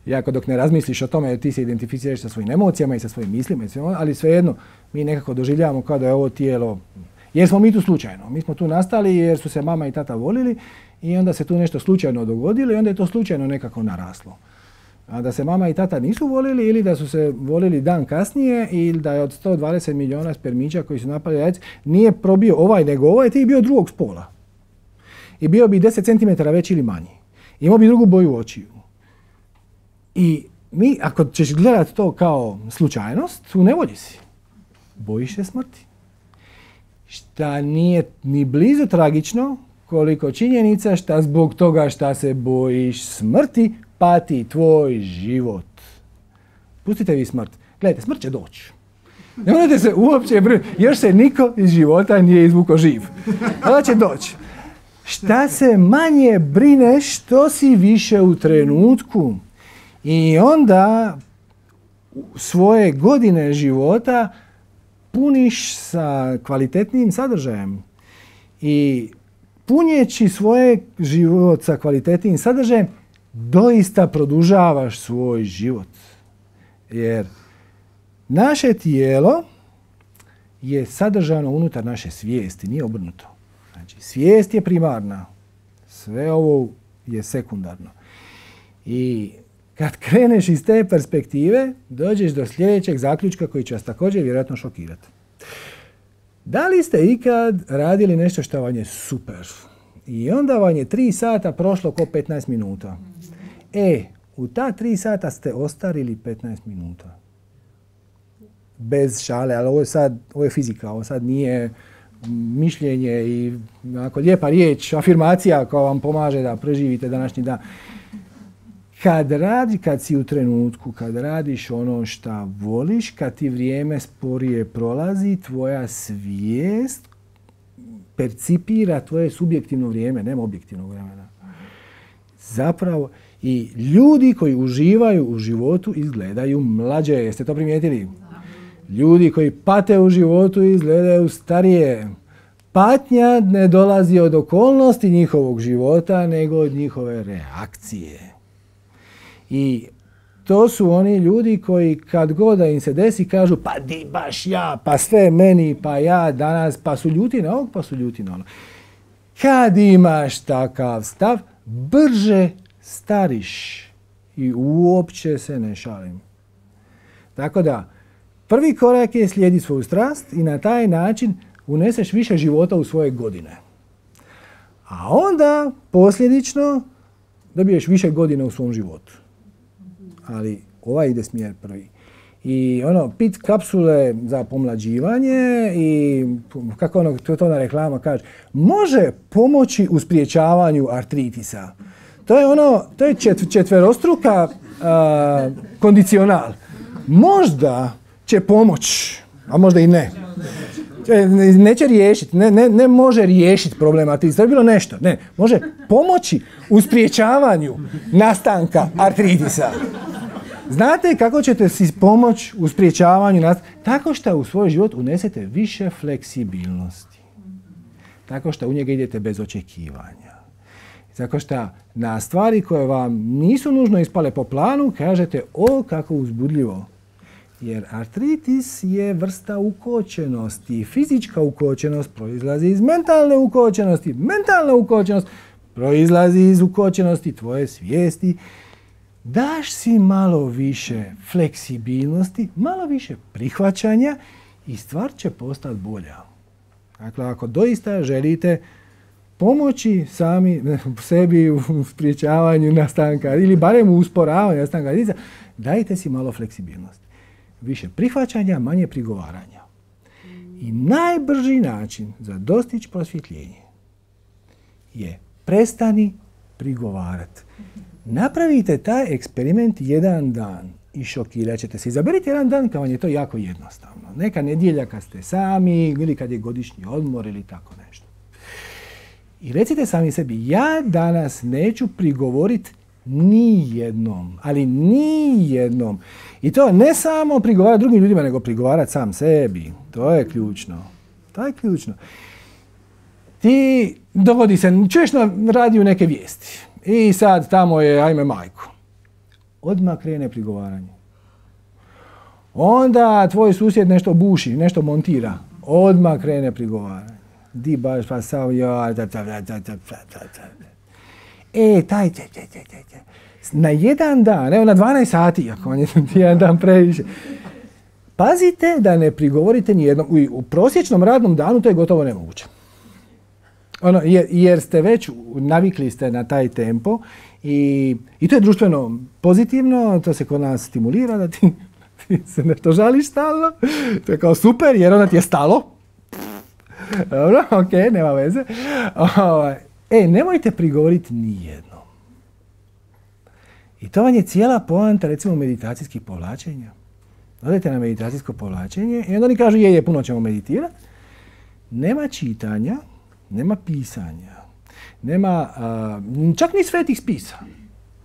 Jako dok ne razmisliš o tome, ti se identificiraš sa svojim emocijama i sa svojim mislima, ali svejedno mi nekako doživljavamo kao da je ovo tijelo, jer smo mi tu slučajno. Mi smo tu nastali jer su se mama i tata volili i onda se tu nešto slučajno dogodilo i onda je to slučajno nekako naraslo. A da se mama i tata nisu volili ili da su se volili dan kasnije ili da je od sto dvadeset milijuna spermića koji su napali jajce nije probio ovaj nego ovaj, ti bio drugog spola. I bio bi deset centimetara veći ili manji. Imao bi drugu boju očiju. I mi, ako ćeš gledati to kao slučajnost, u nevolji si. Bojiš se smrti. Šta nije ni blizu tragično, koliko činjenica šta zbog toga šta se bojiš smrti, pati tvoj život. Pustite vi smrt. Gledajte, smrt će doći. Ne morate se uopće brinuti. Još se niko iz života nije izvukao živ. Ona će doći. šta se manje brineš, što si više u trenutku. I onda svoje godine života puniš sa kvalitetnim sadržajem. I punjeći svoje život sa kvalitetnim sadržajem, doista produžavaš svoj život. Jer naše tijelo je sadržano unutar naše svijesti, nije obrnuto. Znači, svijest je primarna, sve ovo je sekundarno. I kad kreneš iz te perspektive, dođeš do sljedećeg zaključka koji će vas također vjerojatno šokirati. Da li ste ikad radili nešto što vam je super? I onda vam je tri sata prošlo ko petnaest minuta. E, u ta tri sata ste ostarili petnaest minuta. Bez šale, ali ovo je sad, ovo je fizika, ovo sad nije mišljenje i onako lijepa riječ, afirmacija koja vam pomaže da preživite današnji dan. Kad radi, kad si u trenutku, kad radiš ono što voliš, kad ti vrijeme sporije prolazi, tvoja svijest percipira tvoje subjektivno vrijeme, nema objektivnog vremena. Zapravo, i ljudi koji uživaju u životu izgledaju mlađe. Jeste to primijetili? Ljudi koji pate u životu izgledaju starije. Patnja ne dolazi od okolnosti njihovog života, nego od njihove reakcije. I to su oni ljudi koji kad god da im se desi kažu pa di baš ja, pa sve meni, pa ja danas, pa su ljuti na ovog, pa su ljuti na ono. Kad imaš takav stav, brže stariš. I uopće se ne šalim. Tako da, prvi korak je slijedi svoju strast i na taj način uneseš više života u svoje godine. A onda, posljedično, dobiješ više godina u svom životu. Ali ovaj ide smjer prvi. I ono, pit kapsule za pomlađivanje i kako ono, to, to na reklama kaže, može pomoći u spriječavanju artritisa. To je ono, to je čet, četverostruka uh, kondicional. Možda će pomoć, a možda i ne. Neće riješiti, ne, ne, ne može riješiti problem artritisa. To je bilo nešto. Ne, može pomoći u spriječavanju nastanka artritisa. Znate kako ćete si pomoći u spriječavanju nastanka? Tako što u svoj život unesete više fleksibilnosti. Tako što u njega idete bez očekivanja. Tako što na stvari koje vam nisu nužno ispale po planu, kažete o kako uzbudljivo. Jer artritis je vrsta ukočenosti. Fizička ukočenost proizlazi iz mentalne ukočenosti. Mentalna ukočenost proizlazi iz ukočenosti tvoje svijesti. Daš si malo više fleksibilnosti, malo više prihvaćanja i stvar će postati bolja. Dakle, ako doista želite pomoći sami sebi u spriječavanju nastanka ili barem u usporavanju nastanka artritisa, dajte si malo fleksibilnosti. Više prihvaćanja, manje prigovaranja. I najbrži način za dostići prosvjetljenje je prestani prigovarati. Napravite taj eksperiment jedan dan i šokirat ćete se. Izaberite jedan dan kad vam je to jako jednostavno. Neka nedjelja kad ste sami ili kad je godišnji odmor ili tako nešto. I recite sami sebi, ja danas neću prigovoriti ni jednom, ali ni jednom. I to ne samo prigovarati drugim ljudima, nego prigovarati sam sebi. To je ključno. To je ključno. Ti dogodi se, čuješ na radiju neke vijesti. I sad tamo je, ajme majko. Odmah krene prigovaranje. Onda tvoj susjed nešto buši, nešto montira. Odmah krene prigovaranje. Di baš pa sam ja. E, taj, taj, taj, taj, taj. Na jedan dan, evo na dvanaest sati, ako vam je jedan dan previše. Pazite da ne prigovorite nijednom. U, u prosječnom radnom danu to je gotovo nemoguće. Ono, jer, jer ste već navikli ste na taj tempo i, i to je društveno pozitivno, to se kod nas stimulira da ti, ti se nešto žališ stalno. To je kao super jer onda ti je stalo. Dobro, ok, nema veze. E, nemojte prigovoriti nijednom. I to vam je cijela poanta, recimo, meditacijskih povlačenja. Odete na meditacijsko povlačenje i onda oni kažu, je, je, puno ćemo meditirati. Nema čitanja, nema pisanja. Nema a, čak ni svetih spisa.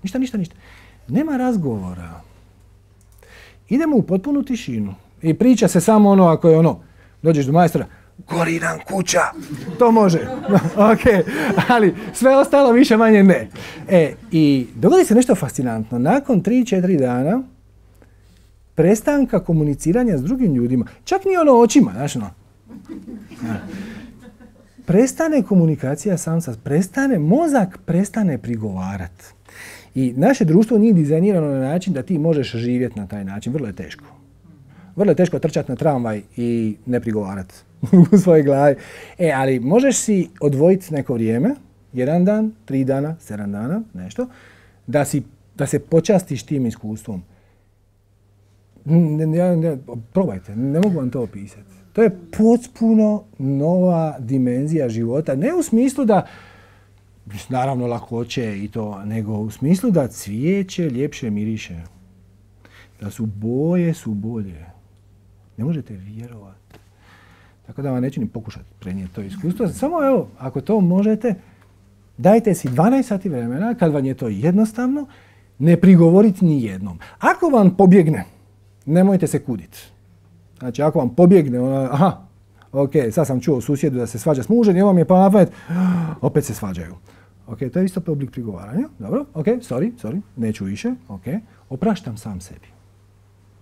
Ništa, ništa, ništa. Nema razgovora. Idemo u potpunu tišinu. I priča se samo ono ako je ono, dođeš do majstora, gori nam kuća. To može. Ok, ali sve ostalo više manje ne. E, i dogodi se nešto fascinantno. Nakon tri četiri dana prestanka komuniciranja s drugim ljudima, čak ni ono očima, znaš ono. Prestane komunikacija sam sa, prestane, mozak prestane prigovarati. I naše društvo nije dizajnirano na način da ti možeš živjeti na taj način. Vrlo je teško. Vrlo je teško trčati na tramvaj i ne prigovarati u svojoj glavi. E, ali možeš si odvojiti neko vrijeme, jedan dan, tri dana, sedam dana, nešto, da, si, da se počastiš tim iskustvom. Ne, ne, ne, probajte, ne mogu vam to opisati. To je potpuno nova dimenzija života. Ne u smislu da, naravno lakoće i to, nego u smislu da cvijeće ljepše miriše. Da su boje su bolje. Ne možete vjerovati. Tako da vam neću ni pokušati prenijeti to iskustvo. Samo evo, ako to možete, dajte si dvanaest sati vremena, kad vam je to jednostavno, ne prigovoriti ni jednom. Ako vam pobjegne, nemojte se kuditi. Znači, ako vam pobjegne, ona, aha, ok, sad sam čuo u susjedu da se svađa s mužem, i ovo mi je pa napamet, opet se svađaju. Ok, to je isto oblik prigovaranja. Dobro, ok, sorry, sorry, neću više, ok. Opraštam sam sebi.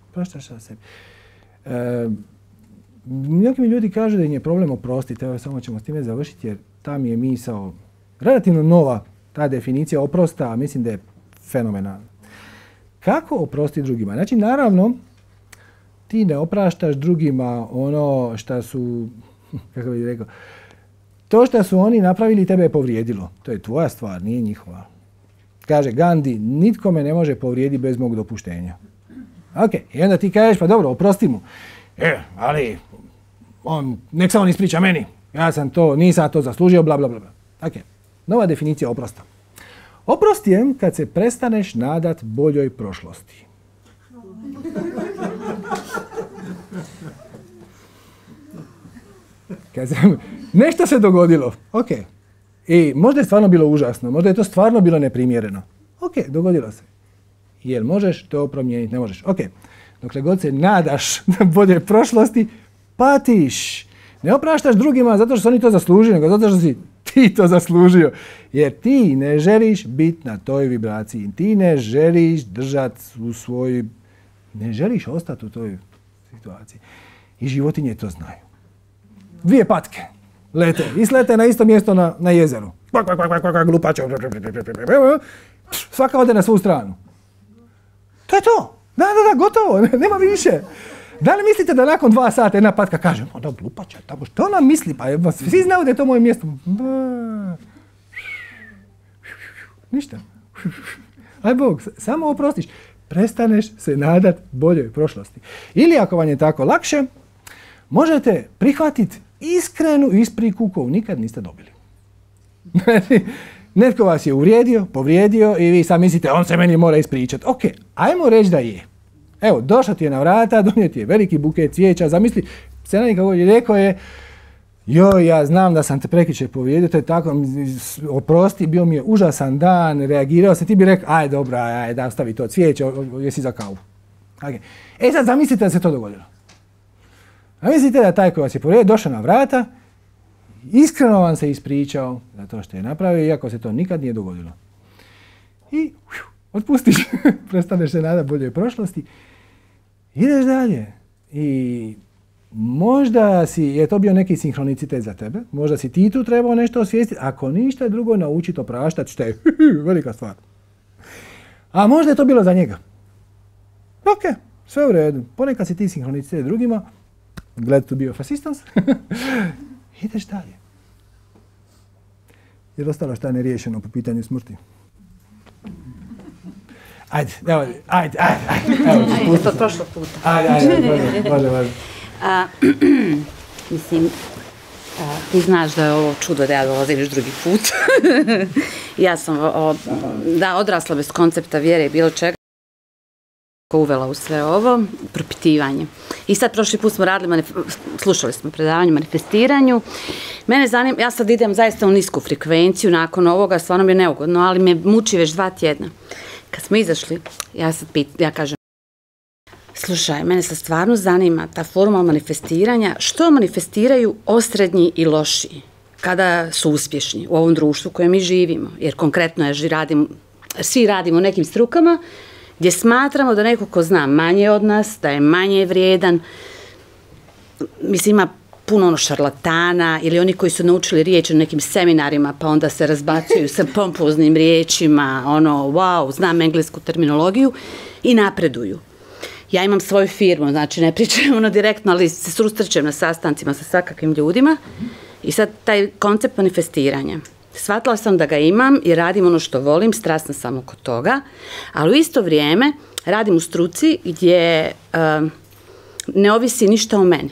Opraštaš sam sebi. E, neki mi ljudi kažu da im je problem oprostiti, evo samo ćemo s time završiti jer ta mi je misao relativno nova, ta definicija oprosta, mislim da je fenomenalna. Kako oprostiti drugima? Znači, naravno, ti ne opraštaš drugima ono što su, kako bih rekao, to što su oni napravili tebe je povrijedilo. To je tvoja stvar, nije njihova. Kaže Gandhi, nitko me ne može povrijediti bez mog dopuštenja. Ok, i onda ti kažeš, pa dobro, oprosti mu. E, ali, on, nek se on ispriča meni. Ja sam to, nisam to zaslužio, bla, bla, bla. Ok, nova definicija oprosta. Oprost je kad se prestaneš nadat boljoj prošlosti. Kad se, nešto se dogodilo, ok. I možda je stvarno bilo užasno, možda je to stvarno bilo neprimjereno. Ok, dogodilo se. Jel možeš to promijeniti? Ne možeš. Ok. Dokle god se nadaš da bolje prošlosti, patiš. Ne opraštaš drugima zato što su oni to zaslužili, nego zato što si ti to zaslužio. Jer ti ne želiš biti na toj vibraciji. Ti ne želiš držati u svoj... Ne želiš ostati u toj situaciji. I životinje to znaju. Dvije patke lete. I slete na isto mjesto na, na jezeru. Glupačo. Svaka ode na svu stranu. To je to. Da, da, da, gotovo. Nema više. Da li mislite da nakon dva sata jedna patka kaže, onda glupača, tamo što ona misli? Pa svi znaju da je to moje mjesto. Ništa. Aj Bog, samo oprostiš. Prestaneš se nadat boljoj prošlosti. Ili ako vam je tako lakše, možete prihvatiti iskrenu ispriku koju nikad niste dobili. Netko vas je uvrijedio, povrijedio i vi sad mislite on se meni mora ispričati. Ok, ajmo reći da je. Evo, došao ti je na vrata, donio ti je veliki buket cvijeća, zamisli, Senanik kako je rekao je, joj, ja znam da sam te prekjučer povrijedio, to je tako, oprosti, bio mi je užasan dan, reagirao sam, ti bi rekao, aj dobro, aj, da ostavi to cvijeće, jesi za kavu. Okay. E sad zamislite da se to dogodilo. Zamislite da taj koji vas je povrijedio došao na vrata, iskreno vam se ispričao za to što je napravio, iako se to nikad nije dogodilo. I uju, otpustiš, prestaneš se nadati boljoj prošlosti, ideš dalje. I možda si, je to bio neki sinhronicitet za tebe, možda si ti tu trebao nešto osvijestiti, ako ništa drugo naučiti opraštati, što je velika stvar. A možda je to bilo za njega. Ok, sve u redu. Ponekad si ti sinhronicitet drugima, glad to be of assistance, ideš dalje. Je li ostalo šta neriješeno po pitanju smrti? Ajde, evo, ajde, ajde, ajde. Evo, ajde, to prošlo puta. Ajde, ajde, može, može, može. A, mislim, a, ti znaš da je ovo čudo da ja dolazim još drugi put. Ja sam o, da, odrasla bez koncepta vjere i bilo čega. uvela u sve ovo, propitivanje. I sad prošli put smo radili, manif- slušali smo predavanje o manifestiranju. Mene zanima, ja sad idem zaista u nisku frekvenciju, nakon ovoga stvarno mi je neugodno, ali me muči već dva tjedna. Kad smo izašli, ja sad pit, ja kažem, slušaj, mene sad stvarno zanima ta forma manifestiranja, što manifestiraju osrednji i lošiji kada su uspješni u ovom društvu u kojem mi živimo. Jer konkretno ja radim, svi radimo u nekim strukama gdje smatramo da neko ko zna manje od nas, da je manje vrijedan, mislim ima puno ono šarlatana ili oni koji su naučili riječi na nekim seminarima pa onda se razbacuju sa pompoznim riječima, ono wow, znam englesku terminologiju i napreduju. Ja imam svoju firmu, znači ne pričam ono direktno, ali se susrećem na sastancima sa svakakvim ljudima i sad taj koncept manifestiranja. Shvatila sam da ga imam i radim ono što volim, strasna sam oko toga, ali u isto vrijeme radim u struci gdje uh, ne ovisi ništa o meni.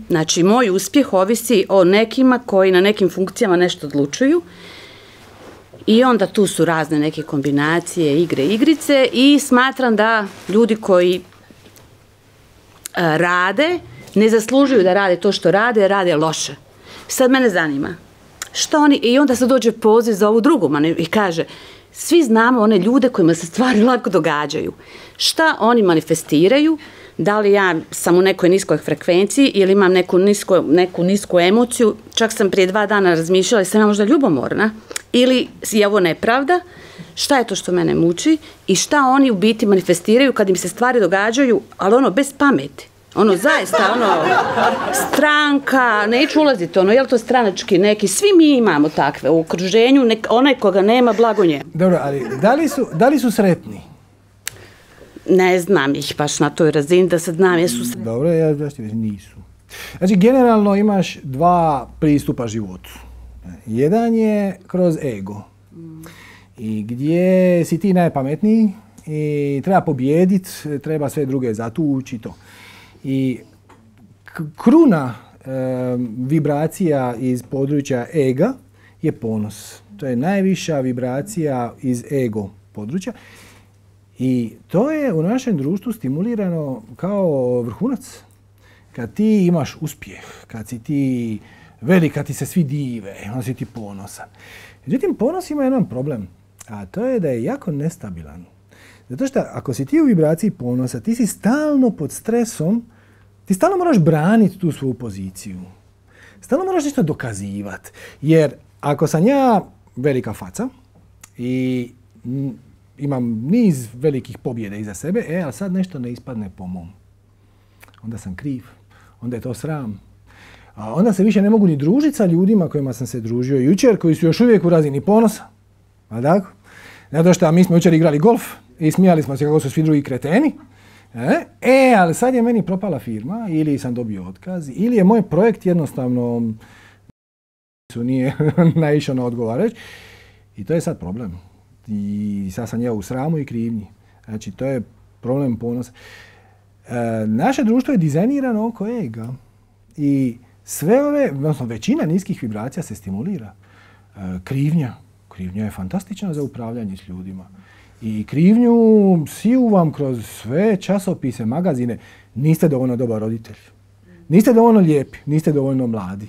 Znači, moj uspjeh ovisi o nekima koji na nekim funkcijama nešto odlučuju i onda tu su razne neke kombinacije, igre, igrice i smatram da ljudi koji uh, rade, ne zaslužuju da rade to što rade, rade loše. Sad mene zanima, što oni, i onda se dođe poziv za ovu drugu i kaže, svi znamo one ljude kojima se stvari lako događaju. Šta oni manifestiraju? Da li ja sam u nekoj niskoj frekvenciji ili imam neku, nisko, neku nisku emociju, čak sam prije dva dana razmišljala i sam ja možda ljubomorna, ili je ovo nepravda, šta je to što mene muči i šta oni u biti manifestiraju kad im se stvari događaju, ali ono bez pameti. Ono zaista, ono, stranka, neću ulaziti, ono, je li to stranački neki, svi mi imamo takve u okruženju, nek, onaj koga nema, blago njemu. Dobro, ali da li su, da li su sretni? Ne znam ih baš na toj razini da se znam jesu sretni. Dobro, ja da što nisu. Znači, generalno imaš dva pristupa životu. Jedan je kroz ego. I gdje si ti najpametniji i treba pobijediti, treba sve druge zatući i to. I kruna e, vibracija iz područja ega je ponos. To je najviša vibracija iz ego područja. I to je u našem društvu stimulirano kao vrhunac. Kad ti imaš uspjeh, kad si ti velik, kad ti se svi dive, onda si ti ponosan. Međutim, ponos ima jedan problem, a to je da je jako nestabilan. Zato što ako si ti u vibraciji ponosa, ti si stalno pod stresom, ti stalno moraš braniti tu svoju poziciju. Stalno moraš nešto dokazivati. Jer ako sam ja velika faca i imam niz velikih pobjeda iza sebe, e, a sad nešto ne ispadne po mom. Onda sam kriv, onda je to sram. A onda se više ne mogu ni družiti sa ljudima kojima sam se družio jučer, koji su još uvijek u razini ponosa. A tako? Zato što mi smo jučer igrali golf i smijali smo se kako su svi drugi kreteni. E, e, ali sad je meni propala firma, ili sam dobio otkaz, ili je moj projekt jednostavno nije naišao na odgovarajući. I to je sad problem. I sad sam ja u sramu i krivnji. Znači, to je problem ponosa. E, naše društvo je dizajnirano oko ega. I sve ove, odnosno većina niskih vibracija se stimulira. E, krivnja. Krivnja je fantastična za upravljanje s ljudima. I krivnju siju vam kroz sve časopise, magazine. Niste dovoljno dobar roditelj. Niste dovoljno lijepi, niste dovoljno mladi.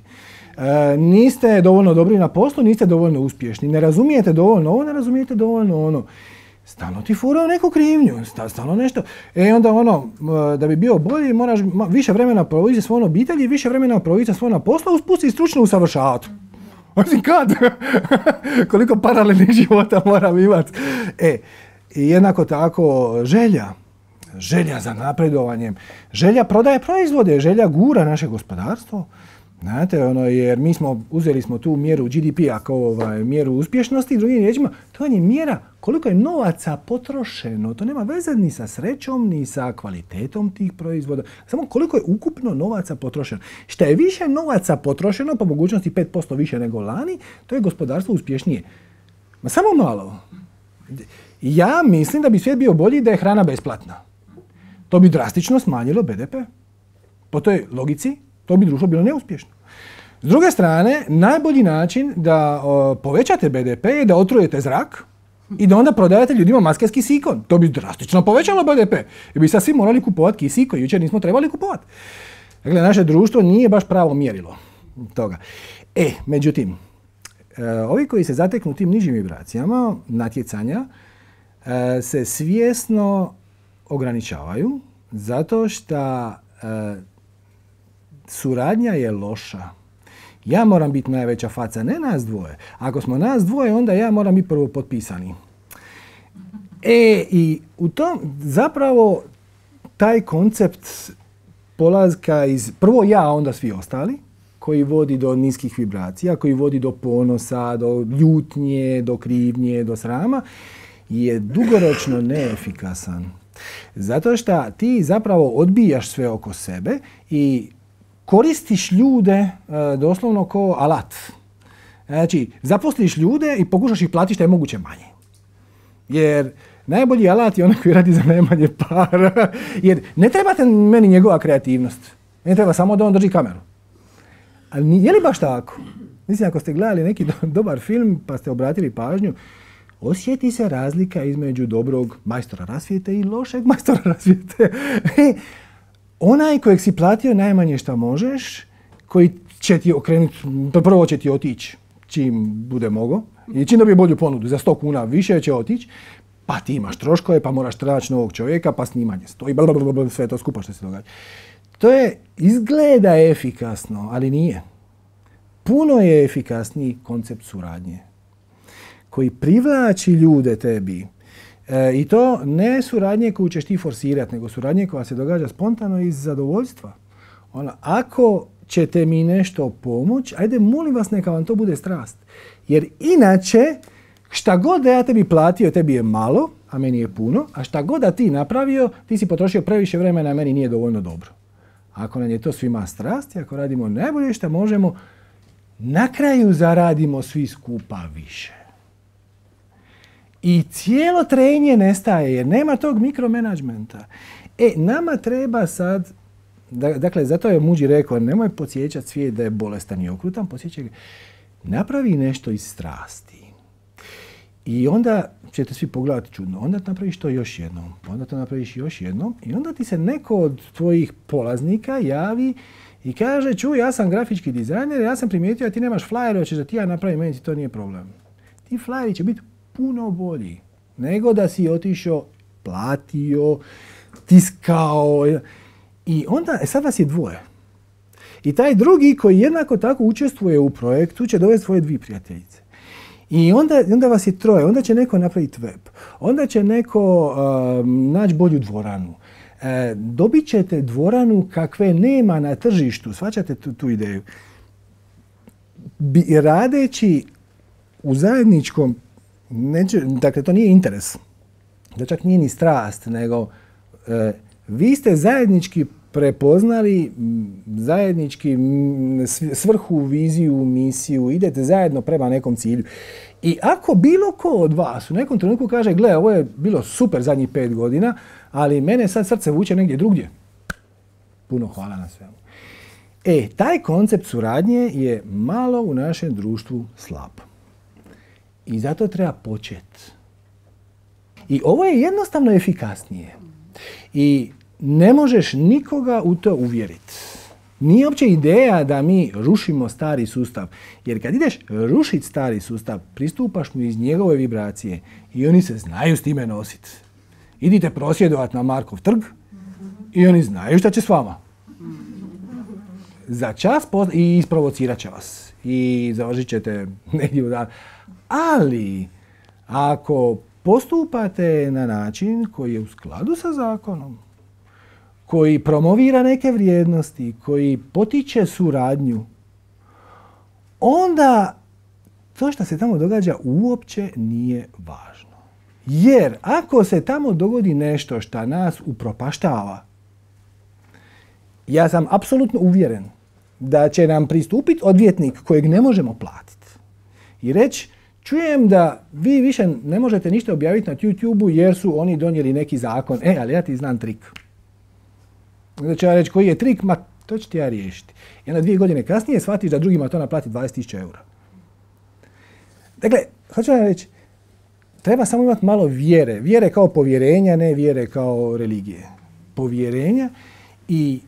E, niste dovoljno dobri na poslu, niste dovoljno uspješni. Ne razumijete dovoljno ovo, ne razumijete dovoljno ono. Stalno ti furao neku krivnju, stalno nešto. E onda ono, da bi bio bolji, moraš više vremena provoditi sa svojom obitelji, više vremena provoditi sa svojom na poslu, uspusti i stručno usavršavati. Osim kad? Koliko paralelnih života moram imati. E, i jednako tako želja. Želja za napredovanjem. Želja prodaje proizvode, želja gura naše gospodarstvo. Znate, ono, jer mi smo, uzeli smo tu mjeru G D P-a kao ovaj, mjeru uspješnosti, drugim riječima, to je mjera koliko je novaca potrošeno. To nema veze ni sa srećom, ni sa kvalitetom tih proizvoda. Samo koliko je ukupno novaca potrošeno. Što je više novaca potrošeno, po mogućnosti pet posto više nego lani, to je gospodarstvo uspješnije. Ma samo malo. Ja mislim da bi svijet bio bolji da je hrana besplatna. To bi drastično smanjilo B D P. Po toj logici, to bi društvo bilo neuspješno. S druge strane, najbolji način da o, povećate B D P je da otrujete zrak I da onda prodajete ljudima maske s kisikom. To bi drastično povećalo B D P. I bi sad svi morali kupovati kisik koji jučer nismo trebali kupovati. Dakle, naše društvo nije baš pravo mjerilo toga. E, međutim, ovi koji se zateknu tim nižim vibracijama natjecanja se svjesno ograničavaju zato što suradnja je loša. Ja moram biti najveća faca, ne nas dvoje. Ako smo nas dvoje, onda ja moram biti prvo potpisani. E, i u tom zapravo taj koncept polazka iz prvo ja, a onda svi ostali, koji vodi do niskih vibracija, koji vodi do ponosa, do ljutnje, do krivnje, do srama, je dugoročno neefikasan. Zato što ti zapravo odbijaš sve oko sebe i koristiš ljude e, doslovno kao alat. Znači, zaposliš ljude i pokušaš ih platiti što je moguće manje. Jer najbolji alat je onaj koji radi za najmanje para. Jer ne trebate meni njegova kreativnost. Ne treba samo da on drži kameru. Ali je li baš tako? Mislim, ako ste gledali neki do, dobar film pa ste obratili pažnju, osjeti se razlika između dobrog majstora rasvijete i lošeg majstora rasvijete. Onaj kojeg si platio najmanje što možeš, koji će ti okrenuti, prvo će ti otići čim bude mogo, i čim dobije bolju ponudu, za sto kuna više će otići, pa ti imaš troškove, pa moraš traći novog čovjeka, pa snimanje stoji, blablabla, sve to skupa što se događa. To je, izgleda efikasno, ali nije. Puno je efikasniji koncept suradnje, koji privlači ljude tebi. E, I to ne suradnje koju ćeš ti forsirati, nego suradnje koja se događa spontano iz zadovoljstva. Ona, ako ćete mi nešto pomoći, ajde, molim vas, neka vam to bude strast. Jer inače, šta god da ja tebi platio, tebi je malo, a meni je puno, a šta god da ti napravio, ti si potrošio previše vremena, a meni nije dovoljno dobro. Ako nam je to svima strast, ako radimo najbolje što možemo, na kraju zaradimo svi skupa više. I cijelo trenje nestaje jer nema tog mikromanagementa. E, nama treba sad, dakle, zato je Muđi rekao, nemoj podsjećati svijet da je bolestan i okrutan, podsjećaj ga, napravi nešto iz strasti. I onda ćete svi pogledati čudno, onda napraviš to još jednom, onda to napraviš još jednom i onda ti se neko od tvojih polaznika javi i kaže, čuj, ja sam grafički dizajner, ja sam primijetio da ti nemaš flyer, hoćeš da ti ja napravim, meni ti to nije problem. Ti flyeri će biti puno bolji nego da si otišao, platio, tiskao. I onda, e sad vas je dvoje. I taj drugi koji jednako tako učestvuje u projektu će dovesti svoje dvije prijateljice. I onda, onda vas je troje, onda će neko napraviti web, onda će neko uh, naći bolju dvoranu. Uh, dobit ćete dvoranu kakve nema na tržištu, shvaćate tu, tu ideju. Bi, radeći u zajedničkom, neće, dakle to nije interes, to čak nije ni strast, nego uh, vi ste zajednički prepoznali zajednički svrhu, viziju, misiju, idete zajedno prema nekom cilju. I ako bilo ko od vas u nekom trenutku kaže, gle, ovo je bilo super zadnjih pet godina, ali mene sad srce vuče negdje drugdje. Puno hvala na svemu. E, taj koncept suradnje je malo u našem društvu slab. I zato treba početi. I ovo je jednostavno efikasnije. I ne možeš nikoga u to uvjeriti. Nije uopće ideja da mi rušimo stari sustav. Jer kad ideš rušiti stari sustav, pristupaš mu iz njegove vibracije i oni se znaju s time nositi. Idite prosvjedovati na Markov trg i oni znaju šta će s vama. Za čas poz- i isprovocirat će vas. I završit ćete negdje u dan. Ali, ako postupate na način koji je u skladu sa zakonom, koji promovira neke vrijednosti, koji potiče suradnju, onda to što se tamo događa uopće nije važno. Jer ako se tamo dogodi nešto što nas upropaštava, ja sam apsolutno uvjeren da će nam pristupiti odvjetnik kojeg ne možemo platiti i reći, čujem da vi više ne možete ništa objaviti na YouTube-u jer su oni donijeli neki zakon. E, ali ja ti znam trik. Onda će ja reći koji je trik, ma to ću ti ja riješiti. I onda dvije godine kasnije shvatiš da drugima to naplati dvadeset tisuća eura. Dakle, hoću vam reći, treba samo imati malo vjere. Vjere kao povjerenja, ne vjere kao religije. Povjerenja i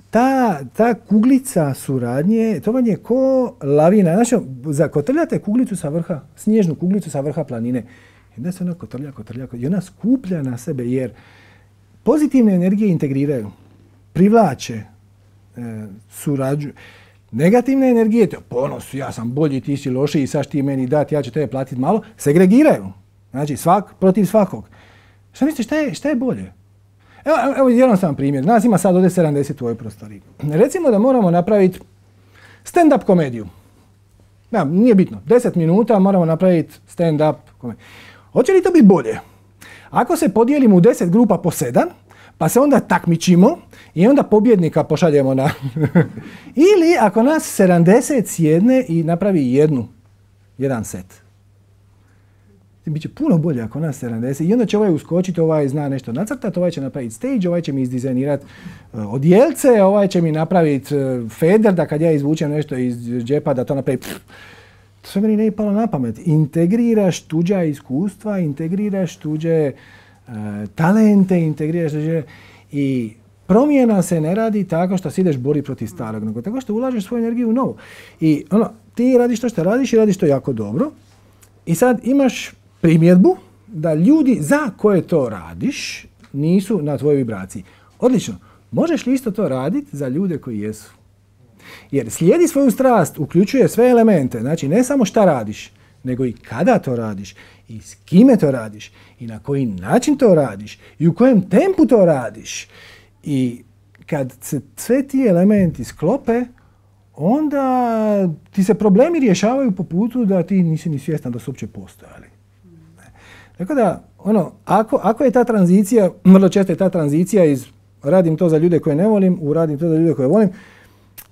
ta, ta kuglica suradnje, to vam je ko lavina. Znači, zakotrljate kuglicu sa vrha, snježnu kuglicu sa vrha planine. I onda se ona kotrlja, kotrlja, kotrlja, i ona skuplja na sebe, jer pozitivne energije integriraju, privlače, e, surađuju. Negativne energije, to ponos, ja sam bolji, ti si lošiji, sad ti meni dati, ja ću tebe platiti malo, segregiraju. Znači, svak protiv svakog. Šta misliš, šta je, šta je bolje? Evo, evo jednostavan primjer. Nas ima sad ovdje sedamdeset u ovoj prostoriji. Recimo da moramo napraviti stand-up komediju. Da, nije bitno. deset minuta moramo napraviti stand-up komediju. Hoće li to biti bolje? Ako se podijelimo u deset grupa po sedam, pa se onda takmičimo i onda pobjednika pošaljemo na... Ili ako nas sedamdeset sjedne i napravi jednu, jedan set. Biće puno bolje ako nas sedamdeset. I onda će ovaj uskočiti, ovaj zna nešto nacrtati, ovaj će napraviti stage, ovaj će mi izdizajnirati uh, odjelce, ovaj će mi napraviti uh, feder, da kad ja izvučem nešto iz džepa da to napravi... Pff, to sve meni ne je palo na pamet. Integriraš tuđa iskustva, integriraš tuđe uh, talente, integriraš tuđe... I promjena se ne radi tako što si ideš bori protiv starog, nego tako što ulažeš svoju energiju u novo. I ono, ti radiš to što radiš i radiš to jako dobro. I sad imaš primjedbu da ljudi za koje to radiš nisu na tvojoj vibraciji. Odlično. Možeš li isto to raditi za ljude koji jesu? Jer slijedi svoju strast, uključuje sve elemente. Znači ne samo šta radiš, nego i kada to radiš, i s kime to radiš, i na koji način to radiš, i u kojem tempu to radiš. I kad se sve ti elementi sklope, onda ti se problemi rješavaju po putu da ti nisi ni svjestan da su uopće postojali. Tako da, ono, ako, ako je ta tranzicija, vrlo često je ta tranzicija iz radim to za ljude koje ne volim, u radim to za ljude koje volim,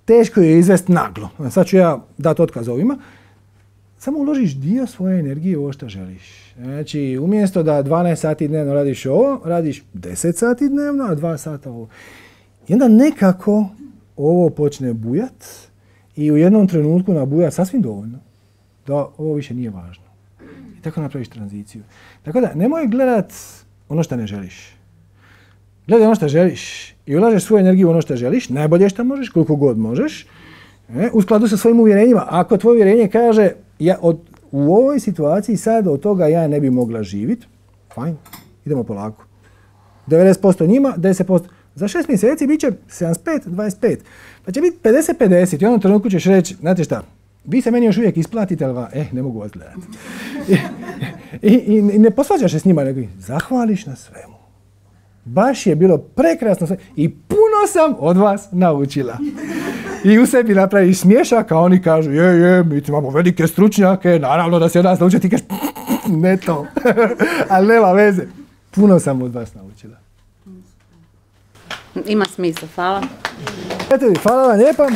teško je izvesti naglo. Sad ću ja dati otkaz ovima. Samo uložiš dio svoje energije u ovo što želiš. Znači, umjesto da dvanaest sati dnevno radiš ovo, radiš deset sati dnevno, a dva sata ovo. I onda nekako ovo počne bujat i u jednom trenutku nabuja sasvim dovoljno da ovo više nije važno. I tako napraviš tranziciju. Tako da, nemoj gledat ono što ne želiš. Gledaj ono što želiš i ulažeš svoju energiju u ono što želiš, najbolje što možeš, koliko god možeš, e, u skladu sa svojim uvjerenjima. Ako tvoje uvjerenje kaže ja od, u ovoj situaciji sad od toga ja ne bi mogla živjeti, fajn, idemo polako. devedeset posto njima, deset posto. Za šest mjeseci bit će sedamdeset pet dvadeset pet. Pa će biti pedeset pedeset i u onom trenutku ćeš reći, znate šta, vi se meni još uvijek isplatite, ali va, eh, ne mogu vas gledati. I, i, i ne posvađaš se s njima, nego zahvališ na svemu. Baš je bilo prekrasno sve i puno sam od vas naučila. I u sebi napraviš smiješak, a oni kažu, je, je, mi imamo velike stručnjake, naravno da se od nas naučiti, ti kažeš, ne to, ali nema veze. Puno sam od vas naučila. Ima smisla, hvala. Eto, hvala vam lijepa.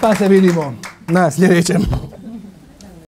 Pa se vidimo na sljedećem.